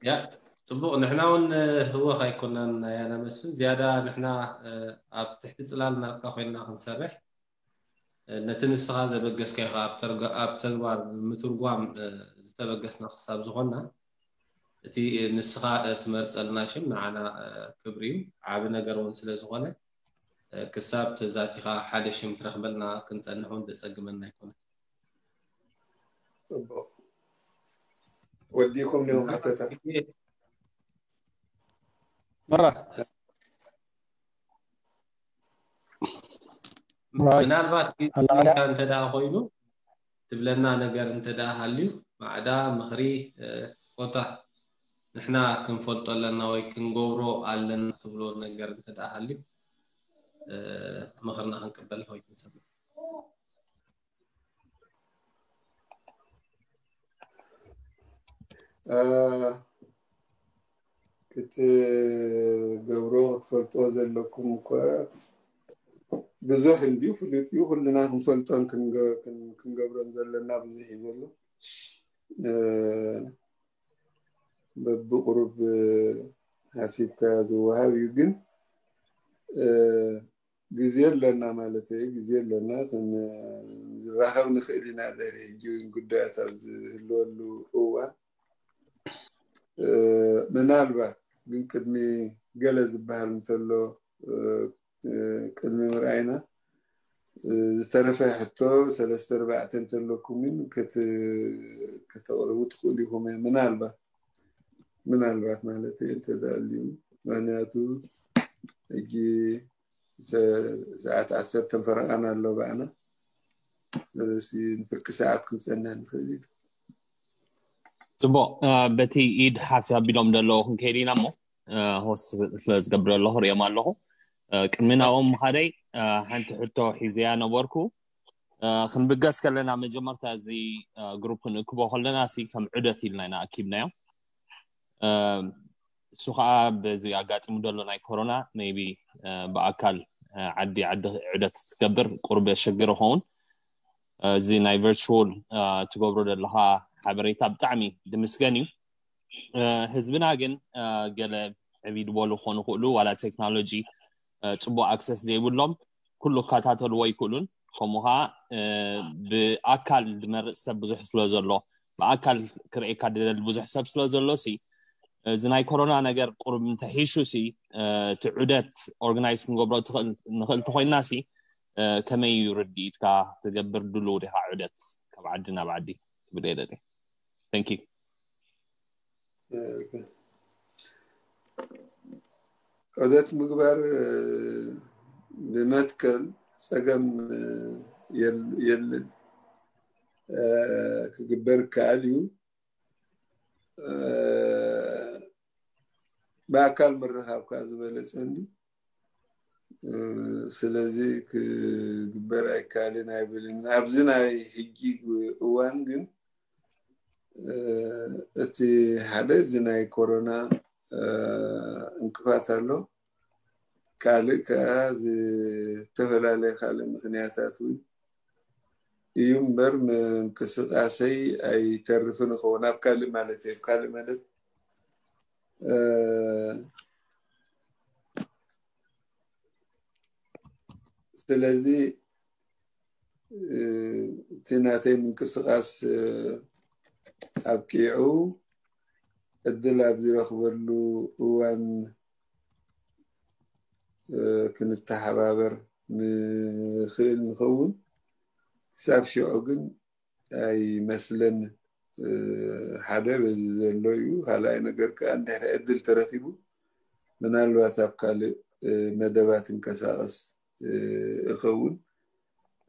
ያ ጽቡቕ። ንሕና እውን ህወኽ ኣይኮናን ኣያና መስፍን፣ ዝያዳ ንሕና ኣብ ትሕቲ ጽላል ናትካ ኮይንና ክንሰርሕ፣ ነቲ ንስኻ ዘበገስካዮ ኣብ ተግባር ምትርጓም ዝተበገስና ክሳብ ዝኾንና፣ እቲ ንስኻ ትመርጸልና ሽም ንዓና ክብሪ እዩ፣ ዓቢ ነገር እውን ስለ ዝኾነ፣ ክሳብ ተዛቲኻ ሓደ ሽም ትረኽበልና ክንጸንሕ እውን ዘጸግመና ኣይኮነን። ጽቡቕ። ወዲኩም ዲኹም ሓተታ? መራ ምናልባት ግዜካ እንተ ደኣ ኮይኑ፣ ትብለና ነገር እንተ ደኣ ሃልዩ፣ ማዕዳ፣ ምኽሪ፣ ኮታ ንሕና ክንፈልጦ ኣለና ወይ ክንገብሮ ኣለና ትብሎ ነገር እንተ ደኣ ሃልዩ፣ ምኽርና ክንቅበል ወይ ክንሰምዕ። ክትገብሮ ክትፈልጦ ዘለኩም እኮ ብዙሕ እንድዩ፣ ፍሉጥ እዩ። ኩልና ክንፈልጦን ክንገብሮን ዘለና ብዙሕ እዩ ዘሎ። በብቁሩብ ሓሲብካ ዝወሃብ እዩ። ግን ግዜ ኣለና ማለት እዩ። ግዜ ኣለና፣ ክንራኸብ ንኽእል ኢና። ድሕሪ ሕጂ እውን ጉዳያት ኣብ ዝህልወሉ እዋን ምናልባት ግን ቅድሚ ገለ ዝበሃል እንተሎ ቅድሚ ምርኣይና ዝተረፈ ሕቶ ሰለስተ ኣርባዕተ እንተለኩም ግን ከተቕርቡ ትኽእሉ ኢኹም። ምናልባት ምናልባት ማለት እንተዳልዩ፣ ምክንያቱ ሕጂ ሰዓት ዓሰርተ ፈረቓን ኣሎ ባዕና። ስለዚ ንፍርቂ ሰዓት ክንጸንሕ ንኽእል ኢና። ጽቡቕ። በቲ ኢድ ሓፍ ኣቢሎም ዘለዉ ክንከይድ ኢና እሞ፣ ሆስት ስለ ዝገብር ኣለኹ፣ ርእዮም ኣለኹ። ቅድሚ ናብኦም ምኻደይ ሓንቲ ሕቶ ሒዘያ ነበርኩ። ክንብገስ ከለና መጀመርታ እዚ ግሩፕ ክንእክቦ ከለና ሲ ከም ዑደት ኢልና ኢና ኣኪብናዮ። እሱ ከዓ በዚ ኣጋጢሙ ዘሎ ናይ ኮሮና maybe ብኣካል ዓዲ ዓዲ ዑደት ትገብር ቁሩብ የሸግር ይኸውን። እዚ ናይ ቨርቹዋል ትገብሮ ዘለኻ ሓበሬታ ብጣዕሚ ድምስገን እዩ። ህዝብና ግን ገለ ዕብይ ዝበሉ ክኾኑ ይኽእሉ፣ ዋላ ቴክኖሎጂ ጽቡቅ ኣክሰስ ዘይብሎም ኩሉ ክከታተልዎ ኣይክእሉን። ከምኡ ከዓ ብኣካል ዝመርፅ ሰብ ብዙሕ ስለ ዘሎ፣ ብኣካል ክርእየካ ዝደሊ ብዙሕ ሰብ ስለ ዘሎ ሲ፣ እዚ ናይ ኮሮና ነገር ቁሩብ እንተሒሹ ሲ፣ እቲ ዑደት ኦርጋናይዝ ክንገብሮ ንኽእል ተኮይንና ሲ፣ ከመይ እዩ ርድኢትካ? ትገብር ድሉው ዲኻ ዑደት ካብ ዓዲ ናብ ዓዲ? ክብል እየ ደልየ። Thank you። ዑደት ምግባር ብመትከል ጸገም የለን፣ ክግበር ይከኣል እዩ። ብኣካል ምርኻብ ከዓ ዝበለጸ እንዲ። ስለዚ ክግበር ኣይከኣልን ኣይብልን። ኣብዚ ናይ ሕጂ እዋን ግን እቲ ሓደ እዚ ናይ ኮሮና እንቅፋት ኣሎ። ካልእ ከዓ ዝተፈላለየ ካልእ ምክንያታት እውን እዩ እምበር ምንቅስቃሰይ ኣይተርፍን ይኸውን። ኣብ ካልእ ማለት እየ፣ ኣብ ካልእ ማለት ስለዚ እቲ ናተይ ምንቅስቃስ ኣብቂዑ ዕድል ኣብ ዝረኽበሉ እዋን ክንተሓባበር ንኽእል ንኸውን። ክሳብ ሽዑ ግን ኣይመስለንን። ሓደ በዚ ዘሎ እዩ። ካልኣይ ነገር ከዓ እንድሕር ዕድል ተረኺቡ ምናልባት ኣብ ካልእ መደባት እንቀሳቐስ እኸውን።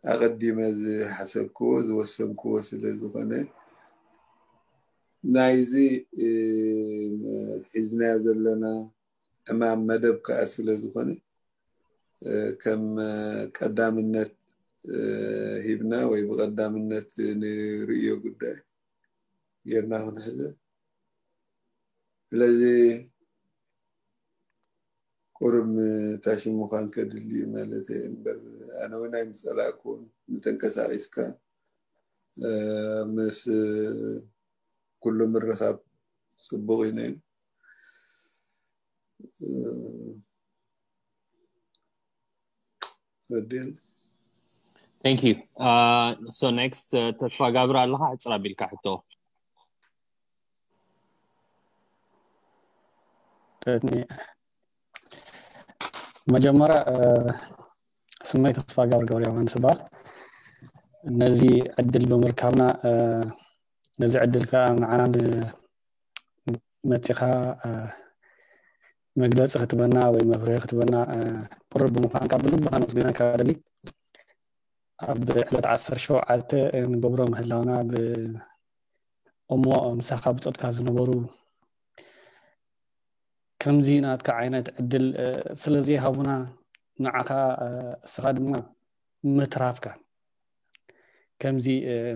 ኣቐዲመ ዝሓሰብክዎ ዝወሰንክዎ ስለ ዝኾነ ናይዚ ሒዝናዮ ዘለና ዕማም መደብ ከዓ ስለ ዝኾነ ከም ቀዳምነት ሂብና ወይ ብቐዳምነት ንርእዮ ጉዳይ ጌርና ክንሕዘ። ስለዚ ቁሩብ ምታሽም ምዃን ከድሊ ማለት እምበር ኣነ እውን ኣይምፀላእኩን። ምተንቀሳቂስካ ምስ ኩሉ ምርኻብ ፅቡቅ እዩ ነይሩ። Thank you. Uh, so next, uh, ተስፋ ጋብር ኣለኻ ዕፅር ኣቢልካ ሕቶ። መጀመሪያ ስመይ ተስፋ ጋብር ገብረ ዮሃንስ ይበሃል። ነዚ ዕድል ብምርካብና ነዚ ዕድል ከዓ ንዓና መፂኻ መግለፂ ክትበና ወይ መብርሂ ክትበና ቅሩብ ብምዃንካ ብልቢ ከመስግነካ ደሊ። ኣብ ዕለት ዓሰርተ ሸውዓተ ንገብሮ ምህላውና እሞ ምሳኻ ብፆትካ ዝነበሩ ከምዚ ናትካ ዓይነት ዕድል ስለዘይሃቡና ንዓኻ እስኻ ድማ ምትራፍካ ከምዚ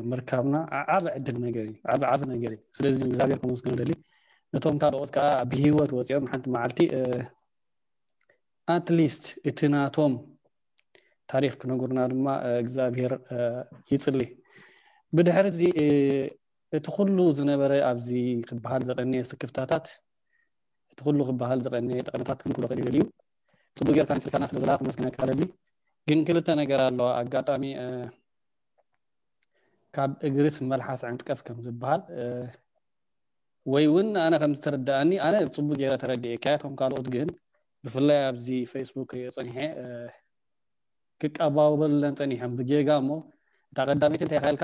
ምርካብና ዓቢ ዕድል ነገር እዩ፣ ዓቢ ዓቢ ነገር እዩ። ስለዚ ንእግዚኣብሔር ከመስግኖ ደሊ። ነቶም ካልኦት ከዓ ብህይወት ወፂኦም ሓንቲ መዓልቲ ኣትሊስት እቲ ናቶም ታሪክ ክነግሩና ድማ እግዚኣብሔር ይፅሊ። ብድሕሪ እዚ እቲ ኩሉ ዝነበረ ኣብዚ ክበሃል ዘቀነየ ስክፍታታት እቲ ኩሉ ክበሃል ዘቀነየ ጠቀነታት ክንክሎ ክእል እዩ። ፅቡቅ ጌርካ ንፅልካና ስለ ዘላ ክመስግነካ ደሊ። ግን ክልተ ነገር ኣለዋ። ኣጋጣሚ ካብ እግርስ መልሓስ ዕንጥቀፍ ከም ዝበሃል ወይ እውን ኣነ ከም ዝተረዳኣኒ ኣነ ፅቡቅ ገይረ ተረዲኤካ እቶም ካልኦት ግን ብፍላይ ኣብዚ ፌስቡክ ሪኦ ፀኒሐ ክቀባበሉለን ፀኒሖም ብጌጋ እሞ እታ ቀዳመይቲ እንታይ ኢልካ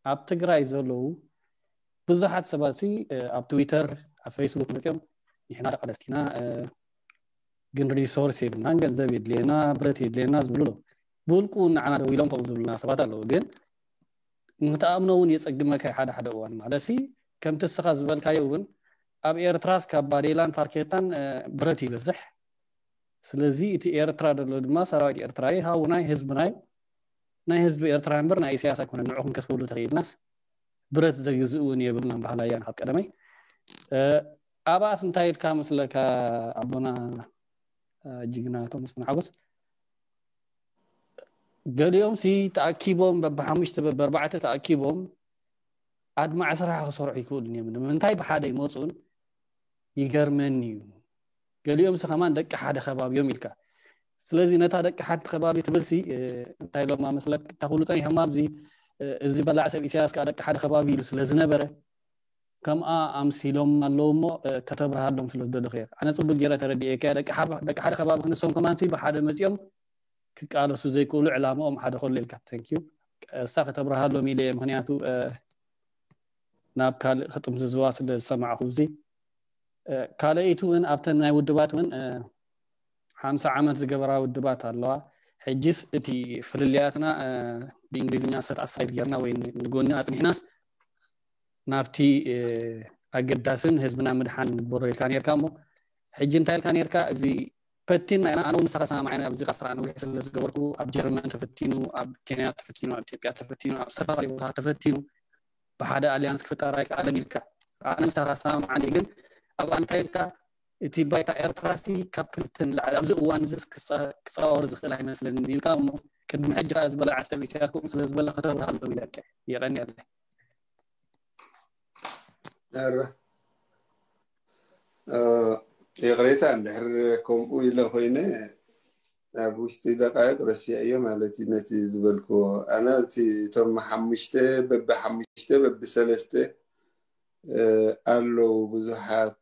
ኣብ ትግራይ ዘለዉ ብዙሓት ሰባት ሲ ኣብ ትዊተር ኣብ ፌስቡክ መፅኦም ንሕና ተቃለስቲና ግን ሪሶርስ የብልናን ገንዘብ የድልየና ብረት የድልየና ዝብሉ ኣለዉ። ብውልቁ ንዓና ደው ኢሎም ከምኡ ዝብሉና ሰባት ኣለዉ። ግን ንክትኣምኖ እውን የፀግመካ ሓደ ሓደ እዋን ማለት ሲ ከምቲ እስኻ ዝበልካዮ እውን ኣብ ኤርትራስ ካብ ባዴላን ፋርኬታን ብረት ይበዝሕ። ስለዚ እቲ ኤርትራ ዘሎ ድማ ሰራዊት ኤርትራ እዩ። ሃው ናይ ህዝቢ ናይ ናይ ህዝቢ ኤርትራ እምበር ናይ ኢሳያስ ኣይኮነን። ንዑ ክንከስበሉ ተኽኢልናስ ብረት ዘግዝእ እውን የብልናን ባህላያን ካብ ቀደመይ። ኣብኣስ እንታይ ኢልካ መስለካ ኣቦና ጅግና ቶምስ ሓጎስ ገሊኦም ሲ ተኣኪቦም በብሓሙሽተ በብኣርባዕተ ተኣኪቦም ኣድማዕ ስራሕ ክሰርሑ ይክእሉን እዮም። ንምንታይ ብሓደ ይመፁን ይገርመኒ እዩ። ገሊኦም ሲ ከማን ደቂ ሓደ ከባቢ እዮም ኢልካ። ስለዚ ነታ ደቂ ሓንቲ ከባቢ ትብል ሲ እንታይ ኢሎም መስለክ ተኽሉ ፀኒሖም ኣብዚ እዚ በላዕ ሰብ ኢሳያስ ከዓ ደቂ ሓደ ከባቢ ኢሉ ስለ ዝነበረ ከምኣ ኣምሲሎም ኣለዉ እሞ ከተብርሃሎም ስለ ዝደለኹ እየ። ኣነ ፅቡቅ ገይረ ተረዲኤካ። ደቂ ሓደ ከባቢ ክንሶም ከማን ሲ ብሓደ መፂኦም ክቃለሱ ዘይክእሉ ዕላማኦም ሓደ ከሎ ኢልካ። Thank you። እሳ ከተብርሃሎም ኢለ እየ። ምክንያቱ ናብ ካልእ ክጥምዝዝዋ ስለ ዝሰማዕኹ እዚ ካልኣይቲ እውን ኣብተን ናይ ውድባት እውን ሓምሳ ዓመት ዝገበራ ውድባት ኣለዋ። ሕጂስ እቲ ፍልልያትና ብእንግሊዝኛ set aside ጌርና ወይ ንጎኒ ኣፅኒሕናስ ናብቲ ኣገዳስን ህዝብና ምድሓን ንግበሮ ኢልካ ነርካ እሞ ሕጂ እንታይ ኢልካ ነርካ እዚ ፈቲና ኢና። ኣነ እውን ንስኻ ሰማማዕ ኢና ኣብዚ ቃስራ ነዊሕ ስለ ዝገበርኩ ኣብ ጀርመን ተፈቲኑ ኣብ ኬንያ ተፈቲኑ ኣብ ኢትዮጵያ ተፈቲኑ ኣብ ዝተፈላለዩ ቦታ ተፈቲኑ ብሓደ ኣልያንስ ክፍጠር ኣይከኣለን ኢልካ ኣነ ምሳኻ ሰማማዕ እየ። ግን ኣብ ኣንታይ ኢልካ እቲ ባይታ ኤርትራሲ ካብ ክልተ ንላዕሊ ኣብዚ እዋን እዚ ክፃወር ዝኽእል ኣይመስለንን ኢልካ እሞ ቅድሚ ሕጂ ከዓ ዝበላ ዓሰብ ኢሳያስ ከምኡ ስለ ዝበላ ከተብርሃሎም ኢለካ። የቐንየለይ። ኧረ ይቕሬታ እንድሕር ከምኡ ኢለ ኮይነ ኣብ ውሽጢ ደቃይቕ ረሲዐዮ ማለት እዩ ነቲ ዝበልክዎ። ኣነ እቲ እቶም ሓሙሽተ በቢ ሓሙሽተ በቢ ሰለስተ ኣለዉ ብዙሓት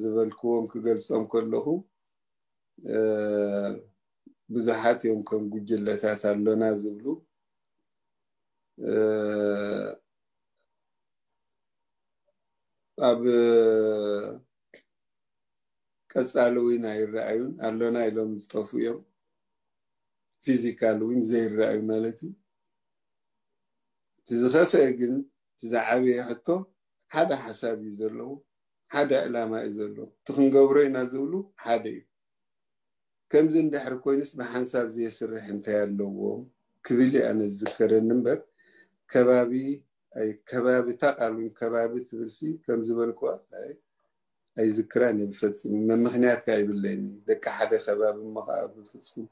ዝበልክዎም ክገልጾም ከለኹ ብዙሓት እዮም ከም ጉጅለታት ኣሎና ዝብሉ ኣብ ቀጻሊ እውን ኣይረኣዩን። ኣሎና ኢሎም ዝጠፉ እዮም። ፊዚካል እውን ዘይረኣዩ ማለት እዩ። እቲ ዝኸፍአ ግን እቲ ዝዓበየ ሕቶ ሓደ ሓሳብ እዩ ዘለዎ፣ ሓደ ዕላማ እዩ ዘለዎ። እቲ ክንገብሮ ኢና ዝብሉ ሓደ እዩ። ከምዚ እንድሕር ኮይኑስ ብሓንሳብ ዘየስርሕ እንታይ ኣለዎም ክብል እየ ኣነ ዝዝከረኒ እምበር ከባቢ ኣይ ከባቢ እታ ቃል እውን ከባቢ ትብልሲ ከም ዝበልኩዋ ኣይ ኣይዝክራን እየ ብፈጽም። መምኽንያት ከ ኣይብለይን እዩ። ደቂ ሓደ ከባቢ እሞ ከዓ ብፍጹም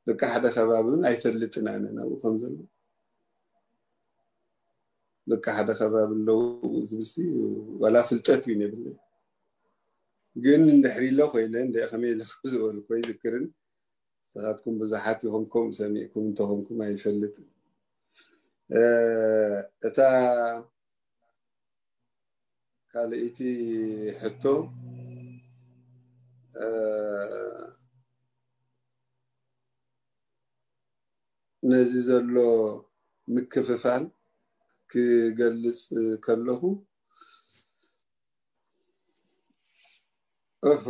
ደቂ ሓደ ከባቢ እውን ኣይፈልጥን ኣነ ናብኡ ከም ዘሎ ደቂ ሓደ ከባቢ ኣለዉ ዝብልሲ ዋላ ፍልጠት እውን የብለይ። ግን እንድሕር ኢለ ኮይነ እንደ ከመይ ኢለ ዝበልኩ ኣይዝክርን። ንስኻትኩም ብዙሓት ኢኹም ከምኡ ሰሚዕኩም እንተኾንኩም ኣይፈልጥን። እታ ካልእቲ ሕቶ ነዚ ዘሎ ምክፍፋል ክገልጽ ከለኹ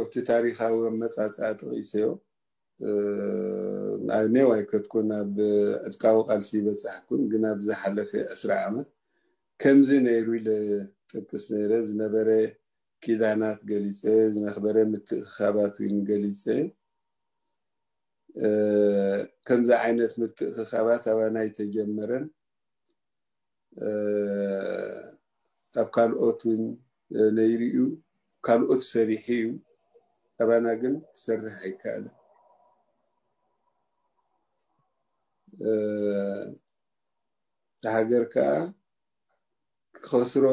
እቲ ታሪኻዊ ኣመጻጽኣ ጠቒሰዮ። ኣብ ኔው ኣይከድኩን፣ ኣብ ዕጥቃዊ ቃልሲ ይበጻሕኩን፣ ግን ኣብ ዝሓለፈ ዕስራ ዓመት ከምዚ ነይሩ ኢለ ጠቅስ ነይረ። ዝነበረ ኪዳናት ገሊጸ፣ ዝነበረ ምትእኽኻባት እውን ገሊጸ። ከምዚ ዓይነት ምትእኽኻባት ኣባና ኣይተጀመረን። ኣብ ካልኦት እውን ነይሩ እዩ፣ ካልኦት ሰሪሑ እዩ። ኣባና ግን ክሰርሕ ኣይከኣለን። ሃገር ከዓ ክኸስሮ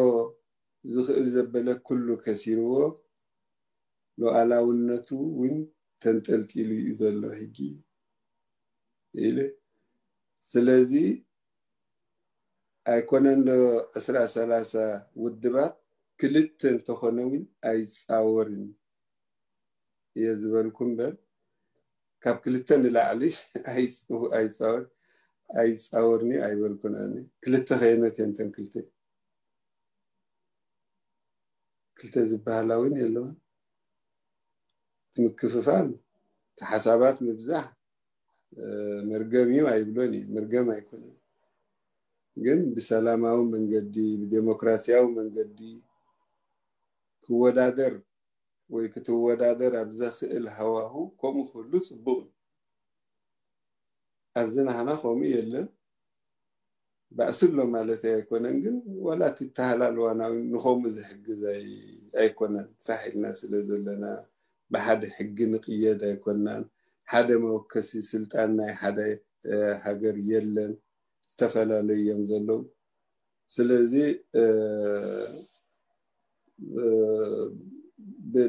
ዝኽእል ዘበለ ኩሉ ከሲርዎ፣ ሉዓላውነቱ እውን ተንጠልጢሉ እዩ ዘሎ ሕጂ ኢለ። ስለዚ ኣይኮነን ዶ ዕስራ ሰላሳ ውድባት ክልተ እንተኾነ እውን ኣይፃወርን እየ ዝበልኩ እምበር ካብ ክልተ ንላዕሊ ኣይፃወር ኣይፃወርኒ ኣይበልኩን። ኣነ ክልተ ከየኖት እየን እተን ክልተ ክልተ ዝበሃላ እውን የለውን። እቲ ምክፍፋል እቲ ሓሳባት ምብዛሕ መርገም እዩ ኣይብሎን እዩ፣ መርገም ኣይኮነን። ግን ብሰላማዊ መንገዲ ብዴሞክራሲያዊ መንገዲ ክወዳደር ወይ ክትወዳደር ኣብ ዘኽእል ሃዋሁ ከምኡ ክህሉ ፅቡቕ እዩ። ኣብዚ ናህና ከምኡ የለን። ባእሲ ኣሎ ማለት ኣይኮነን፣ ግን ዋላ እቲ ተሃላልዋና እውን ንኸምኡ ዝሕግዝ ኣይኮነን። ፋሕ ኢልና ስለ ዘለና ብሓደ ሕጊ ንቕየድ ኣይኮናን። ሓደ መወከሲ ስልጣን ናይ ሓደ ሃገር የለን። ዝተፈላለዩ እዮም ዘለዉ። ስለዚ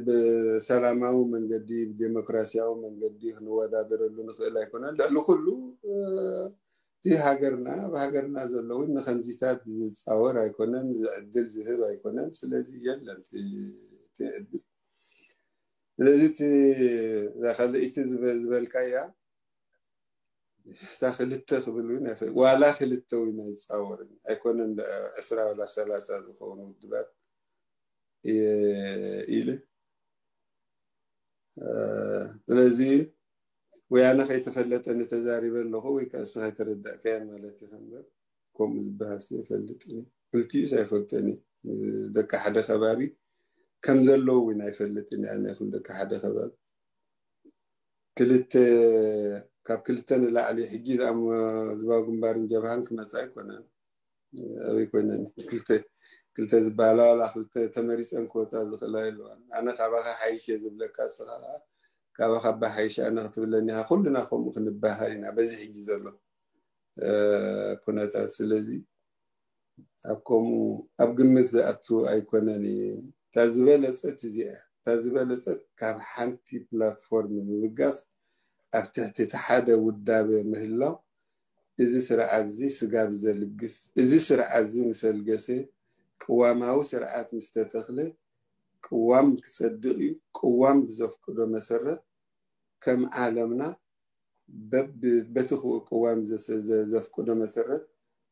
ብሰላማዊ መንገዲ ብዴሞክራሲያዊ መንገዲ ክንወዳደረሉ ንኽእል ኣይኮነን። ልዕሊ ኩሉ እቲ ሃገርና ኣብ ሃገርና ዘለውን ንከምዚታት ዝፃወር ኣይኮነን፣ ዝዕድል ዝህብ ኣይኮነን። ስለዚ የለን እቲ ዕድል። ስለዚ እዛ ካልእይቲ ዝበልካያ እሳ ክልተ ክብል እውን ዋላ ክልተ እውን ኣይፃወርን ኣይኮነን። ዕስራ ዋላ ሰላሳ ዝኸውን ውድባት ኢለ ስለዚ ወያነ ከይተፈለጠ ንተዛሪበ ኣለኹ ወይ ከዓ እስኻ ኣይተረዳእካያን ማለት ኢኻ እምበር ከምኡ ዝበሃል ሲ ኣይፈልጥን እዩ። ክልቲኡስ ኣይፈልጠን እዩ። ደቂ ሓደ ከባቢ ከም ዘለዉ እውን ኣይፈልጥን እየ። ኣነ ክል ደቂ ሓደ ከባቢ ክልተ ካብ ክልተ ንላዕሊ ሕጂ ዝኣሞ ህዝባዊ ግንባርን ጀብሃን ክመፃ ኣይኮነን። ኣበይ ኮይነን ክልተ ክልተ ዝበሃላ ዋላ ክልተ ተመሪፀን ክወፃ ዝኽእላ የለዋን። ኣነ ካባኻ ሓይሽ እየ ዝብለካ፣ እስኻ ከዓ ካባኻ ኣባ ሓይሽ ኣነ ክትብለኒ ኢኻ። ኩልና ከምኡ ክንበሃል ኢና። በዚ ሕጂ ዘሎ ኩነታት ስለዚ ኣብ ከምኡ ኣብ ግምት ዝኣቱ ኣይኮነን እዩ። እታ ዝበለፀት እዚኣ እታ ዝበለጸት ካብ ሓንቲ ፕላትፎርም ምብጋስ ኣብ ትሕቲ እቲ ሓደ ውዳበ ምህላው፣ እዚ ስርዓት እዚ ስጋብ ዘልግስ፣ እዚ ስርዓት እዚ ምስ ኣልገሰ፣ ቅዋማዊ ስርዓት ምስ ተተኽለ፣ ቅዋም ክጸድቕ እዩ። ቅዋም ብዘፍቅዶ መሰረት፣ ከም ዓለምና በብ-፣ በቲ ክው-፣ ቅዋም ዘስ-፣ ዘ-፣ ዘፍቅዶ መሰረት፣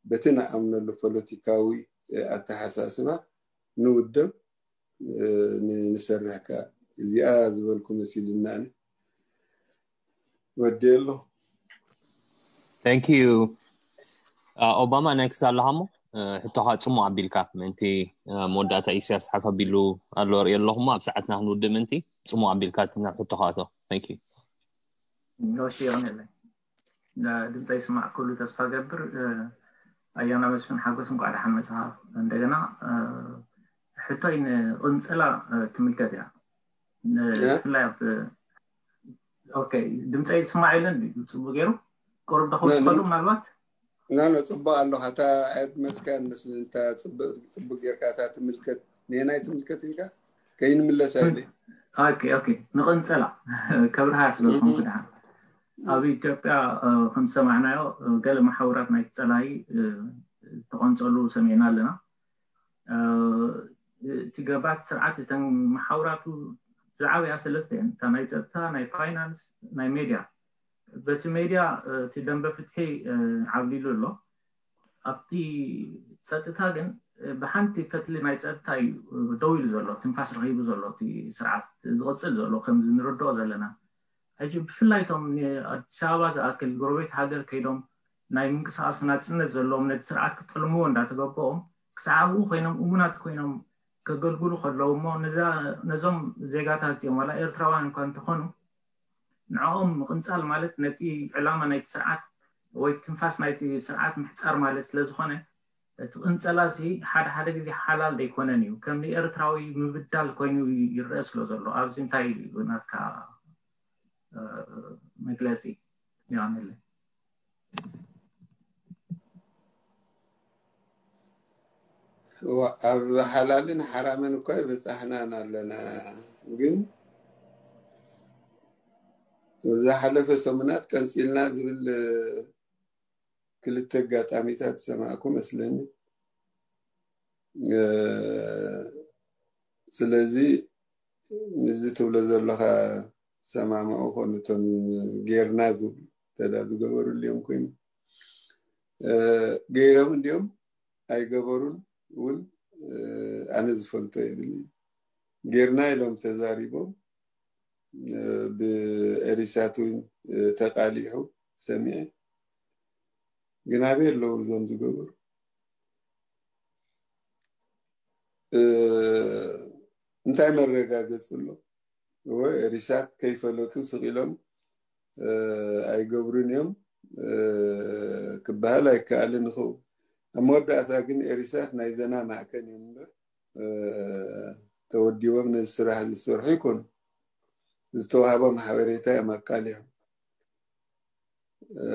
በቲ ንኣምነሉ ፖለቲካዊ፣ እ፣ ኣተሓሳስባ ንውደብ፣ እ፣ ን-፣ ንሰርሕ ከኣ። እዚኣ ዝበልኩ መሲልና ኣነ። ወዲ ኣሎ። Thank you. ኦባማ፣ ኔክስት ኣለኻ እሞ፣ እ፣ ሕቶኻ ጽሙቕ ኣቢልካ ምእንቲ፣ እ፣ መወዳእታ ኢሳያስ ሓፍ ኣቢሉ ኣሎ ርእየ ኣለኹ እሞ፣ ኣብ ሰዓትና ክንውድእ ምእንቲ ጽሙቕ ኣቢልካ እቲ ናብ ሕቶኻ ኣቶ። Thank you. ኖሽ ይሆነለይ። ድምፀ ይስማዕ ኩሉ ተስፋ ገብር። እ፣ ኣያና መስፍን ሓጎስ፣ እንኳዕ ደሓን መጽኻ። እንደገና፣ እ፣ ሕቶይ ንቕንጸላ፣ እ፣ ትምልከት እያ። ን-፣ እ? ብፍላይ ኣብ፣ ኦኬ፣ ድምፀ ይስማዕ የለን ድዩ? ጽቡቅ ገይሩ ቁሩብ ዶ ነ-፣ ክውስኸሉ ነ-፣ ምናልባት? ኖ፣ ኖ፣ ጽቡቅ ኣለኻ። እታ ኣየድመጽካያን መስለኒ፣ እታ ጽቡቅ፣ ጽቡቅ ጌርካ እታ ትምልከት፣ ንየናይ ትምልከት ኢልካ? ከይንምለስ ኣይደል? ኦኬ፣ ኦኬ። ንቐንጸላ ከብርሃ ስለ ዝኾንኩ እም። ደሓን። ኣብ ኢትዮጵያ፣ እ፣ ከም ዝሰማዕናዮ፣ እ፣ ገለ መሓውራት ናይቲ ጸላኢ፣ እ፣ ዝተቐንጸሉ ሰሚዕና ኣለና። እ፣ እቲ ገባቲ ስርዓት እተን መሓውራቱ ዝዓበያ ሰለስተ እየን። እታ ናይ ጸጥታ፣ ናይ ፋይናንስ፣ ናይ ሜድያ። በቲ ሜድያ፣ እ፣ እቲ ደንበ ፍትሒ፣ እ፣ ዓብሊሉ ኣሎ። ኣብቲ ጸጥታ ግን፣ እ፣ ብሓንቲ ፈትሊ ናይ ጸጥታ እዩ፣ እ፣ ደው ኢሉ ዘሎ፣ ትንፋስ ረኺቡ ዘሎ እቲ ስርዓት ዝቕጽል ዘሎ፣ ከም እንርድኦ ዘለና። ሕጂ ብፍላይ እቶም ንኣዲስ ኣበባ ዝኣክል ጎረቤት ሃገር ከይዶም ናይ ምንቅስቓስ ናጽነት ዘለዎም ነቲ ስርዓት ክጠልምዎ እንዳተገበኦም፣ ክሳዕ ኣብኡ ኮይኖም እሙናት ኮይኖም ከገልግሉ ከለዉ እሞ፣ ነዛ-፣ ነዞም ዜጋታት እዚኦም ዋላ ኤርትራውያን እኳ እንተኾኑ፣ ንዕኦም ምቕንጻል ማለት ነቲ ዕላማ ናይቲ ስርዓት ወይ ትንፋስ ናይቲ ስርዓት ምሕጻር ማለት ስለ ዝኾነ፣ እቲ ቅንጸላ እዚ ሓደ ሓደ ግዜ ሓላል ዘይኮነን እዩ። ከም ንኤርትራዊ ምብዳል ኮይኑ ይረአ ስለ ዘሎ፣ ኣብዚ እንታይ እዩ ናትካ፣ እ፣ መግለጺ? የቐንየለይ። ዋ-፣ ኣብ ሓላልን ሓራምን እኳ ይበጻሕናን ኣለና። ግን ዝሓለፈ ሰሙናት ቀንጺልና ዝብል ክልተ ኣጋጣሚታት ዝሰማዕኩ መስለኒ። እ፣ ስለዚ፣ እዚ ትብሎ ዘለኻ ሰማምዑ ኮኑ፣ እቶም ጌርና ዝብሉ እንተ ደኣ ዝገበሩሉ እዮም ኮይኑ፣ እ፣ ገይሮም እንዲኦም ኣይገበሩን እውን፣ እ፣ ኣነ ዝፈልጦ የብልኒ። ጌርና ኢሎም ተዛሪቦም፣ እ፣ ብኤሪሳት እውን፣ እ፣ ተቃሊሑ ሰሚዐ። ግን ኣበይ ኣለዉ እዞም ዝገበሩ? እ፣ እንታይ መረጋገጺ ኣሎ? እወ፣ ኤሪሳት ከይፈለጡ ስቕ ኢሎም፣ እ፣ ኣይገብሩን እዮም፣ እ፣ ክበሃል ኣይከኣልን ይኸውን። ኣብ መወዳእታ ግን ኤሪሳት ናይ ዘና ማዕከን እዮም እምበር፣ እ፣ ተወዲቦም ነዚ ስራሕ ዝሰርሑ ይኮኑ። ዝተዋህቦም ሓበሬታ እዮም ኣቃሊሖም። እ፣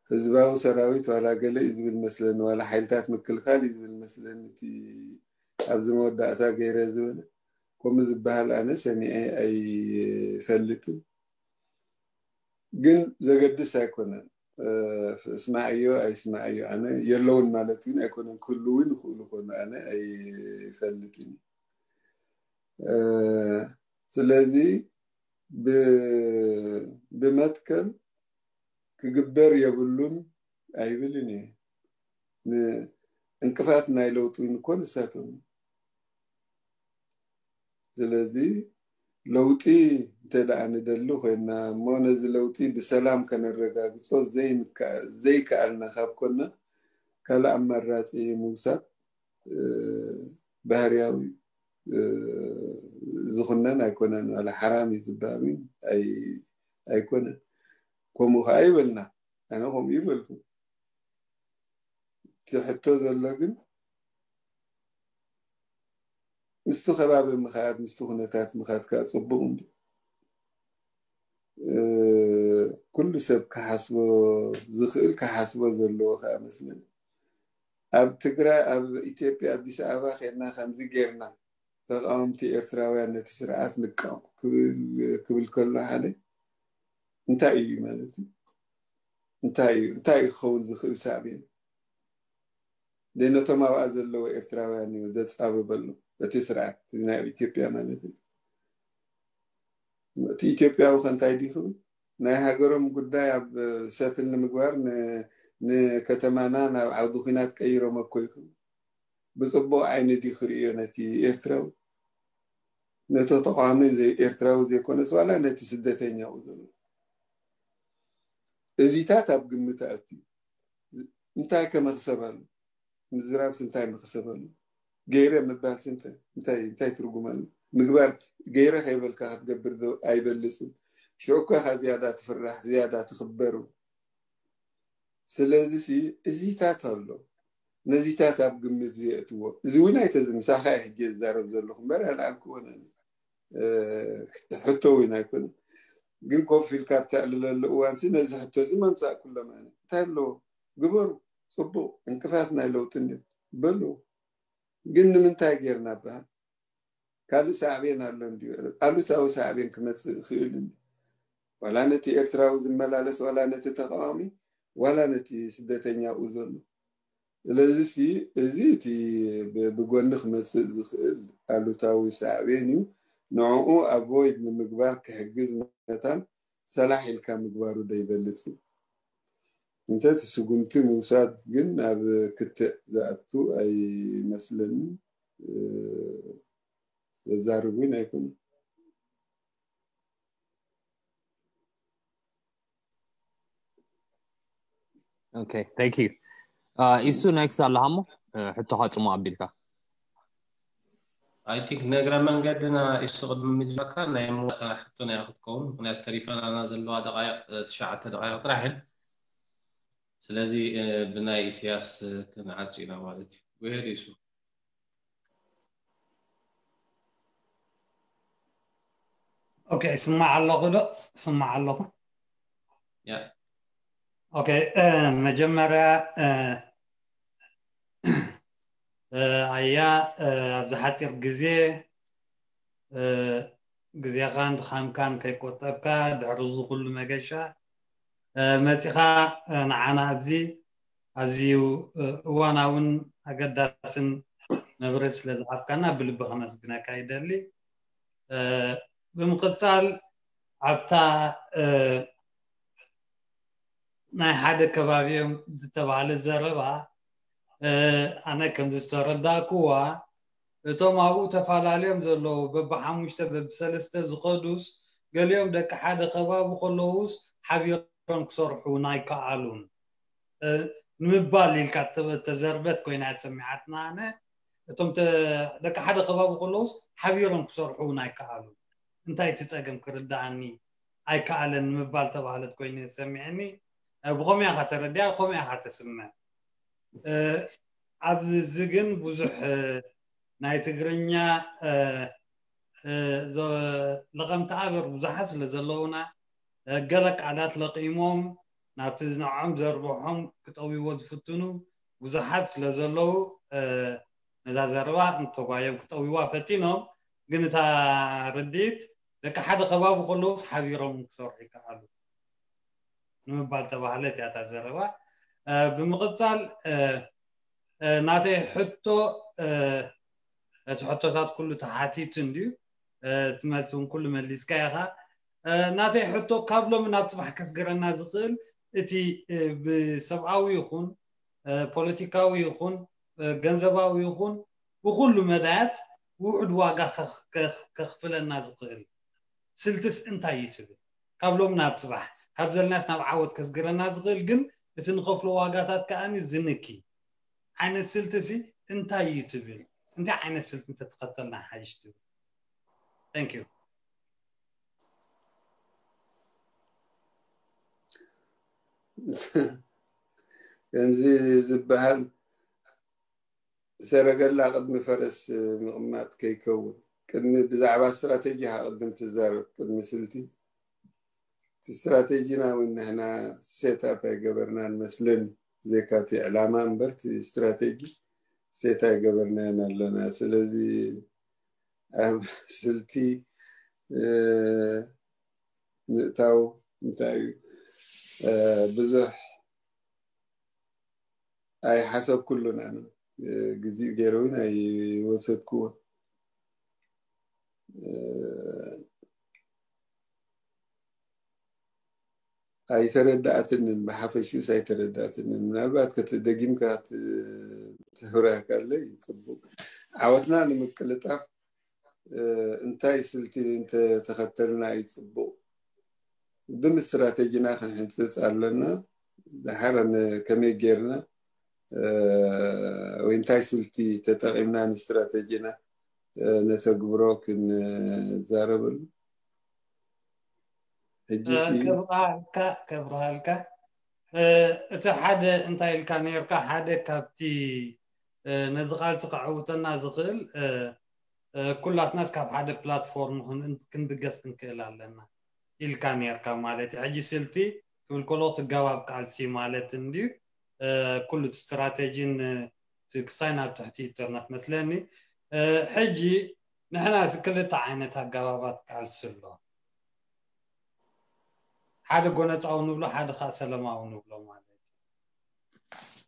ህዝባዊ ሰራዊት ዋላ ገለ እዩ ዝብል መስለኒ፣ ዋላ ሓይልታት ምክልኻል እዩ ዝብል መስለኒ። እቲ ኣብዚ መወዳእታ ገይረ ዝበለ ከምኡ ዝበሃል ኣነ ሰሚዐ ኣይፈልጥን። ግን ዘገድስ ኣይኮነን። እ፣ እስማዕዮ ኣይስማዕዮ ኣነ የለውን ማለት እውን ኣይኮነን። ክህልው እውን ይኽእሉ ይኾኑ፣ ኣነ ኣይፈልጥን። እ፣ ስለዚ ብ-፣ ብመትከል ክግበር የብሉን ኣይብልን እየ። ን-፣ እንቅፋት ናይ ለውጢ እውን እኮ ንሳቶም። ስለዚ ለውጢ እንተ ደኣ ንደሊ ኮይና እሞ ነዚ ለውጢ ብሰላም ከነረጋግጾ ዘይንከ-፣ ዘይከኣልና ካብ ኮና ካልእ ኣማራጺ ምውሳድ፣ እ፣ ባህርያዊ፣ እ፣ ዝኹነን ኣይኮነን። ዋላ ሓራም እዩ ዝበሃል እውን ኣይ-፣ ኣይኮነን። ከምኡ ከኣ ይበልና። ኣነ ከምኡ ይበልኩ። እቲ ሕቶ ዘሎ ግን ምስቲ ከባቢ ምኻድ፣ ምስቲ ኩነታት ምኻድ ከኣ ጽቡቕ እንዲ። እ፣ ኩሉ ሰብ ክሓስቦ ዝኽእል ክሓስቦ ዘለዎ ከኣ መስለኒ። ኣብ ትግራይ፣ ኣብ ኢትዮጵያ፣ ኣዲስ ኣበባ ኬድና ከምዚ ጌርና ተቃወምቲ ኤርትራውያን ነቲ ስርዓት ንቃወም ክብል ከሎ ሓደ እንታይ እዩ ማለት እዩ? እንታይ እዩ እንታይ ክኸውን ዝኽእል ሳዕቤን? ነቶም ኣብኣ ዘለዎ ኤርትራውያን እዩ ዘጻብበሉ እቲ ስርዓት ናይ ኢትዮጵያ ማለት እዩ። እቲ ኢትዮጵያዊ ከ እንታይ ድዩ ክብል? ናይ ሃገሮም ጉዳይ ኣብ ሰትል ንምግባር ንከተማና ናብ ዓውዲ ኲናት ቀይሮም እኮ ይኽእል። ብጽቡቕ ዓይኒ ድዩ ክርእዮ ነቲ ኤርትራዊ? ነቲ ተቃዋሚ ኤርትራዊ ዘይኮነስ ዋላ ነቲ ስደተኛ ኡ ዘሎ እዚታት ኣብ ግምት ኣእትዩ እንታይ ከመኽሰብ ኣሎ? ምዝራብስ እንታይ መኽሰብ ኣሎ? ገይረ ምባልስ እንታይ እንታይ እንታይ ትርጉም ኣሎ? ምግባር ገይረ ከይበልካ ክትገብር ዶ ኣይበልጽን? ሽዑ እኮ ኢኻ ዝያዳ ትፍራሕ፣ ዝያዳ ትኽበር። ስለዚ ሲ እዚታት ኣሎ። ነዚታት ኣብ ግምት ዘየእትዎ። እዚ እውን ኣይተዝ-፣ ምሳኻ እየ ሕጂ ዝዛረብ ዘለኹ እምበር ኣልዓልክዎን ኣነ። እ፣ ሕቶ እውን ኣይኮነን። ግን ኮፍ ኢልካ ኣብ ተዕልለሉ እዋንሲ ነዚ ሕቶ እዚ መምጻእኩሎም ኣነ። እንታይ ኣለዎ? ግበሩ። ጽቡቕ። ዕንቅፋት ናይ ለውጢ እንድዮም። በሉ። ግን ንምንታይ ጌርና በሃል? ካልእ ሳዕቤን ኣሎ እንድዩ። ኣሉታዊ ሳዕቤን ክመጽእ ይኽእል እንድዩ። ዋላ ነቲ ኤርትራዊ ዝመላለስ፣ ዋላ ነቲ ተቃዋሚ፣ ዋላ ነቲ ስደተኛ ኡ ዘሎ። ስለዚ ሲ፣ እዚ እቲ ብ-፣ ብጎኒ ክመጽእ ዝኽእል ኣሉታዊ ሳዕቤን እዩ። ንዕኡ ኣቮይድ ንምግባር ክሕግዝ መታን ሰላሕ ኢልካ ምግባሩ ዶ ይበልጽ እዩ? እንተ እቲ ስጉምቲ ምውሳድ ግን ኣብ ክትዕ ዝኣቱ ኣይመስለንን። እ፣ ዘዛርብ እውን ኣይኮነን። Okay, thank you. Uh, ኢሱ ኔክስት ኣለሃሞ ሕቶኻ ጽሙ ኣቢልካ። I think ነግረ መንገድና ኢሱ ቅድሚ ምጅራካ ናይ መወዳእታ ሕቶ ናይ ክትከውን፣ ምክንያቱ ተሪፋናና ዘለዋ ደቃይቅ፣ እ፣ ትሽዓተ ደቃይቅ ጥራሕ እየን። ስለዚ፣ እ፣ ብናይ ኢሳያስ፣ እ፣ ክንዓጹ ኢና ማለት እዩ። Go ahead ኢሱ። ኦኬ፣ ስማዕ ኣለኹ ዶ? ስማዕ ኣለኹ። ያ። ኦኬ፣ እ፣ መጀመርያ፣ እ፣ እ፣ ኣያ፣ እ፣ ኣብዚ ሓፂር ግዜ፣ እ፣ ግዜኻን ድኻምካን ከይቆጠብካ፣ ድሕሪ እዚ ኩሉ መገሻ፣ እ፣ መፂኻ፣ እ፣ ንዓና ኣብዚ ኣዝዩ፣ እ፣ እዋናውን ኣገዳስን መብርሂ ስለ ዝሃብካና ብልቢ ከመስግነካ ይደሊ። እ፣ ብምቕጻል ኣብታ፣ እ፣ ናይ ሓደ ከባቢ እዮም ዝተባህለ ዘረባ፣ እ፣ ኣነ ከም ዝተረዳእክዋ፣ እቶም ኣብኡ ተፈላለዮም ዘለዉ በብሓሙሽተ በብሰለስተ ዝኸዱስ፣ ገሊኦም ደቂ ሓደ ከባቢ ከለዉስ ሓቢሮም ክሰርሑ እውን ኣይከኣሉን፣ እ፣ ንምባል ኢልካ እተ-፣ እተዘርበት ኮይና እያ ተሰሚዓትና። ኣነ እቶም ተ-፣ ደቂ ሓደ ከባቢ ከለዉስ ሓቢሮም ክሰርሑ እውን ኣይከኣሉን። እንታይ እቲ ጸገም ክርድኣኒ ኣይከኣለን ንምባል ተባህለት ኮይኑ ተሰሚዕኒ። እ፣ ብኸምኡ ኢኻ ተረዲኣ፣ ብኸምኡ ኢኻ ተስምዕ። እ፣ ኣብዚ ግን ብዙሕ፣ እ፣ ናይ ትግርኛ፣ እ፣ እ፣ ዘ-፣ ለቐምቲ ኣበር ብዙሓት ስለ ዘለዉና፣ እ፣ ገለ ቃላት ለቒሞም ናብቲ ዝንዕዖም ዘርብሖም ክጠውይዎ ዝፍትኑ ብዙሓት ስለ ዘለዉ፣ እ፣ ነዛ ዘረባ እንተጓዮም ክጠውይዋ ፈቲኖም፣ ግን እታ ርድኢት ደቂ ሓደ ከባቢ ከለዉስ ሓቢሮም ክሰርሑ ይከኣሉ ንምባል ተባህለት እያ እታ ዘረባ። እ፣ ብምቕጻል፣ እ፣ እ፣ ናተይ ሕቶ፣ እ፣ እቲ ሕቶታት ኩሉ ተሓቲቱ እንድዩ፣ እ፣ እቲ መልሲ እውን ኩሉ መሊስካ ኢኻ። እ፣ ናተይ ሕቶ ካብ ሎሚ ናብ ጽባሕ ከስግረና ዝኽእል እቲ፣ እ፣ ብሰብኣዊ ይኹን፣ እ፣ ፖለቲካዊ ይኹን፣ እ፣ ገንዘባዊ ይኹን ብኹሉ መዳያት ውሑድ ዋጋ ከኽ-፣ ከኽ-፣ ከኽፍለና ዝኽእል ስልትስ እንታይ እዩ ትብል? ካብ ሎም ናብ ጽባሕ፣ ካብ ዘለናስ ናብ ዓወት ከስግረና ዝኽእል ግን እቲ ንኸፍሎ ዋጋታት ከኣ ዝንኪ ዓይነት ስልትሲ እንታይ እዩ ትብል? እንታይ ዓይነት ስልቲ እንተተኸተልና ሓይሽ ትብል? Thank you። ከምዚ ዝበሃል ሰረገላ ቅድሚ ፈረስ ምቕማጥ ከይከውን፣ ቅድሚ ብዛዕባ ስትራቴጂ ኢኻ ቅድም ትዛረብ፣ ቅድሚ ስልቲ። እቲ ስትራቴጂና እውን ንሕና ሴት ኣፕ ኣይገበርናን መስለኒ፣ ብዘይካ እቲ ዕላማ እምበር እቲ ስትራቴጂ ሴት ኣይገበርናዮን ኣለና። ስለዚ ኣብ ስልቲ ምእታው እንታይ እዩ? ብዙሕ ኣይሓሰብኩሉን ኣነ። ግዜኡ ገይረ እውን ኣይወሰድኩዎን። ኣይተረዳእትንን፣ ብሓፈሽኡስ ኣይተረዳእትንን። ምናልባት ከት ደጊምካ ትህብረካለይ ጽቡቅ። ዓወትና ንምቅልጣፍ እንታይ ስልቲ እንተተኸተልና እዩ ጽቡቅ? ቅድም ስትራተጂና ክንሕንጽጽ ኣለና። ድሓር ከመይ ጌርና ወይ እንታይ ስልቲ ተጠቒምና ንስትራተጂና ነተግብሮ ክንዛረበሉ። ሕጂ ከብርሃልካ ከብርሃልካ እቲ ሓደ እንታይ ኢልካ ነርካ፣ ሓደ ካብቲ ነዚ ቃልሲ ከዕውተና ዝኽእል ኩላትናስ ካብ ሓደ ፕላትፎርም ክንብገስ ክንክእል ኣለና ኢልካ ነርካ ማለት እዩ። ሕጂ ስልቲ ክብል ከሎ ትጋባብ ቃልሲ ማለት እንድዩ። ኩሉ እቲ ስትራቴጂን ክሳይ ናብ ትሕቲ ኢንተርነት መስለኒ። ሕጂ ንሕና እዚ ክልተ ዓይነት ኣገባባት ቃልሲ ኣሎ። ሓደ ጎነፃዊ ንብሎ፣ ሓደ ከዓ ሰለማዊ ንብሎ ማለት እዩ።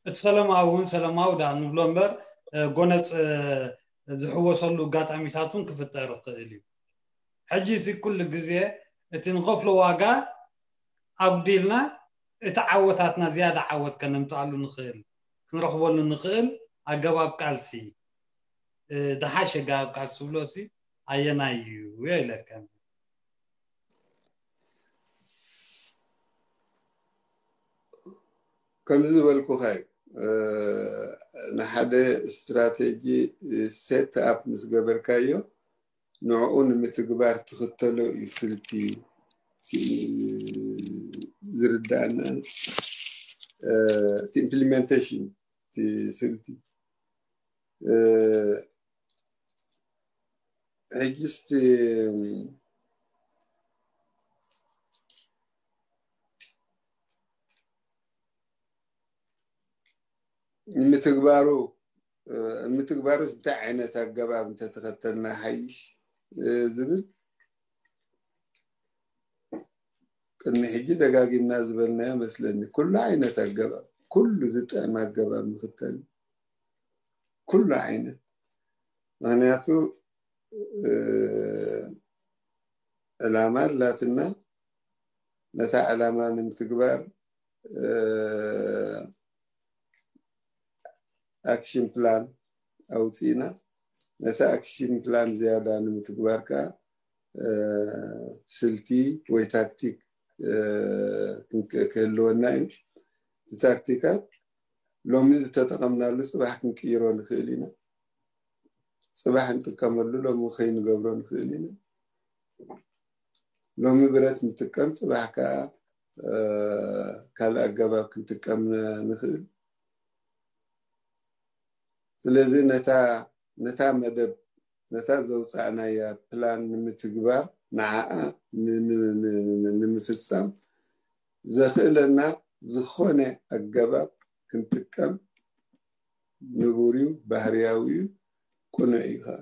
እቲ ሰለማዊ እውን ሰለማዊ ዳ ንብሎ እምበር ጎነፅ ዝሕወሰሉ ኣጋጣሚታት እውን ክፍጠር ይኽእል እዩ። ሕጂ እዚ ኩሉ ግዜ እቲ ንኸፍሎ ዋጋ ኣጉዲልና እቲ ዓወታትና ዝያዳ ዓወት ከነምፅኣሉ ንኽእል፣ ክንረኽበሉ ንኽእል ኣገባብ ቃልሲ፣ ዝሓሸ ኣገባብ ቃልሲ ዝብሎ ሲ ኣየናይ እዩ ኢለካ። ከምዚ ዝበልኩኻ እዩ። ንሓደ ስትራቴጂ ሴት ኣፕ ምስ ገበርካዮ ንዕኡ ንምትግባር ትኽተሎ እዩ ስልቲ ዝርዳእና። እቲ ኢምፕሊሜንቴሽን እቲ ስልቲ ሕጅስቲ ንምትግባሩ ንምትግባሩስ እንታይ ዓይነት ኣገባብ እንተተኸተልና ሓይሽ ዝብል ቅድሚ ሕጂ ደጋጊምና ዝበልናዮ መስለኒ። ኩሉ ዓይነት ኣገባብ፣ ኩሉ ዝጥዕም ኣገባብ ምኽተል፣ ኩሉ ዓይነት። ምኽንያቱ ዕላማ ኣላትና፣ ነታ ዕላማ ንምትግባር ኣክሽን ፕላን ኣውፂእና። ነቲ ኣክሽን ፕላን ዝያዳ ንምትግባር ከዓ ስልቲ ወይ ታክቲክ ክህልወና እዩ። እቲ ታክቲካት ሎሚ ዝተጠቐምናሉ ፅባሕ ክንቅይሮ ንኽእል ኢና። ፅባሕ ንጥቀመሉ ሎሚ ከይንገብሮ ንኽእል ኢና። ሎሚ ብረት ንጥቀም፣ ፅባሕ ከዓ ካልእ ኣገባብ ክንጥቀም ንኽእል። ስለዚ ነታ ነታ መደብ ነታ ዘውፃእናያ ፕላን ንምትግባር ንዓኣ ንምፍፃም ዘኽእለና ዝኾነ ኣገባብ ክንጥቀም ንቡር እዩ፣ ባህርያዊ እዩ፣ ቅኑዕ እዩ ከዓ።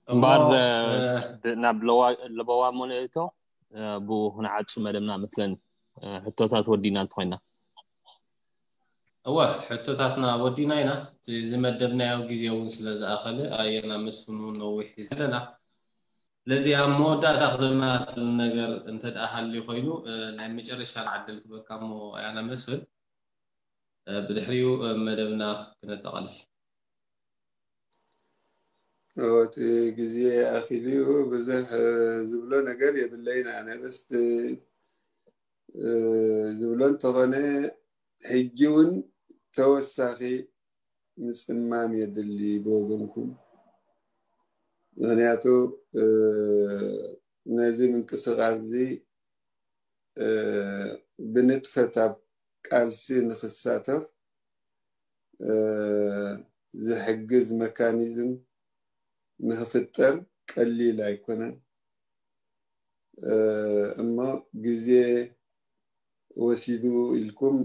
እምበኣር ናብ ለበዋ እሞ ንእቶ ብኡ ክንዓጹ መደብና መስለኒ። ሕቶታት ወዲና እንተኾይና። እወ ሕቶታትና ወዲና ኢና። እቲ ዝመደብናዮ ግዜ እውን ስለ ዝኣኸለ ኣየና መስፍን እውን ነዊሕ ዘለና። ስለዚ ኣብ መወዳእታ ክትብልና ትብል ነገር እንተ ደኣ ሃልዩ ኮይኑ ናይ መጨረሻ ዕድል ክበካ እሞ ኣያና መስፍን ብድሕሪኡ መደብና ክነጠቓልል። እቲ ግዜ ኣኺሉ ብዙሕ ዝብሎ ነገር የብለይን። ኣነ በስ ዝብሎ እንተኾነ ሕጂ እውን ተወሳኺ ምፅማም የድሊ ብወገንኩም። ምኽንያቱ ነዚ ምንቅስቃስ እዚ ብንጥፈት ኣብ ቃልሲ ንክሳተፍ ዝሕግዝ መካኒዝም ንክፍጠር ቀሊል ኣይኮነን። እሞ ግዜ ወሲዱ ኢልኩም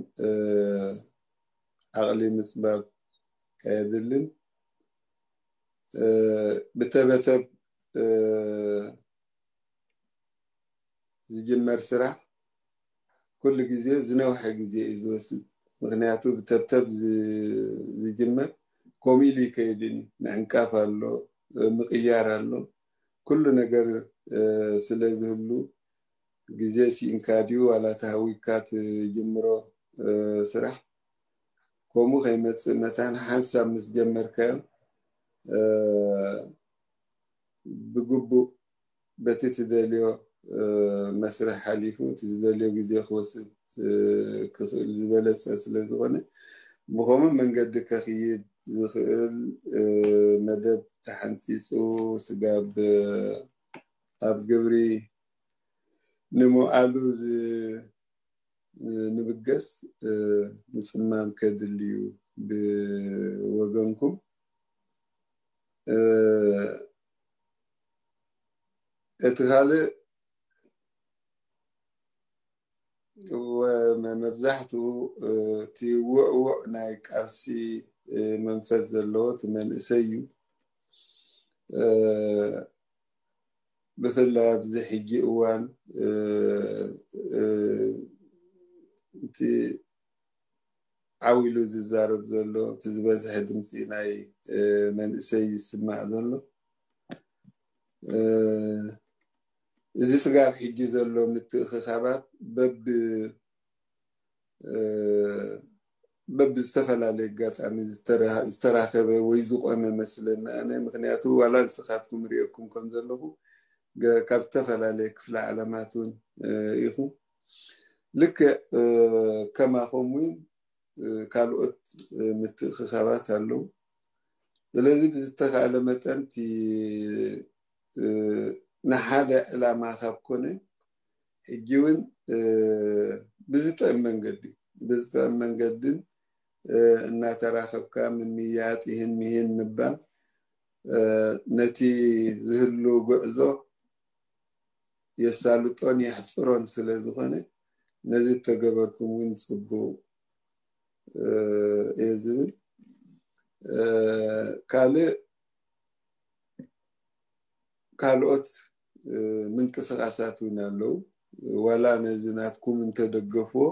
ዓቕሊ ምፅባብ ኣየድልን። ብተበተብ ዝጅመር ስራሕ ኩሉ ግዜ ዝነውሐ ግዜ እዩ ዝወስድ። ምክንያቱ ብተብተብ ዝጅመር ከምኡ ኢሉ ይከይድን እዩ። ምዕንቃፍ ኣሎ፣ ምቅያር ኣሎ። ኩሉ ነገር ስለ ዝህሉ ግዜ ሲኢንካ ድዩ ዋላ ተሃዊካ ትጅምሮ ስራሕ ከምኡ ከይመፅእ መታን ሓንሳብ ምስ ጀመርካዮ ብግቡእ በቲ ትደልዮ መስርሕ ሓሊፉ እቲ ዝደልዮ ግዜ ክወስድ ክኽእል ዝበለፀ ስለ ዝኾነ ብኸምኡ መንገዲ ከኽይድ ዝኽእል መደብ ተሓንፂፁ ስጋብ ኣብ ግብሪ ንምውዓሉ ንብገስ ምፅማም ከድልዩ ብወገንኩም። እቲ ካልእ መብዛሕትኡ እቲ ውዕውዕ ናይ ቃልሲ መንፈስ ዘለዎ እቲ መንእሰይ እዩ። ብፍላይ ኣብዚ ሕጂ እዋን እቲ ዓው ኢሉ ዝዛረብ ዘሎ እቲ ዝበዝሐ ድምፂ ናይ መንእሰይ ይስማዕ ዘሎ። እዚ ስጋብ ሕጂ ዘሎ ምትእኽኻባት በብ በብዝተፈላለየ ኣጋጣሚ ዝተራኸበ ወይ ዝቆመ መስለኒ ኣነ። ምክንያቱ ዋላ ንስኻትኩም ርእየኩም ከም ዘለኹ ካብ ዝተፈላለየ ክፍለ ዓለማት እውን ኢኹም። ልክዕ ከማኹም እውን ካልኦት ምትእኽኻባት ኣለዉ። ስለዚ ብዝተኻእለ መጠን ንሓደ ዕላማ ካብ ኮነ ሕጂ እውን ብዝጥዕም መንገዲ ብዝጥዕም መንገድን እናተራኸብካ ምምያጥ ይህን ምሂን ምባል ነቲ ዝህሉ ጉዕዞ የሳልጦን የሕፅሮን ስለ ዝኾነ ነዚ ተገበርኩም እውን ፅቡቅ እየ ዝብል። ካልእ ካልኦት ምንቅስቃሳት እውን ኣለዉ። ዋላ ነዚ ናትኩም እንተደገፍዎ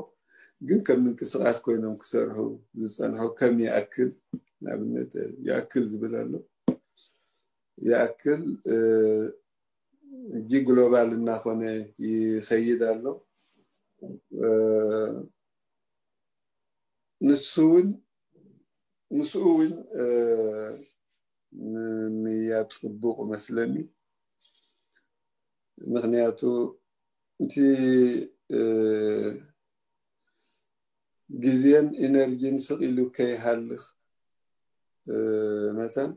ግን ከም ምንቅስቃስ ኮይኖም ክሰርሑ ዝፀንሑ ከም ይኣክል ንኣብነት ይኣክል ዝብል ኣሎ። ይኣክል ሕጂ ግሎባል እናኾነ ይኸይድ ኣሎ። ንሱ እውን ምስኡ እውን ምምያጥ ፅቡቅ መስለኒ። ምክንያቱ እቲ ግዜን ኢነርጂን ስቕ ኢሉ ከይሃልኽ መታን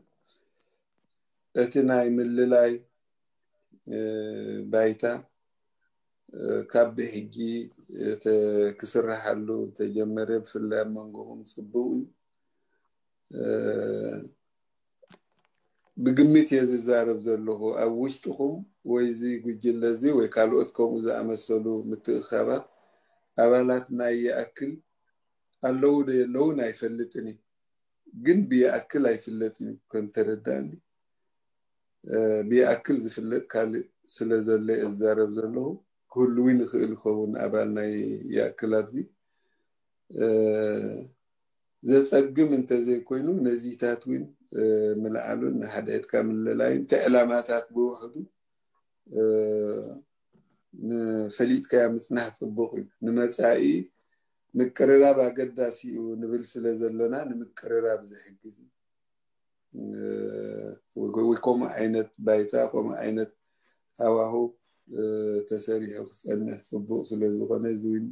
እቲ ናይ ምልላይ ባይታ ካብ ብሕጂ ክስርሓሉ እንተጀመረ ብፍላይ ኣብ መንጎኹም ፅቡቅ እዩ። ብግምት እየ ዝዛረብ ዘለኹ ኣብ ውሽጥኹም ወይ እዚ ጉጅለ እዚ ወይ ካልኦት ከምኡ ዝኣመሰሉ ምትእኻባት ኣባላት ናይ ይኣክል ኣለዉ ዶ የለውን ኣይፈልጥን እዩ። ግን ብይኣክል ኣይፍለጥን እዩ ከም ተረዳእኒ። ብይኣክል ዝፍለጥ ካልእ ስለ ዘሎ እየ ዝዛረብ ዘለኹ። ክህልዊ ንኽእል ይኸውን ኣባል ናይ ይኣክል ኣብዚ ዘፀግም እንተዘይኮይኑ ነዚታት እውን ምልዓሉን ንሓድሕድካ ምልላይን እቲ ዕላማታት ብውሕዱ ፈሊጥካያ ምፅናሕ ፅቡቅ እዩ። ንመፃኢ ምቅርራብ ኣገዳሲ እዩ ንብል ስለ ዘለና ንምቅርራብ ዝሕግዝ እዩ። ወይ ከምኡ ዓይነት ባይታ ከምኡ ዓይነት ሃዋሁ ተሰሪሑ ክፀንሕ ፅቡቅ ስለ ዝኾነ እዚ እውን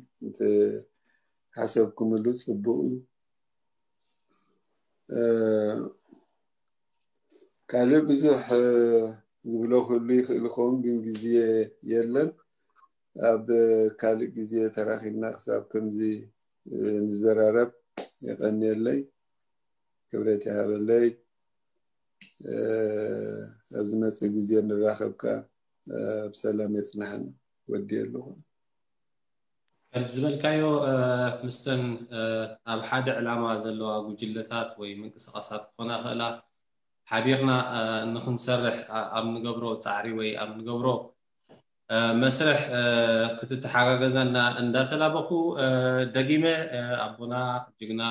ሓሰብኩምሉ ፅቡቅ እዩ። ካልእ ብዙሕ ዝብሎ ክህሉ ይኽእል ይኸውን ግን ግዜ የለን። ኣብ ካልእ ግዜ ተራኺብና ክሳብ ከምዚ ንዘራረብ የቐንየለይ። ክብረት ይሃበለይ። ኣብ ዝመፅእ ግዜ ንራኸብካ ብሰላም የፅናሕና። ወዲ ኣለኹ። ዝበልካዮ፣ እ፣ ምስተን፣ እ፣ ኣብ ሓደ ዕላማ ዘለዋ ጉጅለታት ወይ ምንቅስቓሳት ክኾና ይኽእላ፣ ሓቢርና፣ እ፣ ንኽንሰርሕ፣ እ፣ ኣብ ንገብሮ ጻዕሪ ወይ ኣብ ንገብሮ፣ እ፣ መስርሕ፣ እ፣ ክትተሓጋገዘና እንዳተላበኹ፣ እ፣ ደጊመ፣ እ፣ ኣቦና ጅግና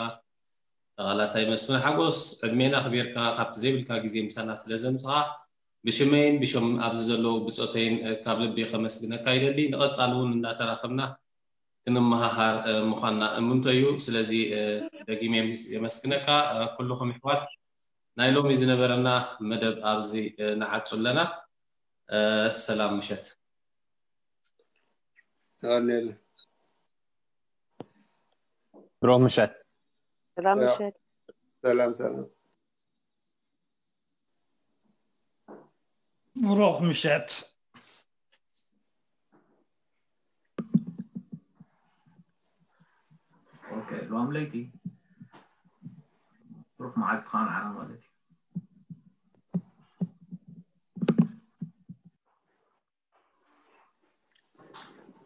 ተቓላሳይ መስፍን ሓጎስ፣ ዕድሜና ኣኽቢርካ ካብቲ ዘይብልካ ግዜ ምሳና ስለ ዘምጽኻ፣ ብሽመይን ብሽም ኣብዚ ዘለዉ ብጾተይን፣ እ፣ ካብ ልቢ ከመስግነካ ይደሊ። ንቐጻሊ እውን እንዳተራኸብና ክንመሃሃር፣ እ፣ ምዃንና እምንቶ እዩ። ስለዚ፣ እ፣ ደጊመ የምስ-፣ የመስግነካ። እ፣ ኩልኹም ኣሕዋት፣ ናይ ሎሚ ዝነበረና መደብ ኣብዚ፣ እ፣ ንዓጹ ኣለና። እ፣ ሰላም ምሸት። የቐንየልና። ብሩኽ ምሸት። ሰላም ያ። ምሸት። ሰላም ሰላም። ብሩኽ ምሸት። ኦኬ፣ ሎም ለይቲ ብሩኽ መዓልትኻ ንዓና ማለት እዩ።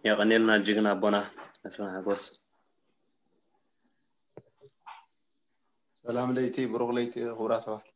የቐንየልና ጅግና ኣቦና መስፍን ሓጎስ። ሰላም ለይቲ፣ ብሩኽ ለይቲ ክቡራት ኣሕዋት።